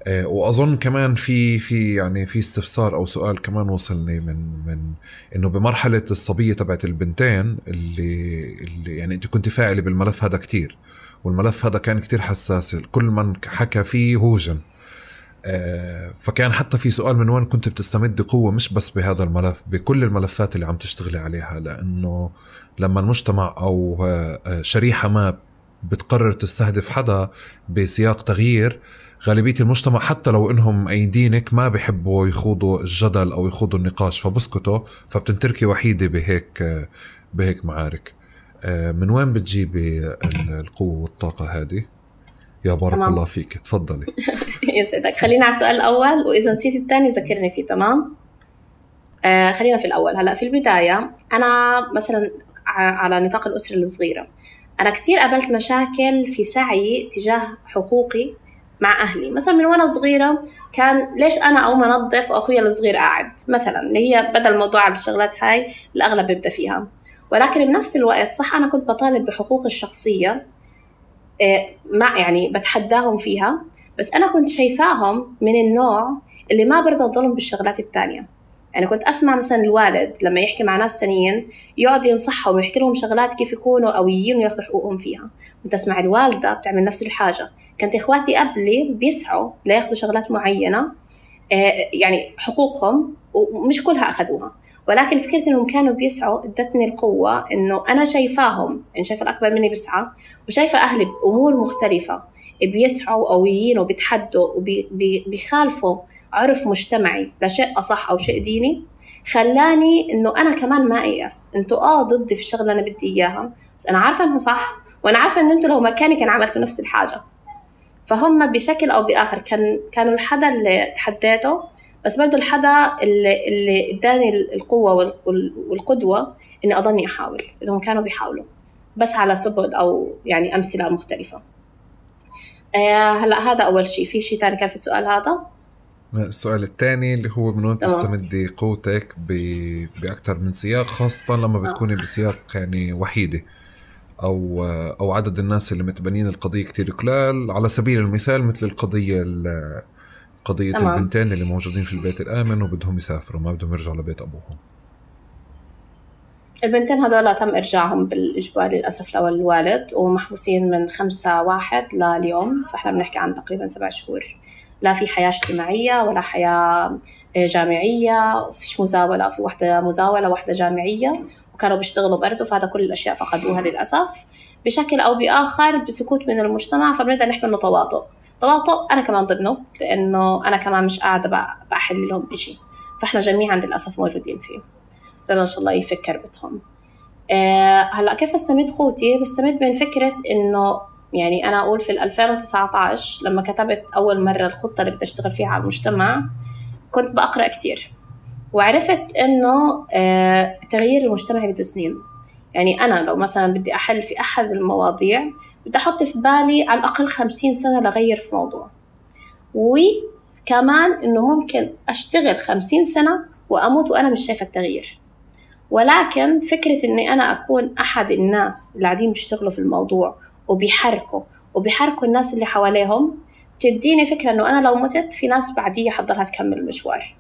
وأظن كمان في في يعني في استفسار أو سؤال كمان وصلني من من إنه بمرحلة الصبية تبعت البنتين اللي اللي يعني أنت كنت فاعلة بالملف هذا كتير، والملف هذا كان كتير حساس، كل من حكى فيه هوجم. فكان حتى في سؤال من وين كنت بتستمد قوة، مش بس بهذا الملف، بكل الملفات اللي عم تشتغلي عليها، لأنه لما المجتمع أو شريحة ما بتقرر تستهدف حدا بسياق تغيير، غالبية المجتمع حتى لو إنهم أيدينك ما بيحبوا يخوضوا الجدل أو يخوضوا النقاش فبسكتوا، فبتنتركي وحيدة بهيك بهيك معارك. من وين بتجيبي القوة والطاقة هذه؟ يا بارك تمام. الله فيك، تفضلي. يسعدك. خلينا على السؤال الأول، وإذا نسيت الثاني ذكرني فيه. تمام. آه خلينا في الأول. هلأ في البداية أنا مثلا على نطاق الأسرة الصغيرة أنا كتير قابلت مشاكل في سعي تجاه حقوقي مع أهلي. مثلا من وأنا صغيرة كان ليش أنا أو منظف وأخويا الصغير قاعد مثلا، اللي هي بدل الموضوع على الشغلات هاي الأغلب بيبدأ فيها. ولكن بنفس الوقت صح أنا كنت بطالب بحقوق الشخصية، ما يعني بتحداهم فيها، بس أنا كنت شايفاهم من النوع اللي ما برضى الظلم بالشغلات التانية. يعني كنت أسمع مثلا الوالد لما يحكي مع ناس تانيين يقعد ينصحهم ويحكي لهم شغلات كيف يكونوا قويين وياخذوا حقوقهم فيها، كنت أسمع الوالدة بتعمل نفس الحاجة. كانت إخواتي قبلي بيسعوا لياخذوا شغلات معينة يعني حقوقهم، ومش كلها أخذوها، ولكن فكرة إنهم كانوا بيسعوا ادتني القوة إنه أنا شايفاهم، يعني شايفة الأكبر مني بيسعى، وشايفة أهلي بأمور مختلفة بيسعوا قويين وبيتحدوا وبيخالفوا عرف مجتمعي لشيء أصح أو شيء ديني، خلاني إنه أنا كمان ما أيأس. أنتوا آه ضدي في الشغلة أنا بدي إياها، بس أنا عارفة إنها صح، وأنا عارفة إن أنتوا لو مكاني كان عملتوا نفس الحاجة. فهم بشكل أو بآخر كان كانوا الحدا اللي تحديته، بس برضو الحدا اللي اللي اداني القوة والقدوة إني أضلني أحاول. إنهم كانوا بيحاولوا بس على سبل أو يعني أمثلة مختلفة. آه هلا هذا أول شيء. في شيء تاني كان في السؤال هذا؟ السؤال الثاني اللي هو من وين تستمدي قوتك بأكثر من سياق، خاصة لما بتكوني بسياق يعني وحيدة أو أو عدد الناس اللي متبنين القضية كتير قلال، على سبيل المثال مثل القضية قضية تمام. البنتين اللي موجودين في البيت الآمن وبدهم يسافروا، ما بدهم يرجعوا لبيت أبوهم. البنتين هذولا تم إرجاعهم بالإجبار للأسف لو الوالد، ومحبوسين من خمسة واحد لليوم، فإحنا بنحكي عن تقريبا سبع شهور. لا في حياة اجتماعية ولا حياة جامعية، فيش مزاولة، في واحدة مزاولة واحدة جامعية، وكانوا بيشتغلوا برضو، فهذا كل الأشياء فقدوها للأسف بشكل أو بآخر بسكوت من المجتمع. فبنقدر نحكي إنه تواطؤ تواطؤ أنا كمان ضمنه، لأنه أنا كمان مش قاعدة بأحل لهم إشي، فإحنا جميعا للأسف موجودين فيه. ربنا إن شاء الله يفكر بتهم. أه هلأ كيف استمد قوتي؟ بستمد من فكرة إنه يعني أنا أقول في ألفين وتسعة عشر لما كتبت أول مرة الخطة اللي بدي أشتغل فيها على المجتمع، كنت بقرأ كتير وعرفت إنه أه تغيير المجتمع بده سنين. يعني أنا لو مثلا بدي أحل في أحد المواضيع بدي أحط في بالي على الأقل خمسين سنة لغير في موضوع، وكمان إنه ممكن أشتغل خمسين سنة وأموت وأنا مش شايفة التغيير. ولكن فكرة إني أنا أكون أحد الناس اللي قاعدين بيشتغلوا في الموضوع وبيحركوا وبيحركوا الناس اللي حواليهم، تديني فكرة إنه أنا لو متت في ناس بعدية حضرها تكمل المشوار.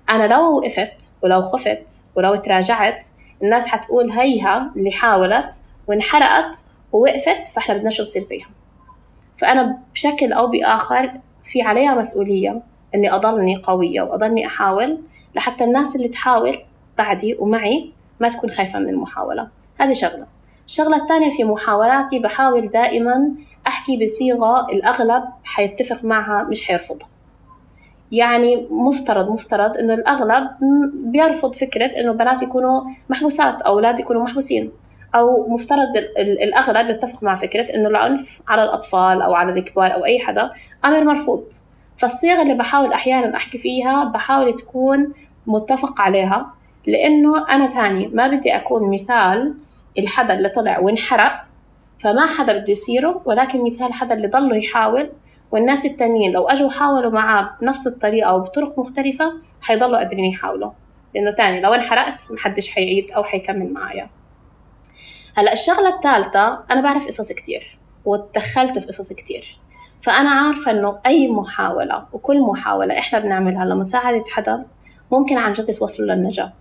أنا لو وقفت ولو خفت ولو تراجعت، الناس حتقول هيها اللي حاولت وانحرقت ووقفت، فإحنا بدناش نصير زيها. فأنا بشكل أو بآخر في عليها مسؤولية إني أضلني قوية وأضلني أحاول، لحتى الناس اللي تحاول بعدي ومعي ما تكون خايفة من المحاولة. هذه شغلة. الشغلة الثانية في محاولاتي بحاول دائما أحكي بصيغة الأغلب حيتفق معها مش حيرفضها. يعني مفترض مفترض إنه الأغلب بيرفض فكرة إنه بنات يكونوا محبوسات أو أولاد يكونوا محبوسين، أو مفترض الأغلب يتفق مع فكرة إنه العنف على الأطفال أو على الكبار أو أي حدا أمر مرفوض. فالصيغة اللي بحاول أحيانا أحكي فيها بحاول تكون متفق عليها، لأنه أنا تاني ما بدي أكون مثال الحدا اللي طلع وانحرق فما حدا بده يصيره، ولكن مثال حدا اللي ضلوا يحاول، والناس التانيين لو أجوا حاولوا معاه بنفس الطريقة أو بطرق مختلفة حيضلوا قادرين يحاولوا، لأنه تاني لو انحرقت محدش حيعيد أو حيكمل معايا. هلأ الشغلة الثالثة، أنا بعرف قصص كتير واتدخلت في قصص كتير، فأنا عارفة إنه أي محاولة وكل محاولة إحنا بنعملها لمساعدة حدا ممكن عن جد توصلوا للنجاة.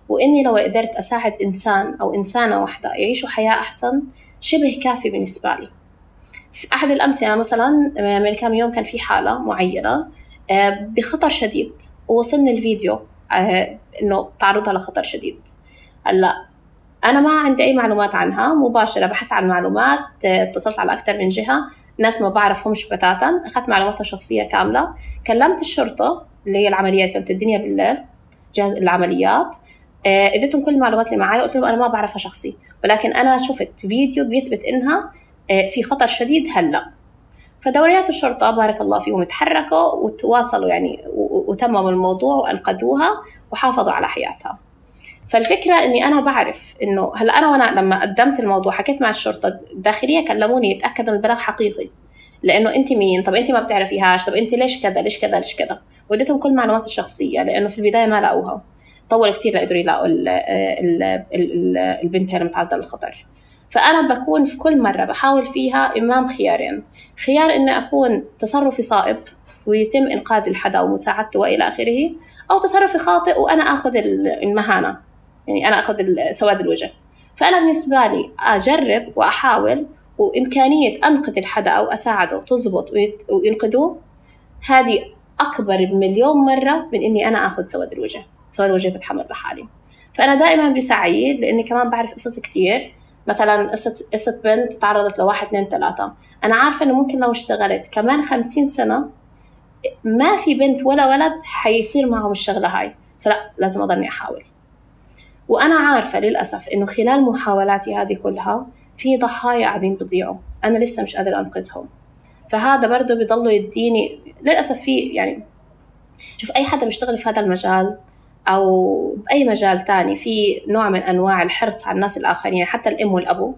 وإني لو قدرت أساعد إنسان أو إنسانة واحدة يعيشوا حياة أحسن شبه كافي بالنسبة لي. في أحد الأمثلة مثلا من كم يوم كان في حالة معينة بخطر شديد، ووصلني الفيديو إنه تعرضها لخطر شديد. هلا أنا ما عندي أي معلومات عنها مباشرة، بحثت عن معلومات، اتصلت على أكثر من جهة، ناس ما بعرفهمش بتاتا، أخذت معلوماتها الشخصية كاملة، كلمت الشرطة اللي هي العمليات كانت الدنيا بالليل جهاز العمليات، اديتهم كل المعلومات اللي معايا، قلت لهم أنا ما بعرفها شخصي، ولكن أنا شفت فيديو بيثبت إنها في خطر شديد هلأ. فدوريات الشرطة بارك الله فيهم تحركوا وتواصلوا يعني وتمموا الموضوع وأنقذوها وحافظوا على حياتها. فالفكرة إني أنا بعرف إنه هلأ أنا وأنا لما قدمت الموضوع حكيت مع الشرطة الداخلية، كلموني يتأكدوا إن البلاغ حقيقي، لأنه أنت مين؟ طب أنت ما بتعرفيهاش؟ طب أنت ليش كذا ليش كذا ليش كذا؟ وديتهم كل معلومات الشخصية، لأنه في البداية ما لقوها، طول كتير لقدروا يلاقوا البنت اللي متعرضة للخطر. فأنا بكون في كل مرة بحاول فيها إمام خيارين، خيار إني أكون تصرفي صائب ويتم إنقاذ الحدا ومساعدته وإلى آخره، أو تصرفي خاطئ وأنا أخذ المهانة، يعني أنا أخذ سواد الوجه. فأنا بالنسبة لي أجرب وأحاول، وإمكانية أنقذ الحدا أو أساعده تزبط وينقذوه، هذه أكبر بمليون مرة من إني أنا أخذ سواد الوجه. سواد الوجه بتحمل لحالي. فأنا دائما بسعي، لأني كمان بعرف قصص كتير، مثلا قصة قصة بنت تعرضت لواحد اثنين ثلاثة، أنا عارفة إنه ممكن لو اشتغلت كمان خمسين سنة ما في بنت ولا ولد حيصير معهم الشغلة هاي، فلا لازم أضلني أحاول. وأنا عارفة للأسف إنه خلال محاولاتي هذه كلها في ضحايا قاعدين بضيعوا، أنا لسه مش قادرة أنقذهم. فهذا برضو بيضلوا يديني للأسف في يعني، شوف أي حدا بيشتغل في هذا المجال أو بأي مجال تاني في نوع من أنواع الحرص على الناس الآخرين، حتى الأم والأبو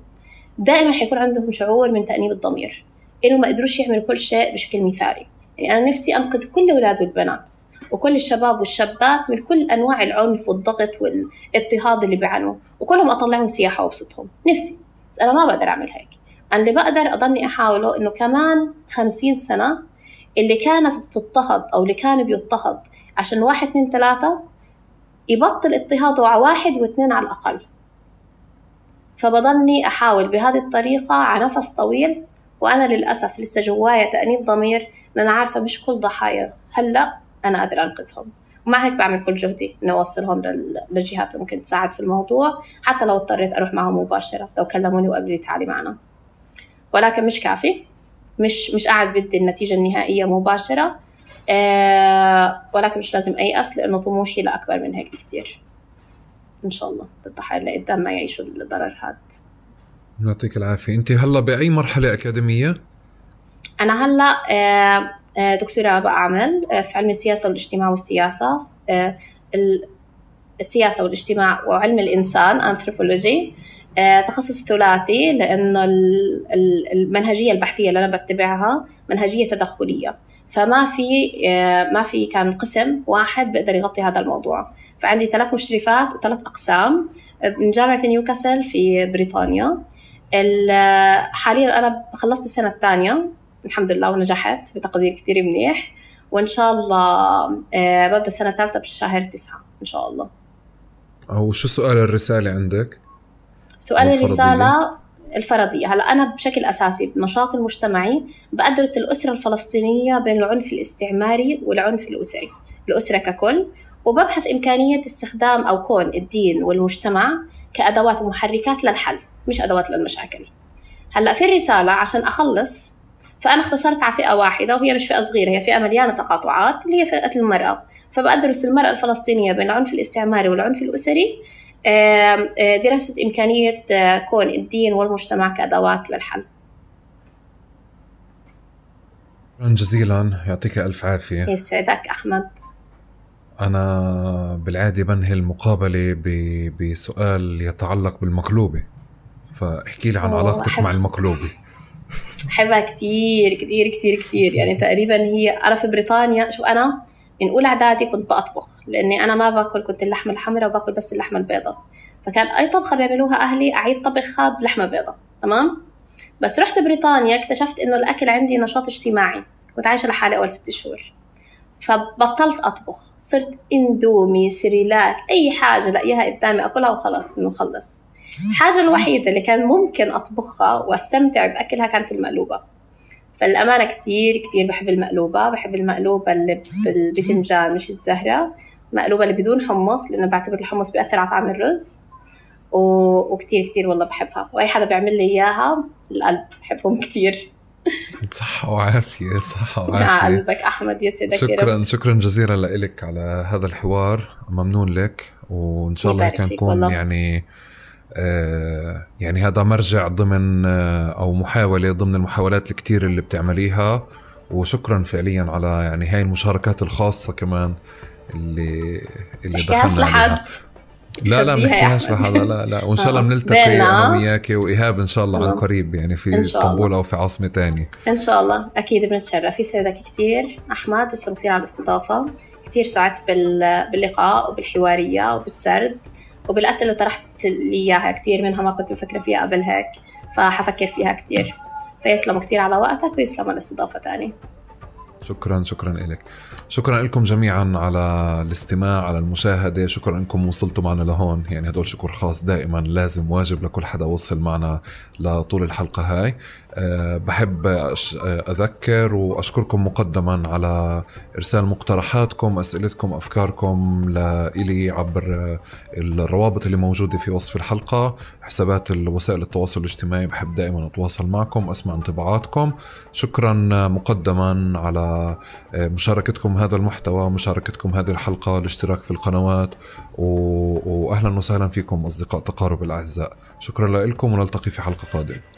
دائما حيكون عندهم شعور من تأنيب الضمير إنه ما قدروش يعملوا كل شيء بشكل مثالي. يعني أنا نفسي أنقذ كل الأولاد والبنات وكل الشباب والشابات من كل أنواع العنف والضغط والاضطهاد اللي بيعانوا، وكلهم أطلعهم سياحة وابسطهم، نفسي. بس أنا ما بقدر أعمل هيك. أنا اللي بقدر أضلني أحاوله إنه كمان خمسين سنة اللي كانت تضطهد أو اللي كان بيضطهد عشان واحد اثنين ثلاثة يبطل اضطهاده على واحد واثنين على الأقل. فبضلني أحاول بهذه الطريقة على نفس طويل، وأنا للأسف لسه جوايا تأنيب ضمير لأن أنا عارفة مش كل ضحايا هلأ أنا قادرة أنقذهم، ومع هيك بعمل كل جهدي إنه أوصلهم للجهات اللي ممكن تساعد في الموضوع، حتى لو اضطريت أروح معهم مباشرة، لو كلموني وقالوا لي تعالي معنا. ولكن مش كافي، مش مش قاعد بدي النتيجة النهائية مباشرة، أه ولكن مش لازم أيأس لأنه طموحي لأكبر من هيك بكتير. إن شاء الله الضحايا اللي قدام ما يعيشوا الضرر هذا. يعطيك العافية. أنت هلا بأي مرحلة أكاديمية؟ أنا هلا دكتوراه بعمل في علم السياسة والاجتماع والسياسة، السياسة والاجتماع وعلم الإنسان أنثروبولوجي، تخصص ثلاثي لأنه المنهجية البحثية اللي أنا بتبعها منهجية تدخلية، فما في ما في كان قسم واحد بيقدر يغطي هذا الموضوع. فعندي ثلاث مشرفات وثلاث أقسام من جامعة نيوكاسل في بريطانيا. حاليا أنا خلصت السنة الثانية الحمد لله ونجحت بتقدير كتير منيح، وإن شاء الله ببدأ السنة الثالثة بالشهر تسعة إن شاء الله. أو شو سؤال الرسالة عندك؟ سؤال الرسالة الفرضية. هلأ أنا بشكل أساسي بنشاط المجتمعي بأدرس الأسرة الفلسطينية بين العنف الاستعماري والعنف الأسري، الأسرة ككل، وببحث إمكانية استخدام أو كون الدين والمجتمع كأدوات ومحركات للحل مش أدوات للمشاكل. هلأ في الرسالة عشان أخلص فأنا اختصرت على فئة واحدة، وهي مش فئة صغيرة، هي فئة مليانة تقاطعات اللي هي فئة المرأة. فبأدرس المرأة الفلسطينية بين العنف الاستعماري والعنف الأسري، دراسة إمكانية كون الدين والمجتمع كأدوات للحل. شكرا جزيلا، يعطيك ألف عافية. يسعدك أحمد. أنا بالعادة بنهي المقابلة بسؤال يتعلق بالمقلوبة، فاحكي لي عن علاقتك أحب. مع المقلوبة. أحبها كتير كتير كتير كتير، يعني تقريبا هي أنا في بريطانيا، شو أنا من أولى إعدادي كنت بأطبخ، لأني أنا ما باكل كنت اللحمة الحمراء وباكل بس اللحمة البيضاء، فكان أي طبخة بيعملوها أهلي أعيد طبخها بلحمة بيضاء. تمام. بس رحت بريطانيا اكتشفت إنه الأكل عندي نشاط اجتماعي، كنت عايشة لحالي أول ست شهور، فبطلت أطبخ، صرت إندومي سريلاك أي حاجة لقيها قدامي أكلها وخلص إنه خلص. الحاجة الوحيدة اللي كان ممكن أطبخها واستمتع بأكلها كانت المقلوبة. فالأمانة كتير كتير بحب المقلوبة، بحب المقلوبة اللي بالبتنجان مش الزهرة، مقلوبة اللي بدون حمص لأنه بعتبر الحمص بيأثر على طعم الرز، وكتير كتير والله بحبها، وأي حدا بيعمل لي إياها القلب بحبهم كتير. صحة وعافية. صحة وعافية. مع قلبك أحمد، يسعدك. شكرا شكرا جزيلا لك على هذا الحوار، ممنون لك، وإن شاء الله كان نكون يعني آه يعني هذا مرجع ضمن آه أو محاولة ضمن المحاولات الكتير اللي بتعمليها، وشكرا فعليا على يعني هاي المشاركات الخاصة كمان اللي اللي دخلنا عليها. لا لا محكيهاش لحدا، لا لا وإن شاء الله بنلتقي أنا وياكي وإيهاب إن شاء الله عن قريب، يعني في اسطنبول أو في عاصمة تانية إن شاء الله. أكيد بنتشرف. يسعدك كتير أحمد، تسلم كتير على الاستضافة، كتير سعدت باللقاء وبالحوارية وبالسرد وبالأسئلة اللي طرحت لي إياها، كتير منها ما كنت مفكرة فيها قبل هيك، فحفكر فيها كتير. فيسلموا كتير على وقتك ويسلموا على الاستضافة تاني. شكرا شكرا لك. شكرا لكم جميعا على الاستماع، على المشاهدة. شكرا انكم وصلتوا معنا لهون، يعني هدول شكر خاص دائما لازم واجب لكل حدا وصل معنا لطول الحلقة هاي. أه بحب أذكر وأشكركم مقدما على إرسال مقترحاتكم، أسئلتكم، أفكاركم لإلي عبر الروابط اللي موجودة في وصف الحلقة، حسابات وسائل التواصل الاجتماعي. بحب دائما أتواصل معكم، أسمع انطباعاتكم. شكرا مقدما على مشاركتكم هذا المحتوى، مشاركتكم هذه الحلقة، الاشتراك في القنوات، وأهلا وسهلا فيكم أصدقاء تقارب الأعزاء. شكرا لكم ونلتقي في حلقة قادمة.